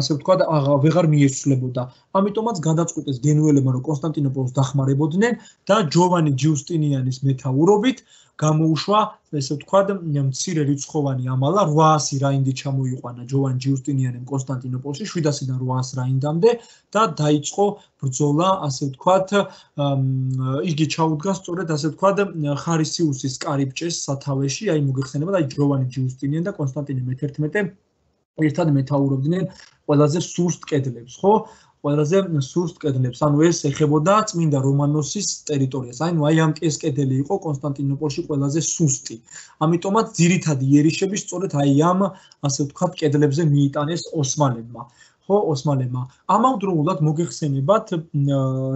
ასე ვთქვათ ვეღარ მიეცვლებოდა. ამიტომაც გადაწყვიტეს გენუელებმა, რომ კონსტანტინოპოლს დახმარებოდნენ და ჯოვანი ჯიუსტინიანის მეთაურობით გამოუშვა ესე ვთქვათ მცირე რიცხოვანი ამალა რვაასი რაინდი ჩამოიყვანა ჯოვან ჯიუსტინიანემ კონსტანტინოპოლში შვიდასიდან რვაას რაინდამდე და დაიწყო ბრძოლა ასე ვთქვათ იგი ჩაუდგა სწორედ ასე ვთქვათ ხარისიუსის კარიბჭეს სათავეში აი მოგეხსენება და ჯოვანი ჯიუსტინიანი და კონსტანტინე მეთერთმეტე ერთად მეთაურობდნენ ყველაზე სუსტ კედლებს ხო ყველაზე სუსტ კედლებს, ანუ ეს ეხებოდა წმინდა რომანოსის ტერიტორიას. ანუ აი ამ ეს კედელი იყო კონსტანტინოპოლში ყველაზე სუსტი. ამიტომაც ძირითადი იერიშები სწორედ აი ამ ასე ვთქვათ კედლებზე მიიტანეს ოსმალებმა. ხო, ოსმალებმა. ამავდროულად მოგეხსენებათ,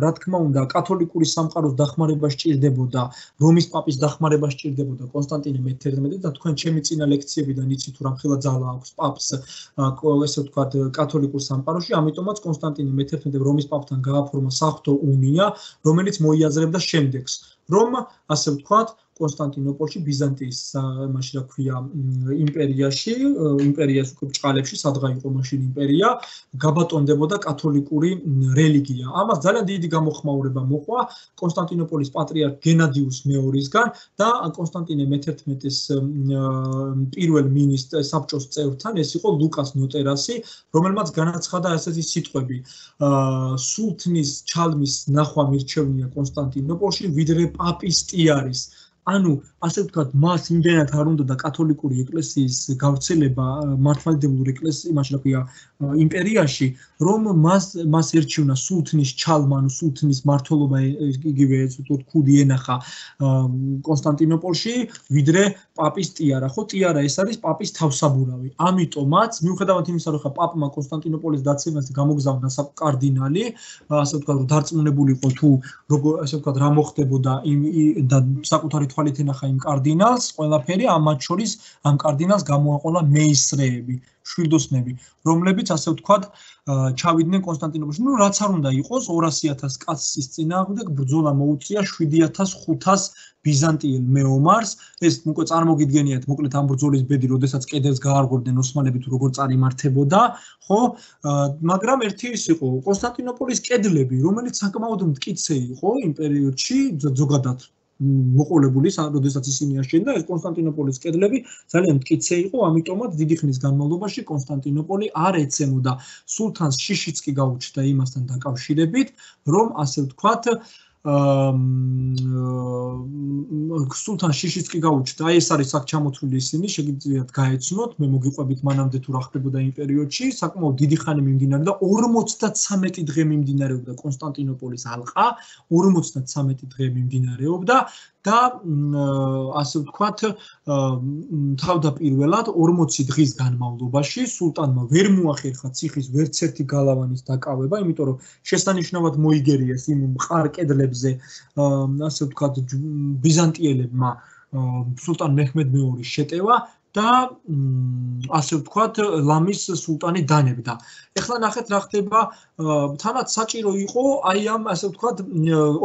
რა თქმა უნდა, კათოლიკური სამყაროს დახმარება სჭირდებოდა, რომის პაპის დახმარება სჭირდებოდა კონსტანტინე მეთერთმეტე და თქვენ ჩემი წინა ლექციებიდან იცით თუ რამხელა ძალა აქვს პაპს ესე ვთქვათ კათოლიკურ სამყაროში, ამიტომაც კონსტანტინე მეთერთმეტე რომის პაპთან გააფორმა საღვთო უნია, რომელიც მოიაზრებდა შემდეგს, რომ ასე ვთქვათ კონსტანტინოპოლში ბიზანტიის იმაში რა ქვია იმპერიაში, იმპერიას უკვე ბჭყალებში, სადღა იყო მაშინ იმპერია, გაბატონდებოდა კათოლიკური რელიგია. ამას ძალიან დიდი გამოხმაურება მოყვა კონსტანტინოპოლის პატრიარქ გენადიუს მეორისგან და კონსტანტინე მეთერთმეტეს პირველ მინისტრ საბჭოს წევრთან, ეს იყო ლუკას ნოტერასი, რომელმაც განაცხადა ესეთი სიტყვები: სულთნის ჩალმის ნახვა მირჩევნია კონსტანტინოპოლში, ვიდრე პაპის ტიარის. ანუ ასე ვთქვათ, მას იმდენად არ უნდა და კათოლიკური ეკლესიის გავრცელება მართლმადიდებლური ეკლესიის, იმაში რა ქვია, იმპერიაში, რომ მას მას ერჩივნა სულთნის ჩალმა, ანუ სულთნის მმართველობა იგივე ესე ვთქვათ, ქუდი ენახა კონსტანტინოპოლში, ვიდრე პაპის ტიარა, ხო, ტიარა ეს არის პაპის თავსაბურავი. ამიტომაც, მიუხედავად იმისა, რომ ხა პაპმა კონსტანტინოპოლის დაცემას გამოგზავნა საკარდინალი, ასე ვთქვათ, რომ დარწმუნებული იყო თუ როგორ ასე ვთქვათ, რა მოხდებოდა და საკუთარი თვალით ენახა იმ კარდინალს, ყველაფერი ამათ შორის ამ კარდინალს გამოაყოლა მეისრეები, შვილდოსნები, რომლებიც ასე ვთქვათ, ჩავიდნენ კონსტანტინოპოლში. ნუ რაც არ უნდა იყოს, ორასი ათას კაცის წინააღმდეგ ბრძოლა მოუწია შვიდი ათას ხუთას ბიზანტიელ მეომარს. ეს უკვე წარმოგიდგენიათ, მოკლედ ამ ბრძოლის ბედი, როდესაც კედელს გაარღვევდნენ ოსმალები თუ როგორ წარიმართებოდა, ხო? მაგრამ ერთი ის იყო, კონსტანტინოპოლის კედლები, რომელიც საკმაოდ მტკიცე იყო იმ პერიოდში, ზოგადად მოყოლებული, როდესაც ისინი აშენდა, ეს კონსტანტინოპოლის კედლები ძალიან მტკიცე იყო, ამიტომაც დიდი ხნის განმავლობაში კონსტანტინოპოლი არ ეცემოდა. სულთანს შიშიც კი გაუჩნდა იმასთან დაკავშირებით, რომ ასე ვთქვათ, სულთან შიშიც კი გაუჩნდა, აი ეს არის აქ ჩამოთვლილი ისინი, შეგიძლიათ გაეცნოთ, მე მოგიყვებით მანამდე თუ რა ხდებოდა იმ პერიოდში, საკმაოდ დიდი ხანი მიმდინარეობდა, ორმოცდათრამეტი დღე მიმდინარეობდა კონსტანტინოპოლის ალყა, ორმოცდათრამეტი დღე მიმდინარეობდა და ასე ვთქვათ, თავდაპირველად ორმოცი დღის განმავლობაში სულტანმა ვერ მოახერხა ციხის ვერც ერთი გალავანის დაკავება, იმიტომ რომ შესანიშნავად მოიგერიეს იმ მყარ კედლებზე, ასე ვთქვათ, ბიზანტიელებმა სულტან მეჰმედ მეორის შეტევა და ასე ვთქვათ, ლამის სულტანი დანებდა. ეხლა ნახეთ რა ხდება, თანაც საჭირო იყო აი ამ ასე ვთქვათ,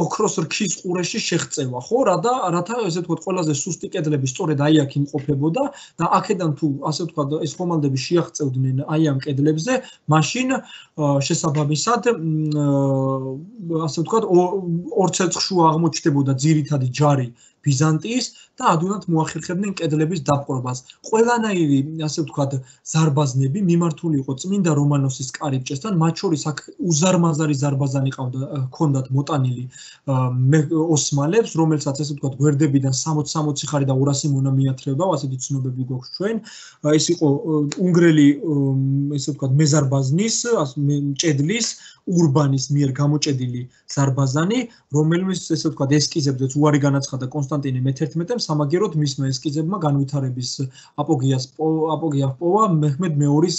ოქროს რქის ყურეში შეღწევა, ხო? რა და რათა ესე ვთქვათ, ყველაზე სუსტი კედლები სწორედ აი აქ იმყოფებოდა და აქედან თუ ასე ვთქვათ, ეს ხომალდები შეაღწევდნენ აი ამ კედლებზე, მაშინ შესაბამისად ასე ვთქვათ, ორ ცეცხლშუა აღმოჩნდებოდა ძირითადი ჯარი ბიზანტიის და ადვილად მოახერხებდნენ კედლების დაპყრობას. ყველანაირი, ასე ვთქვათ, ზარბაზნები მიმართული იყო წმინდა რომანოსის კარიბჭესთან, მათ შორის აქ უზარმაზარი ზარბაზანი ყავდა, ჰქონდათ მოტანილი ოსმალებს, რომელსაც ასე ვთქვათ, გვერდებიდან სამოცი სამოცი ხარი და ორასი მონა მიათრევდა, ასეთი ცნობები გვაქვს ჩვენ. ეს იყო უნგრელი, ესე ვთქვათ, მეზარბაზნის, ჭედლის, ურბანის მიერ გამოჭედილი ზარბაზანი, რომელმის ესე ვთქვათ, ესკიზებზეც უარი განაცხადა კონსტანტინე მეთერთმეტემ, სამაგეროდ მისმა ესკიზებმა განვითარების აპოგეას აპოგეა ჰპოვა მეჰმედ მეორის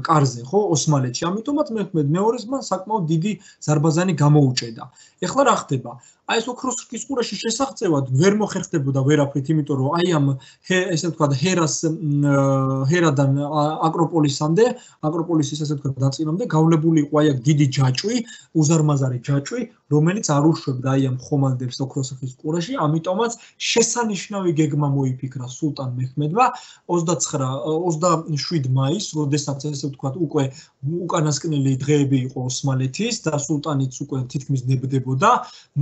კარზე, ხო, ოსმალეთში. ამიტომაც მეჰმედ მეორის მან საკმაოდ დიდი ზარბაზანი გამოუჭედა. ეხლა რა ხდება? აი ეს ოქროს რქის ყურეში შესაღწევად ვერ მოხერხდებოდა ვერაფრით, იმიტომ რომ აი ამ ესე ვთქვათ, ჰერას ჰერადან აკროპოლისამდე, აკროპოლისის ესე ვთქვათ, ნაწილამდე გავლებული იყო აი აქ დიდი ჯაჭვი, უზარმაზარი ჯაჭვი, რომელიც არ უშვებდა აი ამ ხომალდებს ოქროს რქის ყურეში, ამიტომაც შესანიშნავი გეგმა მოიფიქრა სულტან მეჰმედმა ოცდაცხრა ოცდაშვიდი მაისს, როდესაც ესე ვთქვათ, უკვე უკანასკნელი დღეები იყო ოსმალეთის და სულტანიც უკვე თითქმის ნებდებოდა,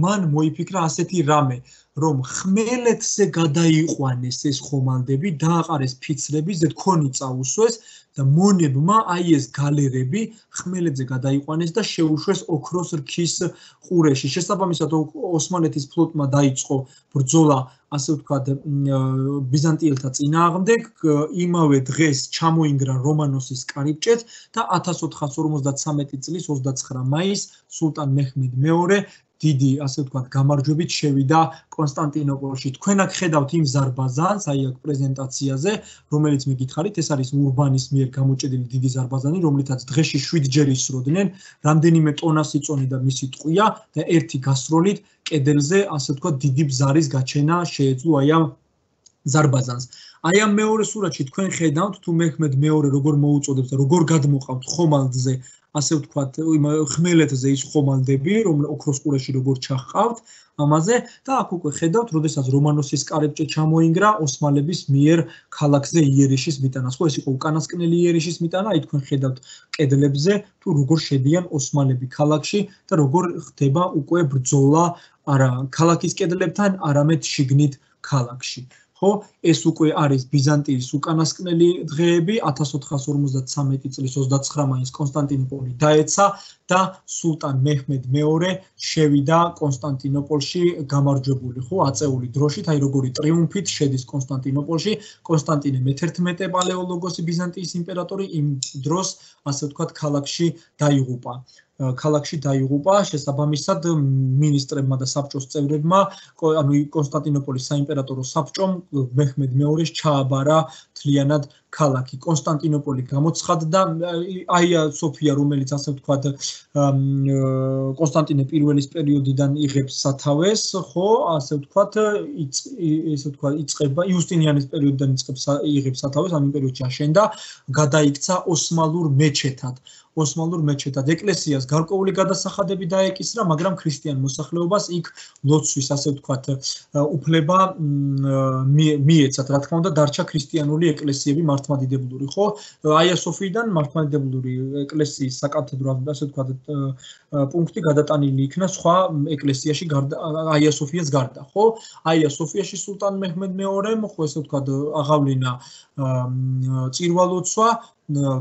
მან მოიფიქრა ასეთი რამე, რომ ხმელეთზე გადაიყვანეს ეს ხომალდები, დააყარეს ფიცრები, ზედ ქონი წაუსვეს და მონებმა აი ეს გალერები ხმელეთზე გადაიყვანეს და შეუშვეს ოქროს რქის ყურეში. შესაბამისად ოსმალეთის ფლოტმა დაიწყო ბრძოლა, ასე ვთქვათ, ბიზანტიელთა წინააღმდეგ, იმავე დღეს ჩამოინგრა რომანოსის კარიბჭეც და ათას ოთხას ორმოცდათსამეტი წლის ოცდაცხრა მაისს სულტან მეჰმედ მეორე დიდი, ასე ვთქვათ, გამარჯვებით შევიდა კონსტანტინოპოლში. თქვენ აქ ხედავთ იმ ზარბაზანს, აი აქ პრეზენტაციაზე, რომელიც მიგითხარით, ეს არის ურბანის მიერ გამოჭედილი დიდი ზარბაზანი, რომლითაც დღეში შვიდჯერ ისროდნენ, რამდენიმე ტონას იწონიდა მისი ტყვია და ერთი გასროლით კედელზე, ასე ვთქვათ, დიდი ბზარის გაჩენა შეეძლო აი ამ ზარბაზანს. აი ამ მეორე სურათში თქვენ ხედავთ, თუ მეჰმედ მეორე როგორ მოუწოდებს და როგორ გადმოყავთ ხომალდზე, ასე ვთქვათ, ხმელეთზე ის ხომალდები, რომ ოქროს ყურეში როგორ ჩახყავთ ამაზე და აქ უკვე ხედავთ, როდესაც რომანოსის კარიბჭე ჩამოინგრა ოსმალების მიერ ქალაქზე იერიშის მიტანას. ხო, ეს იყო უკანასკნელი იერიშის მიტანა, აი თქვენ ხედავთ კედლებზე, თუ როგორ შედიან ოსმალები ქალაქში და როგორ ხდება უკვე ბრძოლა არა ქალაქის კედლებთან, არამედ შიგნით ქალაქში. ხო, ეს უკვე არის ბიზანტიის უკანასკნელი დღეები, ათას ოთხას ორმოცდათსამეტი წლის ოცდაცხრა მაისს კონსტანტინოპოლი დაეცა და სულტან მეჰმედ მეორე შევიდა კონსტანტინოპოლში გამარჯვებული, ხო, აწეული დროშით, აი როგორი ტრიუმფით შედის კონსტანტინოპოლში. კონსტანტინე მეთერთმეტე პალეოლოგოსი ბიზანტიის იმპერატორი იმ დროს, ასე ვთქვათ, ქალაქში დაიღუპა. ქალაქში დაიღუპა, შესაბამისად მინისტრებმა და საბჭოს წევრებმა, ანუ კონსტანტინოპოლის საიმპერატორო საბჭომ მეჰმედ მეორეს ჩააბარა მთლიანად ქალაქი. კონსტანტინოპოლი გამოცხადდა, აია სოფია, რომელიც ასე ვთქვათ, კონსტანტინე პირველის პერიოდიდან იღებს სათავეს, ხო, ასე ვთქვათ, ესე ვთქვათ, იწყება იუსტინიანის პერიოდიდან იწყებს იღებს სათავეს, ამ პერიოდში აშენდა, გადაიქცა ოსმალურ მეჩეთად. ოსმალურ მეჩეთად ეკლესიას გარკვეული გადასახადები დაეკისრა, მაგრამ ქრისტიან მოსახლეობას იქ ლოცვის, ასე ვთქვათ, უფლება მიეცათ, რა თქმა უნდა, დარჩა ქრისტიანული ეკლესიები მართლმადიდებლური, ხო? აია სოფიიდან მართლმადიდებლური ეკლესიის საკათედრო, ასე ვთქვათ, პუნქტი გადატანილი იქნა სხვა ეკლესიაში გარდა აია სოფიას გარდა, ხო? აია სოფიაში სულტან მეჰმედ მეორემ, ხო, ესე ვთქვათ, აღავლინა წირვალოცვა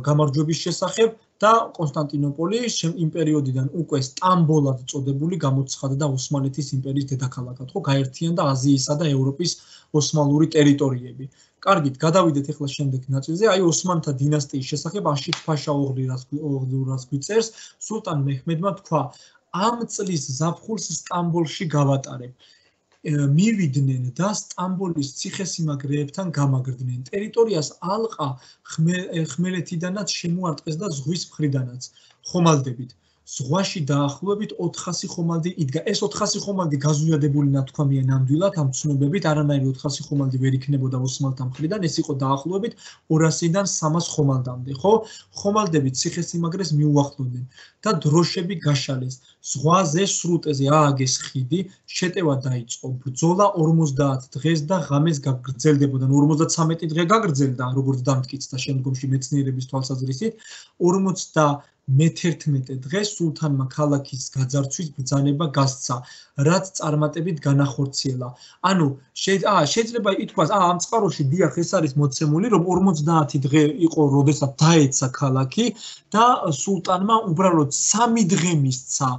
გამარჯვების შესახებ და კონსტანტინოპოლი იმ პერიოდიდან უკვე სტამბოლად წოდებული გამოცხადდა ოსმალეთის იმპერიის დედაქალაქად, ხო, გაერთიანდა აზიისა და ევროპის ოსმალური ტერიტორიები. კარგით, გადავიდეთ ახლა შემდეგ ნაწილზე, აი ოსმანთა დინასტიის შესახებ აშიფ-ფაშა ოღლურას გვიწერს, სულტან მეჰმედმა თქვა, ამ წლის ზაფხულს სტამბოლში გავატარებ. მივიდნენ და სტამბოლის ციხესიმაგრეებთან გამაგრდნენ. ტერიტორიას ალყა ხმელეთიდანაც შემოარტყეს და ზღვის მხრიდანაც ხომალდებით. ზღვაში დაახლოებით ოთხასი ხომალდი იდგა. ეს ოთხასი ხომალდი გაზვიადებული ნათქვამია ნამდვილად ამ ცნობებით, არანაირი ოთხასი ხომალდი ვერ იქნებოდა ოსმალთა მხრიდან, ეს იყო დაახლოებით ორასიდან სამას ხომალდამდე, ხო? ხომალდები ციხესიმაგრეს მიუახლოვდნენ და დროშები გაშალეს. ზღვაზე სრუტეზე ააგეს ხიდი, შეტევა დაიწყო. ბრძოლა ორმოცდაათ დღეს და ღამეს გაგრძელდებოდა. ორმოცდათსამეტი დღე გაგრძელდა, როგორც დამტკიცდა შემდგომში მეცნიერების თვალსაზრისით. ორმოცდა მეთერთმეტე დღეს სულთანმა ქალაქის გაძარცვის ბრძანება გასცა, რაც წარმატებით განახორციელა. ანუ შეიძლება ითქვას, ამ წყაროში დიახ ეს არის მოცემული, რომ ორმოცდაათი დღე იყო, როდესაც დაეცა ქალაქი და სულტანმა უბრალოდ სამი დღე მისცა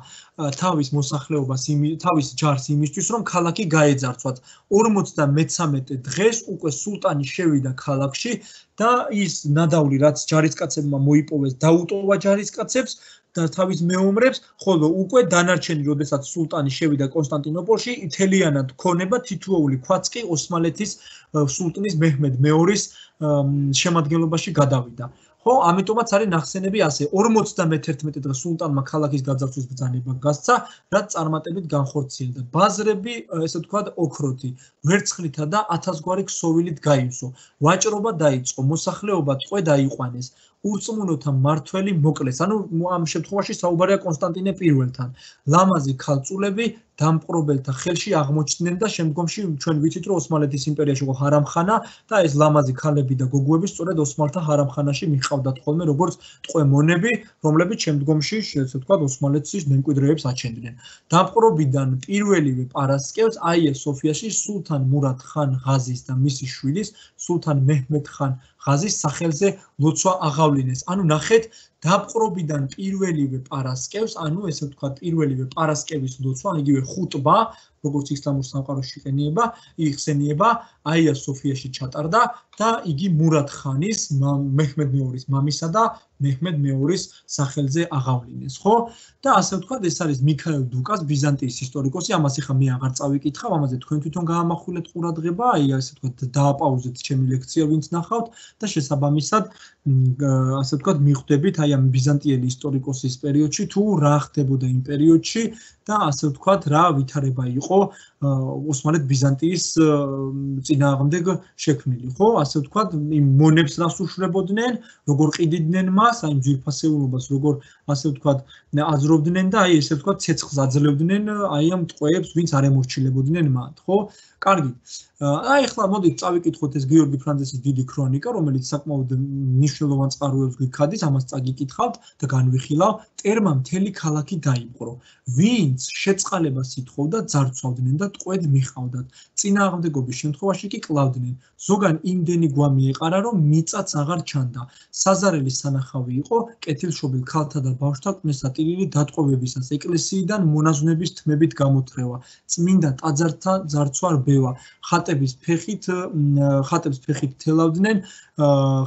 თავის მოსახლეობას, თავის ჯარს იმისთვის, რომ ქალაქი გაეძარცვათ. ორმოცდამეცამეტე დღეს უკვე სულტანი შევიდა ქალაქში და ის ნადავლი, რაც ჯარისკაცებმა მოიპოვეს, დაუტოვა ჯარისკაცებს და თავის მეომრებს, ხოლო უკვე დანარჩენი, როდესაც სულტანი შევიდა კონსტანტინოპოლში, ითელიანად ქონება თითოეული ქვაც კი ოსმალეთის სულტნის მეჰმედ მეორის შემადგენლობაში გადავიდა. ხო, ამიტომაც არის ნახსენები ასე. ორმოცდამეთერთმეტე დღე სულტანმა ქალაქის გაძარცვის ბრძანება გასცა, რაც წარმატებით განხორციელდა. ბაზრები, ესე ვთქვათ, ოქროთი, ვერცხლითა და ათასგვარი ქსოვილით გაივსო. ვაჭრობა დაიწყო, მოსახლეობა ტყვე დაიყვანეს. ურწმუნოთა მმართველი მოკლეს. ანუ ამ შემთხვევაში საუბარია კონსტანტინე პირველთან. ლამაზი ქალწულები დამპყრობელთა ხელში აღმოჩნდნენ და შემდგომში ჩვენ ვიცით, რომ ოსმალეთის იმპერიაში იყო ჰარამხანა და ეს ლამაზი ქალები და გოგოები სწორედ ოსმალთა ჰარამხანაში მიჰყავდათ ხოლმე როგორც ტყვე მონები, რომლებიც შემდგომში, ესე ვთქვათ, ოსმალეთის მემკვიდრეებს აჩენდნენ. დამპყრობიდან პირველივე პარასკევს აია სოფიაში სულთან მურად ხან ღაზის და მისი შვილის სულთან მეჰმედ ხან ღაზის სახელზე ლოცვა აღავლინეს. ანუ ნახეთ, დაპყრობიდან პირველივე პარასკევს, ანუ ესე ვთქვათ, პირველივე პარასკევის ლოცვა, იგივე ხუტბა, როგორც ისლამურ სამყაროში იყენიება, იხსენიება, აია სოფიაში ჩატარდა და იგი მურად ხანის, მეჰმედ მეორის მამისა და მეჰმედ მეორის სახელზე აღავლინეს, ხო? და ასე ვთქვათ, ეს არის მიქაელ დუკას, ბიზანტიის ისტორიკოსი, ამას ახლა მე აღარ წავიკითხავ, ამაზე თქვენ თვითონ გაამახვილეთ ყურადღება, აი ასე ვთქვათ, დააპაუზეთ ჩემი ლექცია, ვინც ნახავთ და შესაბამისად, ასე ვთქვათ, მიხვდებით აი ამ ბიზანტიელი ისტორიკოსის პერიოდში თუ რა ხდებოდა იმ პერიოდში და ასე ვთქვათ, რა ვითარება იყო ოსმალეთ ბიზანტიის წინააღმდეგ შექმნილი, ხო? ასე ვთქვათ, იმ მონებს რას უშვრებოდნენ, როგორ ყიდიდნენ მას, აი ძვირფასეულობას, როგორ ასე ვთქვათ, აზრობდნენ და აი ესე ვთქვათ, ცეცხლს აძლევდნენ აი ამ ტყვეებს, ვინც არ ემორჩილებოდნენ მათ, ხო? კარგი. აი ახლა მოდით წავიკითხოთ ეს გიორგი ფრანძესის დიდი ქრონიკა, რომელიც საკმაოდ მნიშვნელოვან წყაროებს გიქადის, ამას წაგიკითხავთ და განვიხილავ. ტერმა მთელი ქალაქი დაიპყრო. ვინც შეწყალებას ითხოვდა, ძარცვავდნენ და ტყვედ მიჰყავდათ. წინააღმდეგობის შემთხვევაში კი კლავდნენ. ზოგან იმდენი გვამი ეყარა, რომ მიწაც აღარ ჩანდა. საზარელი სანახავი იყო კეთილშობილ ქალთა და ბავშვთა კვნესატირილი დატყვევებისას, ეკლესიიდან მონაზვნების თმებით გამოთრევა, წმინდა ტაძართა ძარცვა რბევა, ხატების ფეხით, ხატებს ფეხით თელავდნენ,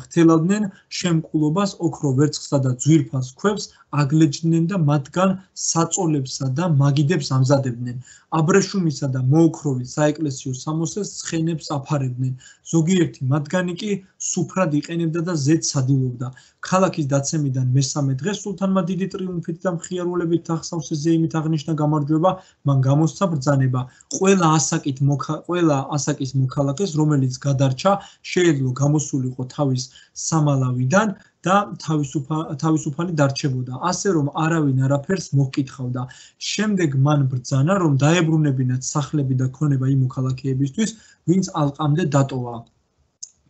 ხთელავდნენ შემკულობას, ოქრო ვერცხლსა და ძვირფას ქვებს აგლეჯდნენ და მათგან საწოლებსა და მაგიდებს ამზადებდნენ. აბრეშუმისა და მოოქროვის საეკლესიო სამოსეს ცხენებს აფარებდნენ. ზოგიერთი მათგანი კი სუფრად იყენებდა და ზედს ადილობდა. ქალაქის დაცემიდან მესამე დღეს სულთანმა დიდი ტრიუმფით და მხიარულებით ახსავსე ზეიმით აღნიშნა გამარჯვება, მან გამოსცა ბრძანება. ყველა ასაკით ყველა ასაკის მოქალაქეს, რომელიც გადარჩა, შეეძლო გამოსულიყო თავის სამალავიდან და თავისუფალი დარჩებოდა, ასე რომ არავინ არაფერს მოჰკითხავდა. შემდეგ მან ბრძანა, რომ დაებრუნებინათ სახლები და ქონება იმ მოქალაქეებისთვის, ვინც ალყამდე დატოვა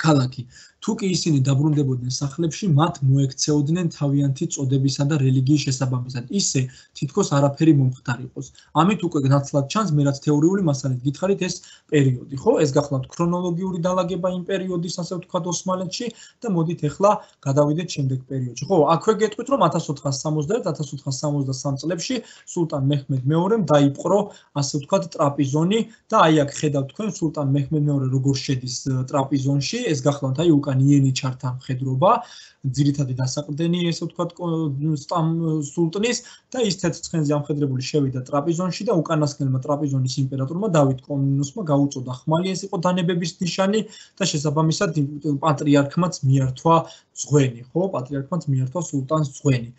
ქალაქი. თუ კი ისინი დაბრუნდებოდნენ სახლებში, მათ მოექცეოდნენ თავიანთი წოდებისა და რელიგიის შესაბამისად, ისე თითქოს არაფერი მომხდარიყოს. ამით უკვე ნაცვლად ჩანს, მე რაც თეორიული მასალით გითხარით ეს პერიოდი, ხო? ეს გახლავთ ქრონოლოგიური დალაგება იმ პერიოდის, ასე ვთქვათ, ოსმალეთში და მოდით ახლა გადავიდეთ შემდეგ პერიოდში. ხო, აქვე გეტყვით, რომ ათას ოთხას სამოცდაერთ ათას ოთხას სამოცდასამ წლებში სულტან მეჰმედ მეორემ დაიპყრო, ასე ვთქვათ, ტრაპიზონი და აი აქ ხედავთ თქვენ სულტან მეჰმედ მეორე როგორ შედის ტრაპიზონში, ეს გახლავთ აი უკან იენი ჩართა მხედრობა, ძირითადი დასაყრდენი, ესე ვთქვათ, სულტნის და ის თეთრცხენზე ამხედრებული შევიდა ტრაპიზონში და უკანასკნელმა ტრაპიზონის იმპერატორმა დავით კომნენოსმა გაუწოდა ხმალი, ეს იყო დანებების ნიშანი და შესაბამისად პატრიარქმაც მიართვა ძღვენი, ხო, პატრიარქმაც მიართვა სულტანს ძღვენი.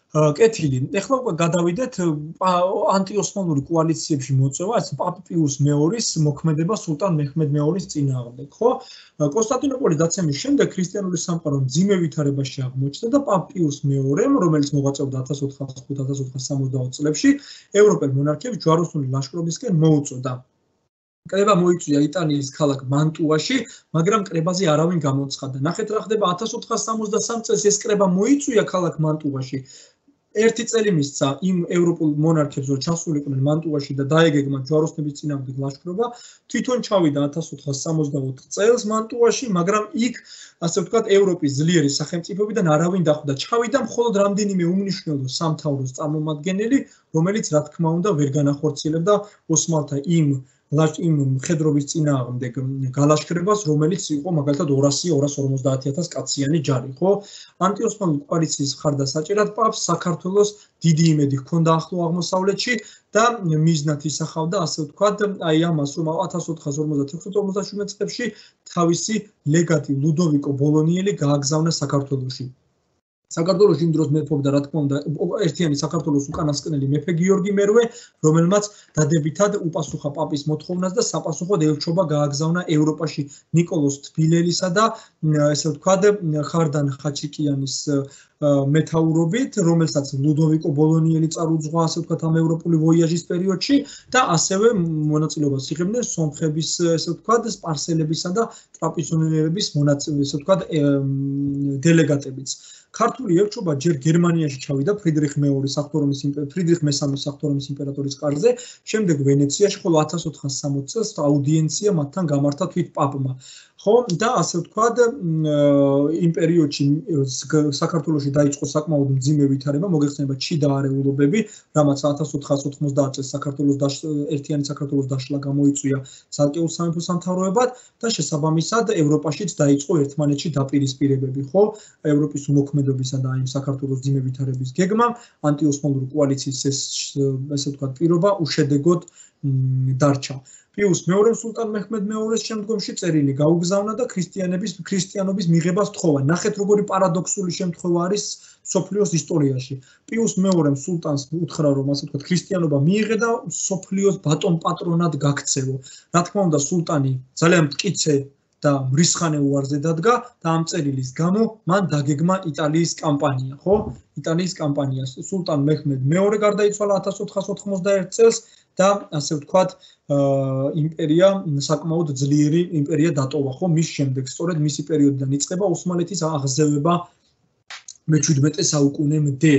კეთილი. ეხლა უკვე გადავიდეთ ანტიოსმალური კოალიციებში მოწვევა, ეს პაპ პიუს მეორის მოქმედება სულტან მეჰმედ მეორის წინააღმდეგ, ხო? კონსტანტინოპოლის დაცემის შემდეგ ქრისტიანული სამყარო მძიმე ვითარებაში აღმოჩნდა და პაპ პიუს მეორემ, რომელიც მოღვაწეობდა ათას ოთხას ხუთი ათას ოთხას სამოცდაოთხ წლებში, ევროპელ მონარქიებს ჯვაროსნული ლაშქრობისკენ მოუწოდა. კრება მოიწვია იტალიის ქალაქ მანტუაში, მაგრამ კრებაზე არავინ გამოცხადდა. ნახეთ რა ხდება ათას ოთხას სამოცდასამ წელს ეს კრება მოიწვია ქალაქ მანტუაში. ერთი წელი მისცა იმ ევროპულ მონარქებს, რომ ჩასულიყვნენ მანტუაში და დაეგეგმათ ჯვაროსნების წინააღმდეგ ლაშქრობა, თვითონ ჩავიდა ათას ოთხასი სამოცდაოთხ წელს მანტუაში, მაგრამ იქ, ასე ვთქვათ, ევროპის ძლიერი სახელმწიფოებიდან არავინ დახვდა. ჩავიდა მხოლოდ რამდენიმე უმნიშვნელო სამთავროს წარმომადგენელი, რომელიც რა თქმა უნდა ვერ განახორციელებდა ოსმალთა იმ იმ მხედრობის წინააღმდეგ გალაშქრებას, რომელიც იყო მაგალითად ორასი ორას ორმოცდაათი ათას კაციანი ჯარი, ხო? ანტიოსმალური კოალიციის მხარდასაჭერად პაპს საქართველოს დიდი იმედი ჰქონდა ახლო აღმოსავლეთში და მიზნად ისახავდა, ასე ვთქვათ, აი ამას, რომ ათას ოთხასი ორმოცდათექვსი ორმოცდაშვიდმეტ წლებში თავისი ლეგატი ლუდოვიკო ბოლონიელი გააგზავნა საქართველოში. საქართველოში იმ დროს მეფობდა, რა თქმა უნდა, ერთიანი საქართველოს უკანასკნელი მეფე გიორგი მერვე, რომელმაც დადებითად უპასუხა პაპის მოთხოვნას და საპასუხოდ ელჩობა გააგზავნა ევროპაში ნიკოლოზ თბილელისა და ესე ვთქვათ, ხარდან ხაჩიკიანის მეთაურობით, რომელსაც ლუდოვიკო ბოლონიელი წარუძღვა, ასე ვთქვათ, ამ ევროპული ვოიაჟის პერიოდში და ასევე მონაწილეობას იღებდნენ სომხების, ესე ვთქვათ, სპარსელებისა და ტრაპიზონიერების მონაწილე, ესე ვთქვათ, დელეგატებიც. ქართული ელჩობა ჯერ გერმანიაში ჩავიდა ფრიდრიხ მეორის საღვთო ფრიდრიხ მესამეს საღვთო იმპერატორის კარზე, შემდეგ ვენეციაში, ხოლო ათას ოთხასი სამოცი წელს აუდიენცია მათთან გამართა თვით პაპმა. ხო, და ასე ვთქვათ, იმ პერიოდში საქართველოში დაიწყო საკმაოდ მძიმე ვითარება, მოგეხსენება ჩიდა არეულობები, რამაც ათას ოთხასი ოთხმოცდაათ წელს საქართველოს ერთიანი საქართველოს დაშლა გამოიწვია ცალკეულ სამეფო სამთავროებად და შესაბამისად ევროპაშიც დაიწყო ერთმანეთში დაპირისპირებები, ხო? ევროპის უმოქმედობისა და იმ საქართველოს მძიმე ვითარების გეგმამ ანტიოსმალური კოალიციის ეს ესე ვთქვათ პირობა უშედეგოდ დარჩა. პიუს მეორემ სულტან მეჰმედ მეორის შემდგომში წერილი გაუგზავნა და ქრისტიანების ქრისტიანობის მიღებას თხოვა. ნახეთ როგორი პარადოქსული შემთხვევა არის სოფლიოს ისტორიაში. პიუს მეორემ სულტანს უთხრა, რომ ასე ვთქვათ, ქრისტიანობა მიიღე და სოფლიოს ბატონ პატრონად გაქცევო. რა თქმა უნდა, სულტანი ძალიან მტკიცე და მრისხანე უარზე დადგა და ამ წერილის გამო მან დაგეგმა იტალიის კამპანია, ხო? იტალიის კამპანია. სულტან მეჰმედ მეორე გარდაიცვალა ათას ოთხასი ოთხმოცდაერთ წელს და ასე ვთქვათ, იმპერია საკმაოდ ძლიერი იმპერია დატოვა, ხო? მის შემდეგ სწორედ მისი პერიოდიდან იწყება ოსმალეთის აღზევება მეჩვიდმეტე საუკუნემდე.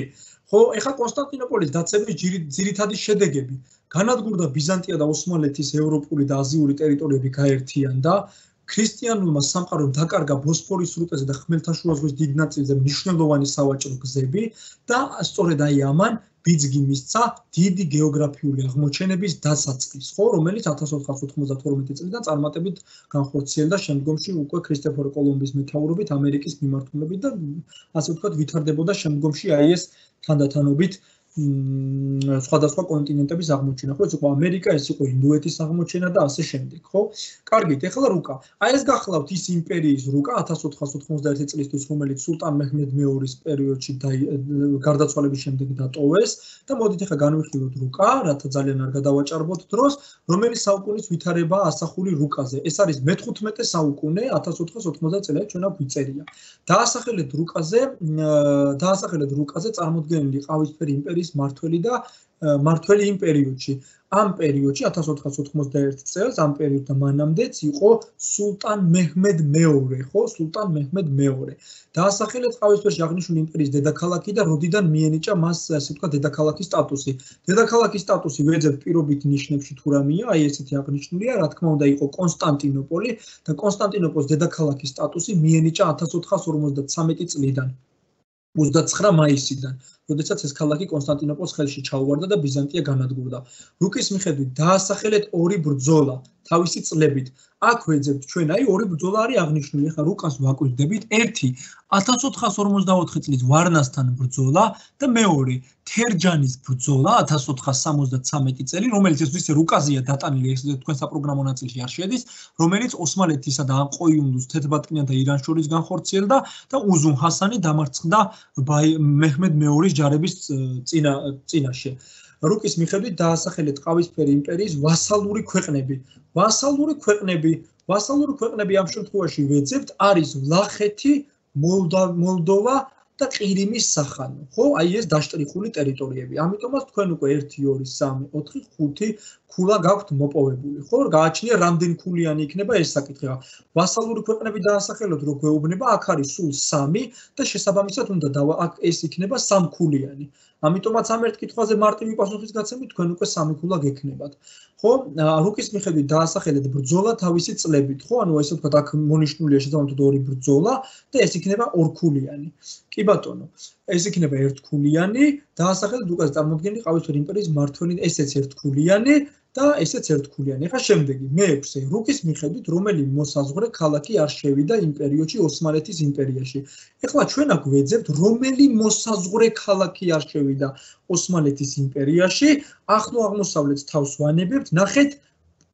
ხო, ეხლა კონსტანტინოპოლის დაცემის ძირითადი შედეგები. განადგურდა ბიზანტია და ოსმალეთის ევროპული და აზიური ტერიტორიები გაერთიანდა. ქრისტიანულმა სამყარომ დაკარგა ბოსფორის სრუტეზე და ხმელთაშუა ზღვის დიდ ნაწილზე მნიშვნელოვანი სავაჭრო გზები და სწორედ აი ამან ბიძგი მისცა დიდი გეოგრაფიული აღმოჩენების დასაწყის, ხო, რომელიც ათას ოთხასი ოცდათორმეტი წლიდან წარმატებით განხორციელდა შემდგომში უკვე ქრისტეფორ კოლუმბის მეთაურობით ამერიკის მიმართულებით და ასე ვთქვათ ვითარდებოდა შემდგომში აი ეს თანდათანობით სხვადასხვა კონტინენტების აღმოჩენა, ხო, ეს იყო ამერიკა, ეს იყო ინდოეთის აღმოჩენა და ასე შემდეგ, ხო? კარგით, ეხლა რუკა. აი ეს გახლავთ ის იმპერიის რუკა ათას ოთხასი ოცდაერთი წლისთვის, რომელიც სულტან მეჰმედ მეორის პერიოდში გარდაცვალების შემდეგ დატოვეს და მოდით ეხლა განვიხილოთ რუკა, რათა ძალიან არ გადავაჭარბოთ დროს, რომელიც საუკუნის ვითარებაა ასახული რუკაზე. ეს არის მეთხუთმეტე საუკუნე, ათას ოთხასი ოცდაათი წელი, ჩვენ აქ ვიწერია. დაასახელეთ რუკაზე, დაასახელეთ რუკაზე წარმოდგენილი ყავისფერი იმპერიის მართველი და მართველი იმ პერიოდში. ამ პერიოდში ათას ოთხასი ოცდაერთი წელს ამ პერიოდთან მანამდეც იყო სულტან მეჰმედ მეორე, ხო, სულტან მეჰმედ მეორე. დაასახელეთ ყავისფერში აღნიშნული იმპერიის დედაქალაქი და როდიდან მიენიჭა მას, ასე ვთქვათ, დედაქალაქის სტატუსი. დედაქალაქის სტატუსი ვეძებთ პირობით ნიშნებში თუ რამეა, აი ესეთი აღნიშნულია, რა თქმა უნდა, იყო კონსტანტინოპოლი და კონსტანტინოპოლის დედაქალაქის სტატუსი მიენიჭა ათას ოთხასი ორმოცდათვრამეტი წლიდან. ოცდაცხრა მაისიდან, როდესაც ეს ქალაქი კონსტანტინოპოლს ხელში ჩაუვარდა და ბიზანტია განადგურდა. რუკის მიხედვით დაასახელეთ ორი ბრძოლა თავისი წლებით. აქ ვეძებთ ჩვენ, აი ორი ბრძოლა არის აღნიშნული. ახლა რუკას ვაკვირდებით. ერთი ათას ოთხასი ორმოცდაოთხი წლის ვარნასთან ბრძოლა და მეორე თერჯანის ბრძოლა ათას ოთხასი სამოცდათვრამეტი წელი, რომელიც ეს ისე რუკაზეა დატანილი, ეს თქვენ საპროგრამო ნაწილში არ შედის, რომელიც ოსმალეთისა და ყოიუნლუს თეთრბატკნიან და ირანს შორის განხორციელდა და უზუნ ჰასანი დამარცხდა მეჰმედ მეორის ჯარების წინა წინაშე. რუკის მიხედვით დაასახელეთ ყავისფერი იმპერიის ვასალური ქვეყნები. ვასალური ქვეყნები, ვასალური ქვეყნები ამ შემთხვევაში ვეძებთ არის ვლახეთი, მოლდოვა და ყირიმის სახანო, ხო? აი ეს დაშტრიხული ტერიტორიები. ამიტომაც თქვენ უკვე ერთი, ორი, სამი, ოთხი, ხუთი ქულა გაქვთ მოპოვებული, ხო? გააჩნია რამდენი ქულიანი იქნება ეს საკითხი. ვასალური ქვეყნები დაასახელოთ, რო გვეუბნება, აქ არის სულ სამი და შესაბამისად უნდა აქ ეს იქნება სამქულიანი. ამიტომაც ამ ერთ კითხვაზე მარტივი პასუხის გაცემით თქვენ უკვე სამი ქულა გექნებათ. ხო? რუკის მიხედვით დაასახელეთ ბრძოლა თავისი წლებით, ხო? ანუ ესე ვთქვათ, აქ მონიშნულია შესაბამისად ორი ბრძოლა და ეს იქნება ორქულიანი. კი ბატონო, ეს იქნება ერთქულიანი, დაასახელეთ უკაზე წარმოდგენილი ყავითური იმპერიის მმართველი, ესეც ერთქულიანი და ესეც ერთქულიანი. ახლა შემდეგი, მეექვსე, რუკის მიხედვით რომელი მოსაზღვრე ქალაქი არ შევიდა იმ პერიოდში ოსმალეთის იმპერიაში. ახლა ჩვენ აქ ვეძებთ, რომელი მოსაზღვრე ქალაქი არ შევიდა ოსმალეთის იმპერიაში, ახლო აღმოსავლეთს თავს ვანებებთ, ნახეთ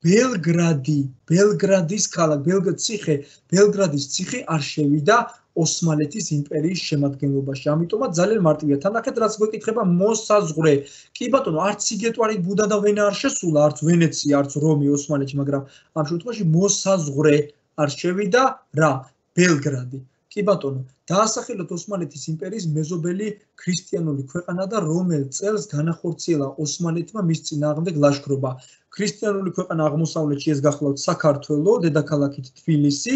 ბელგრადი, ბელგრადის ქალაქ, ბელგრადის ციხე, ბელგრადის ციხე არ შევიდა ოსმალეთის იმპერიის შემადგენლობაში. ამიტომაც ძალიან მარტივია. თანახეთ, რაც გვეკითხება მოსაზღვრე. კი ბატონო, არც სიგეტვარი, ბუდა და ვენა არ შესულა, არც ვენეცია, არც რომი ოსმალეთში, მაგრამ ამ შემთხვევაში მოსაზღვრე არ შევიდა რა? ბელგრადი. კი ბატონო, დაასახელოთ ოსმალეთის იმპერიის მეზობელი ქრისტიანული ქვეყანა და რომელ წელს განახორციელა ოსმალეთმა მის წინააღმდეგ ლაშქრობა. ქრისტიანული ქვეყანა აღმოსავლეთში ეს გახლავთ საქართველო, დედაქალაქით თბილისი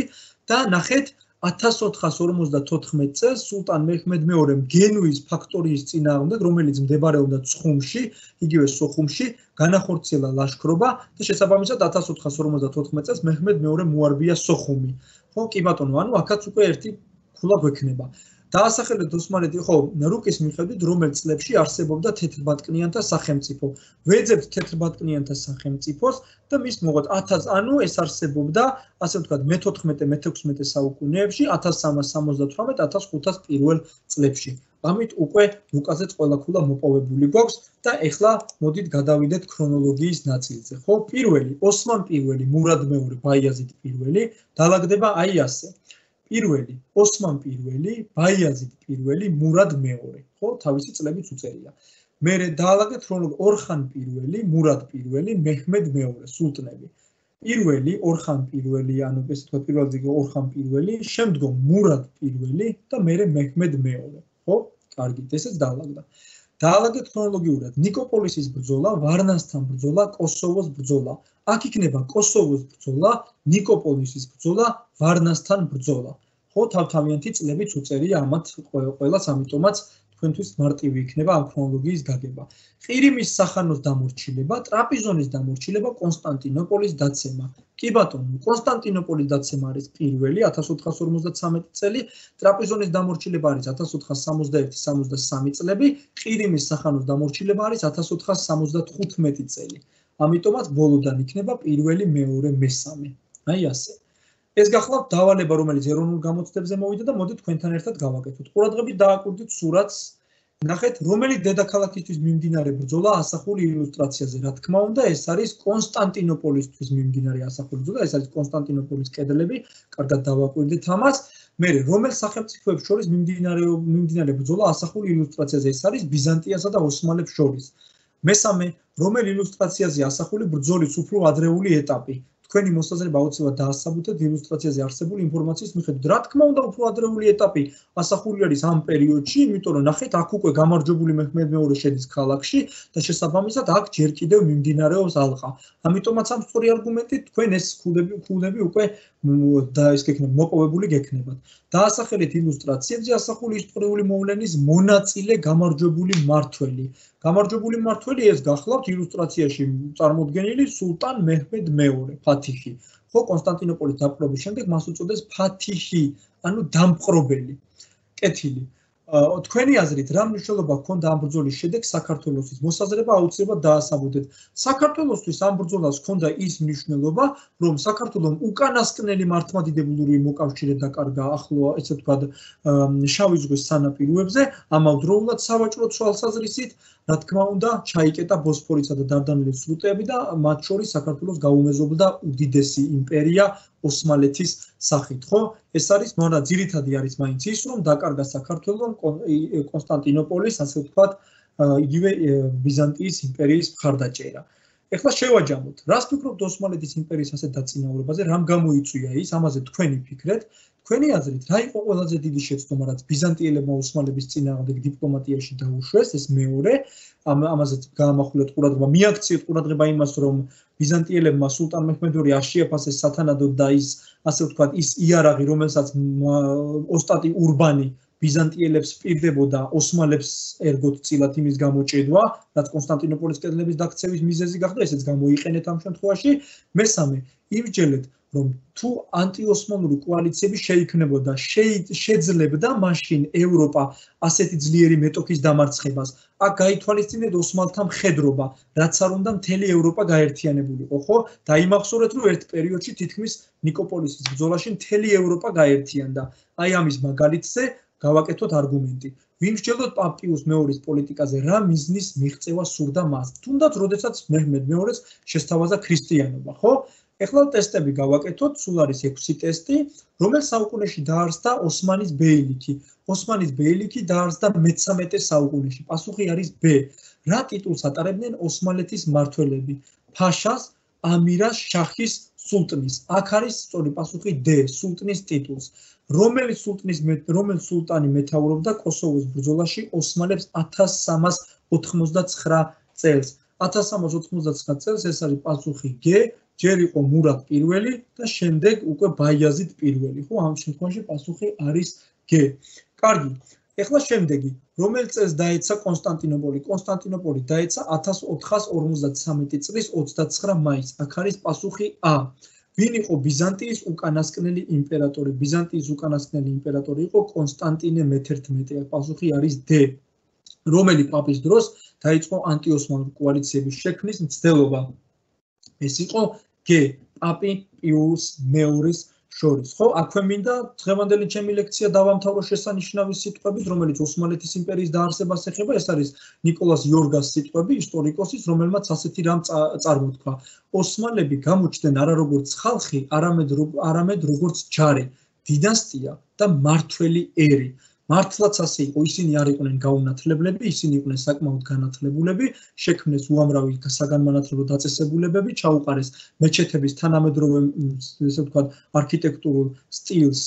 და ნახეთ ათას ოთხას ორმოცდათოთხმეტ წელს სულტან მეჰმედ მეორემ გენუის ფაქტორიის წინააღმდეგ, რომელიც მდებარეობდა ცხუმში, იგივე სოხუმში, განახორციელა ლაშქრობა და შესაბამისად ათას ოთხას ორმოცდათოთხმეტ წელს მეჰმედ მეორემ მოარბია სოხუმი. ხო, კი ბატონო, ანუ აქაც უკვე ერთი ქულა გვექნება. დაასახელეთ ოსმალეთი, ხო, რუკის მიხედვით რომელ წლებში არსებობდა თეთრბატკნიანთა სახელმწიფო. ვეძებთ თეთრბატკნიანთა სახელმწიფოს და მის მოყოთ ათას, ანუ ეს არსებობდა, ასე ვთქვათ, მეთოთხმეტე მეთექვსმეტე საუკუნეებში, ათას სამას სამოცდათვრამეტ ათას ხუთას პირველ წლებში. ამით უკვე რუკაზეც ყველა ქულა მოპოვებული გვაქვს და ეხლა მოდით გადავიდეთ ქრონოლოგიის ნაწილზე. ხო, პირველი, ოსმან პირველი, მურად მეორე, ბაიაზიდ პირველი, დაალაგდება აი ასე. პირველი, ოსმან პირველი, ბაიაზიდ პირველი, მურად მეორე, ხო, თავისი წლებიც უწერია. მერე დაალაგეთ ქრონოლოგია, ორხან პირველი, მურად პირველი, მეჰმედ მეორე, სულტნები. პირველი, ორხან პირველი, ანუ ესე ვთქვათ, პირველი ორხან პირველი, შემდგომ მურად პირველი და მერე მეჰმედ მეორე, ხო? კარგით, ესეც დაალაგდა. დაალაგეთ ქრონოლოგიურად, ნიკოპოლისის ბრძოლა, ვარნასთან ბრძოლა, კოსოვოს ბრძოლა. აქ იქნება კოსოვოს ბრძოლა, ნიკოპოლისის ბრძოლა, ვარნასთან ბრძოლა. ხო, თავთავიანთი წლებიც უწერია ამათ ყველას, ამიტომაც თქვენთვის მარტივი იქნება ამ ქრონოლოგიის გაგება. ყირიმის სახანოს დამორჩილება, ტრაპიზონის დამორჩილება, კონსტანტინოპოლის დაცემა. კი ბატონო, კონსტანტინოპოლის დაცემა არის პირველი ათას ოთხას ორმოცდათვრამეტი წელი, ტრაპიზონის დამორჩილება არის ათას ოთხას სამოცდაერთი სამოცდასამი წლები, ყირიმის სახანოს დამორჩილება არის ათას ოთხას სამოცდათხუთმეტი წელი. ამიტომაც ბოლოდან იქნება პირველი, მეორე, მესამე. აი ასე. ეს გახლავთ დავალება, რომელიც ეროვნულ გამოცდებზე მოვიდა და მოდით თქვენთან ერთად გავაკეთოთ. ყურადღებით დააკვირდით სურათს. ნახეთ, რომელი დედაქალაქისთვის მიმდინარე ბრძოლა ასახული ილუსტრაციაზე. რა თქმა უნდა, ეს არის კონსტანტინოპოლისთვის მიმდინარე ასახული ბრძოლა, ეს არის კონსტანტინოპოლის კედლები. კარგად დავაკვირდით ამას. მერე, რომელ სახელმწიფოებს შორის მიმდინარე მიმდინარე ბრძოლა ასახული ილუსტრაციაზე. ეს არის ბიზანტიასა და ოსმალებს შორის. მესამე, რომელ ილუსტრაციაზე ასახული ბრძოლის უფრო ადრეული ეტაპი. თქვენი მოსაზრება აუცილებლად დაასაბუთებთ ილუსტრაციაზე არსებული ინფორმაციის მიხედვით. რა თქმა უნდა, უფრო ადრეული ეტაპი ასახული არის ამ პერიოდში, იმიტომ რომ ნახეთ, აქ უკვე გამარჯვებული მეჰმედ მეორე შედის ქალაქში და შესაბამისად აქ ჯერ კიდევ მიმდინარეობს ალყა. ამიტომაც ამ სწორი არგუმენტით თქვენ ეს ქულები ქულები უკვე და ეს გექნება მოპოვებული გექნებათ. დაასახელეთ ილუსტრაციებზე ასახული ისტორიული მოვლენის მონაწილე გამარჯვებული მმართველი. გამარჯვებული მმართველი ეს გახლავთ ილუსტრაციაში წარმოდგენილი სულტან მეჰმედ მეორე, ფათიჰი. ხო, კონსტანტინოპოლის დაპყრობის შემდეგ მას უწოდეს ფათიჰი, ანუ დამპყრობელი. კეთილი. თქვენი აზრით, რა მნიშვნელობა ჰქონდა ამ ბრძოლის შედეგს საქართველოსთვის? მოსაზრება აუცილებლად დაასაბუთებთ. საქართველოსთვის ამ ბრძოლას ჰქონდა ის მნიშვნელობა, რომ საქართველოს უკანასკნელი მართლმადიდებლური მოკავშირე დაკარგა ახლო, ესე ვთქვათ, შავი ზღვის სანაპიროებზე, ამავდროულად სავაჭრო თვალსაზრისით, რა თქმა უნდა, ჩაიკეტა ბოსფორისა და დარდანელის სრუტეები და მათ შორის საქართველოს გაუმეზობლდა უდიდესი იმპერია ოსმალეთის სახით, ხო? ეს არის, მაგრამ ძირითადი არის მაინც ის, რომ დაკარგა საქართველოს კონსტანტინოპოლის, ასე ვთქვათ, იგივე ბიზანტიის იმპერიის მხარდაჭერა. ეხლა შევაჯამოთ, რას ფიქრობთ ოსმალეთის იმპერიის ასეთ დაწინაურებაზე, რამ გამოიწვია ის, ამაზე თქვენი ფიქრეთ, თქვენი აზრით, რა იყო ყველაზე დიდი შეცდომა, რაც ბიზანტიელებმა ოსმალების წინააღმდეგ დიპლომატიაში დაუშვეს, ეს მეორე, ამაზეც გაამახვილეთ ყურადღება, მიაქციეთ ყურადღება იმას, რომ ბიზანტიელებმა სულტან მეჰმედ ორი არ შეაფასეს სათანადოდ და ის, ასე ვთქვათ, ის იარაღი, რომელსაც ოსტატი ურბანი ბიზანტიელებს პირდებოდა ოსმალებს ერგოთ წილად იმის გამოჭედვა, რაც კონსტანტინოპოლის კედლების დაქცევის მიზეზი გახდა, ესეც გამოიყენეთ ამ შემთხვევაში. მესამე, იმსჯელეთ, რომ თუ ანტიოსმალური კოალიციები შეიქმნებოდა, შეძლებდა მაშინ ევროპა ასეთი ძლიერი მეტოქის დამარცხებას. აქ გაითვალისწინეთ ოსმალთა მხედრობა, რაც არ უნდა მთელი ევროპა გაერთიანებულიყო, ხო? დაიმახსოვრეთ, რომ ერთ პერიოდში თითქმის ნიკოპოლისის ბრძოლაში მთელი ევროპა გაერთიანდა. აი ამის მაგალითზე გავაკეთოთ არგუმენტი. ვიმსჯელოთ პაპიუს მეორის პოლიტიკაზე, რა მიზნის მიღწევა სურდა მას. თუნდაც, როდესაც მეჰმედ მეორეს შესთავაზა ქრისტიანობა, ხო? ეხლა ტესტები გავაკეთოთ, სულ არის ექვსი ტესტი, რომელ საუკუნეში დაარსდა ოსმანის ბეილიქი. ოსმანის ბეილიქი დაარსდა მეთერთმეტე საუკუნეში. პასუხი არის B. რა ტიტულს ატარებდნენ ოსმალეთის მმართველები? ფაშას, ამირას, შახის, სულტნის. აქ არის სწორი პასუხი D. სულტნის ტიტულს. რომელი სულტნის რომელი სულტანი მეთაურობდა კოსოვოს ბრძოლაში ოსმალებს ათას სამას ოთხმოცდაცხრა წელს? ათას სამას ოთხმოცდაცხრა წელს ეს არის პასუხი G. ჯერ იყო მურად პირველი და შემდეგ უკვე ბაიაზიდ პირველი, ხო? ამ შემთხვევაში პასუხი არის G. კარგი. ეხლა შემდეგი, რომელ წელს დაეცა კონსტანტინოპოლი? კონსტანტინოპოლი დაეცა ათას ოთხას ორმოცდათვრამეტი წლის ოცდაცხრა მაისს. აქ არის პასუხი A. ვინ იყო ბიზანტიის უკანასკნელი იმპერატორი? ბიზანტიის უკანასკნელი იმპერატორი იყო კონსტანტინე მეთერთმეტე. აქ პასუხი არის D. რომელი პაპის დროს დაიწყო ანტიოსმალური კოალიციების შექმნის მცდელობა? ეს იყო G. პაპი პიუს მეორის შორის, ხო? აქვე მინდა დღევანდელი ჩემი ლექცია დავამთავრო შესანიშნავი სიტყვებით, რომელიც ოსმალეთის იმპერიის დაარსებას ეხება, ეს არის ნიკოლას იორგას სიტყვები, ისტორიკოსის, რომელმაც ასეთი რამ წარმოთქვა. ოსმალები გამოჩნდნენ არა როგორც ხალხი, არამედ არამედ როგორც ჯარი, დინასტია და მმართველი ერი. მართლაც ასე იყო, ისინი არ იყვნენ გაუნათლებლები, ისინი იყვნენ საკმაოდ განათლებულები, შექმნეს უამრავი საგანმანათლებლო დაწესებულებები, ჩაუყარეს მეჩეთების თანამედროვე, ესე ვთქვათ, არქიტექტურულ სტილს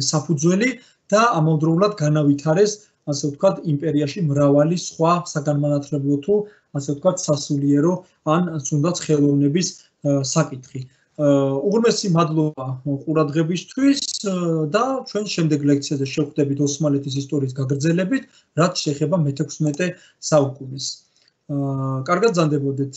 საფუძველი და ამავდროულად განავითარეს, ასე ვთქვათ, იმპერიაში მრავალი სხვა საგანმანათლებლო თუ, ასე ვთქვათ, სასულიერო ან თუნდაც ხელოვნების საკითხი. უღრმესი მადლობა ყურადღებისთვის და ჩვენ შემდეგ ლექციაზე შევხვდებით ოსმალეთის ისტორიის გაგრძელებით, რაც შეეხება მეთექვსმეტე საუკუნეს. კარგად ზანდებოდეთ.